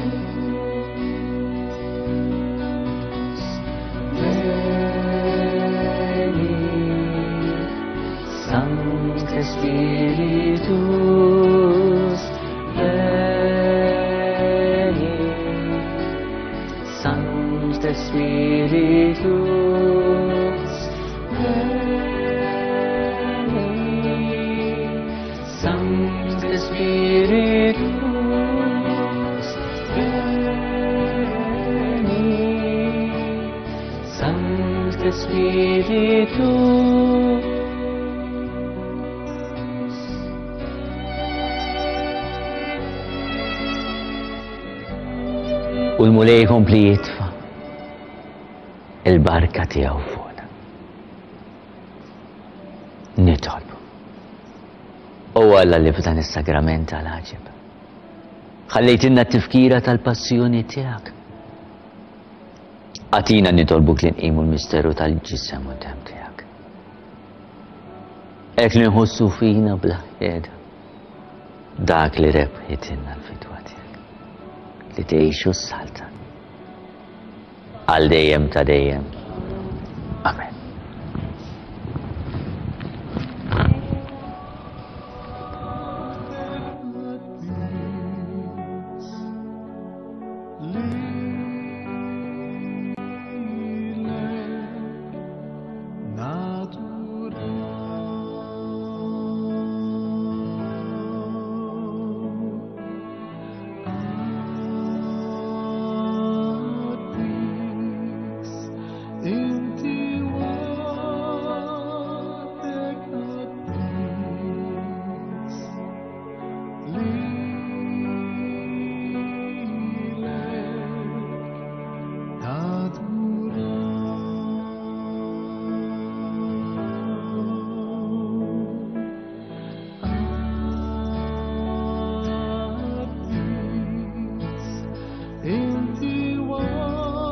veni. Sancte Spiritus, veni. Sancte Spiritus, veni. Sancte Spiritus, veni. Sancte Spiritus. U l-Mulej jkompli jitfa' il-barka tiegħu fuqna. Nitolbu. O Alla li f'dan is-sagrament tal-għaġeb ħallejtilna t-tifkira tal-passjoni tiegħek. Agħtina nitolbuk li nqimu l-misteru tal-ġisem u d-demm tiegħek. Hekk li nħossu fina bla qiegħda dak li rebħitilna l-fidwa tiegħek, li tgħixu s-saltan għal dejjem ta' dejjem. Amen. Inti waħdek qaddis, lilek naduraw. Qaddis, inti waħdek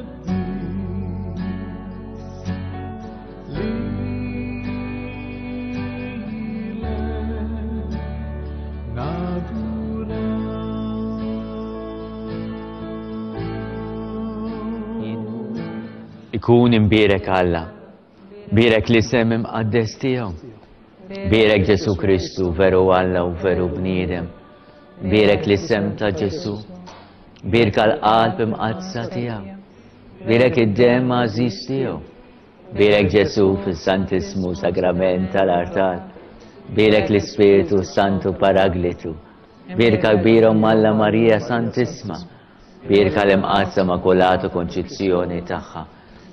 qaddis, lilek naduraw. Ikun imbierek Alla, bierek l-isem imqaddes tiegħu. Bierek Ġesù Kristu, veru Alla u veru bniedem. Bierek l-isem ta' Ġesù. Bierka l-qalb imqaddsa tiegħu. Bierek id-demm għażiż tiegħu. Bierek Ġesù fis-Santissimu Sagrament tal-Artal. Bierek l-Ispirtu Santu Paraglitu. Bierka kbira Omm Alla Marija Santissima. Bierka l-Imqaddsa Makulata Konċizzjoni tagħha.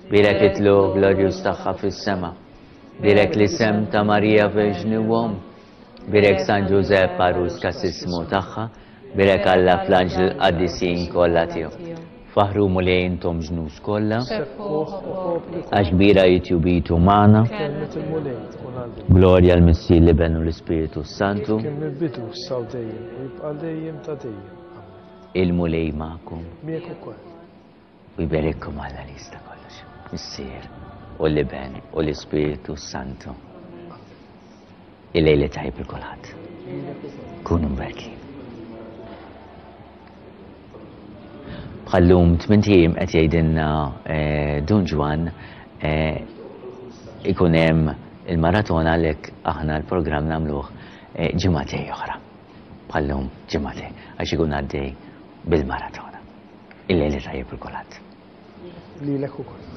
Bierek it-tluq glorjuż tagħha fis-sema. Bierek l-isem ta' Marija Verġni u Omm. Bierek San Ġużepp għarus kasismu tagħha. Bierek Alla fl-anġli l-qaddisin kollha tiegħu. Faħru Mulej intom ġnus kollha, għax kbira hi tjubitu magħna. Kelmet il-Mulej tkun għal dejjem. Glorja l-Missier, l-Iben u l-Ispiritu Santu. Kien mill-bidu issa u dejjem u jibqa' dejjem ta' dejjem. Il-Mulej magħkom. Miegħek ukoll. U jberikkom Alla li jista' kollox. Missier u l-Iben u l-Ispiritu Santu. Il-lejl tajjeb lil kulħadd. Kunu mberkin. Bħallum tmint ijiem qed jgħidilna, eh, Dun Ġwann, eh, Ikun hemm il-maratona, għalhekk aħna l-programm nagħmluh eh, ġimagħtejn oħra. Bħal-lum ġimagħtejn, għax ikun għaddej bil-maratona. Il-lejl it-tajjeb lil kulħadd. Lilek ukoll.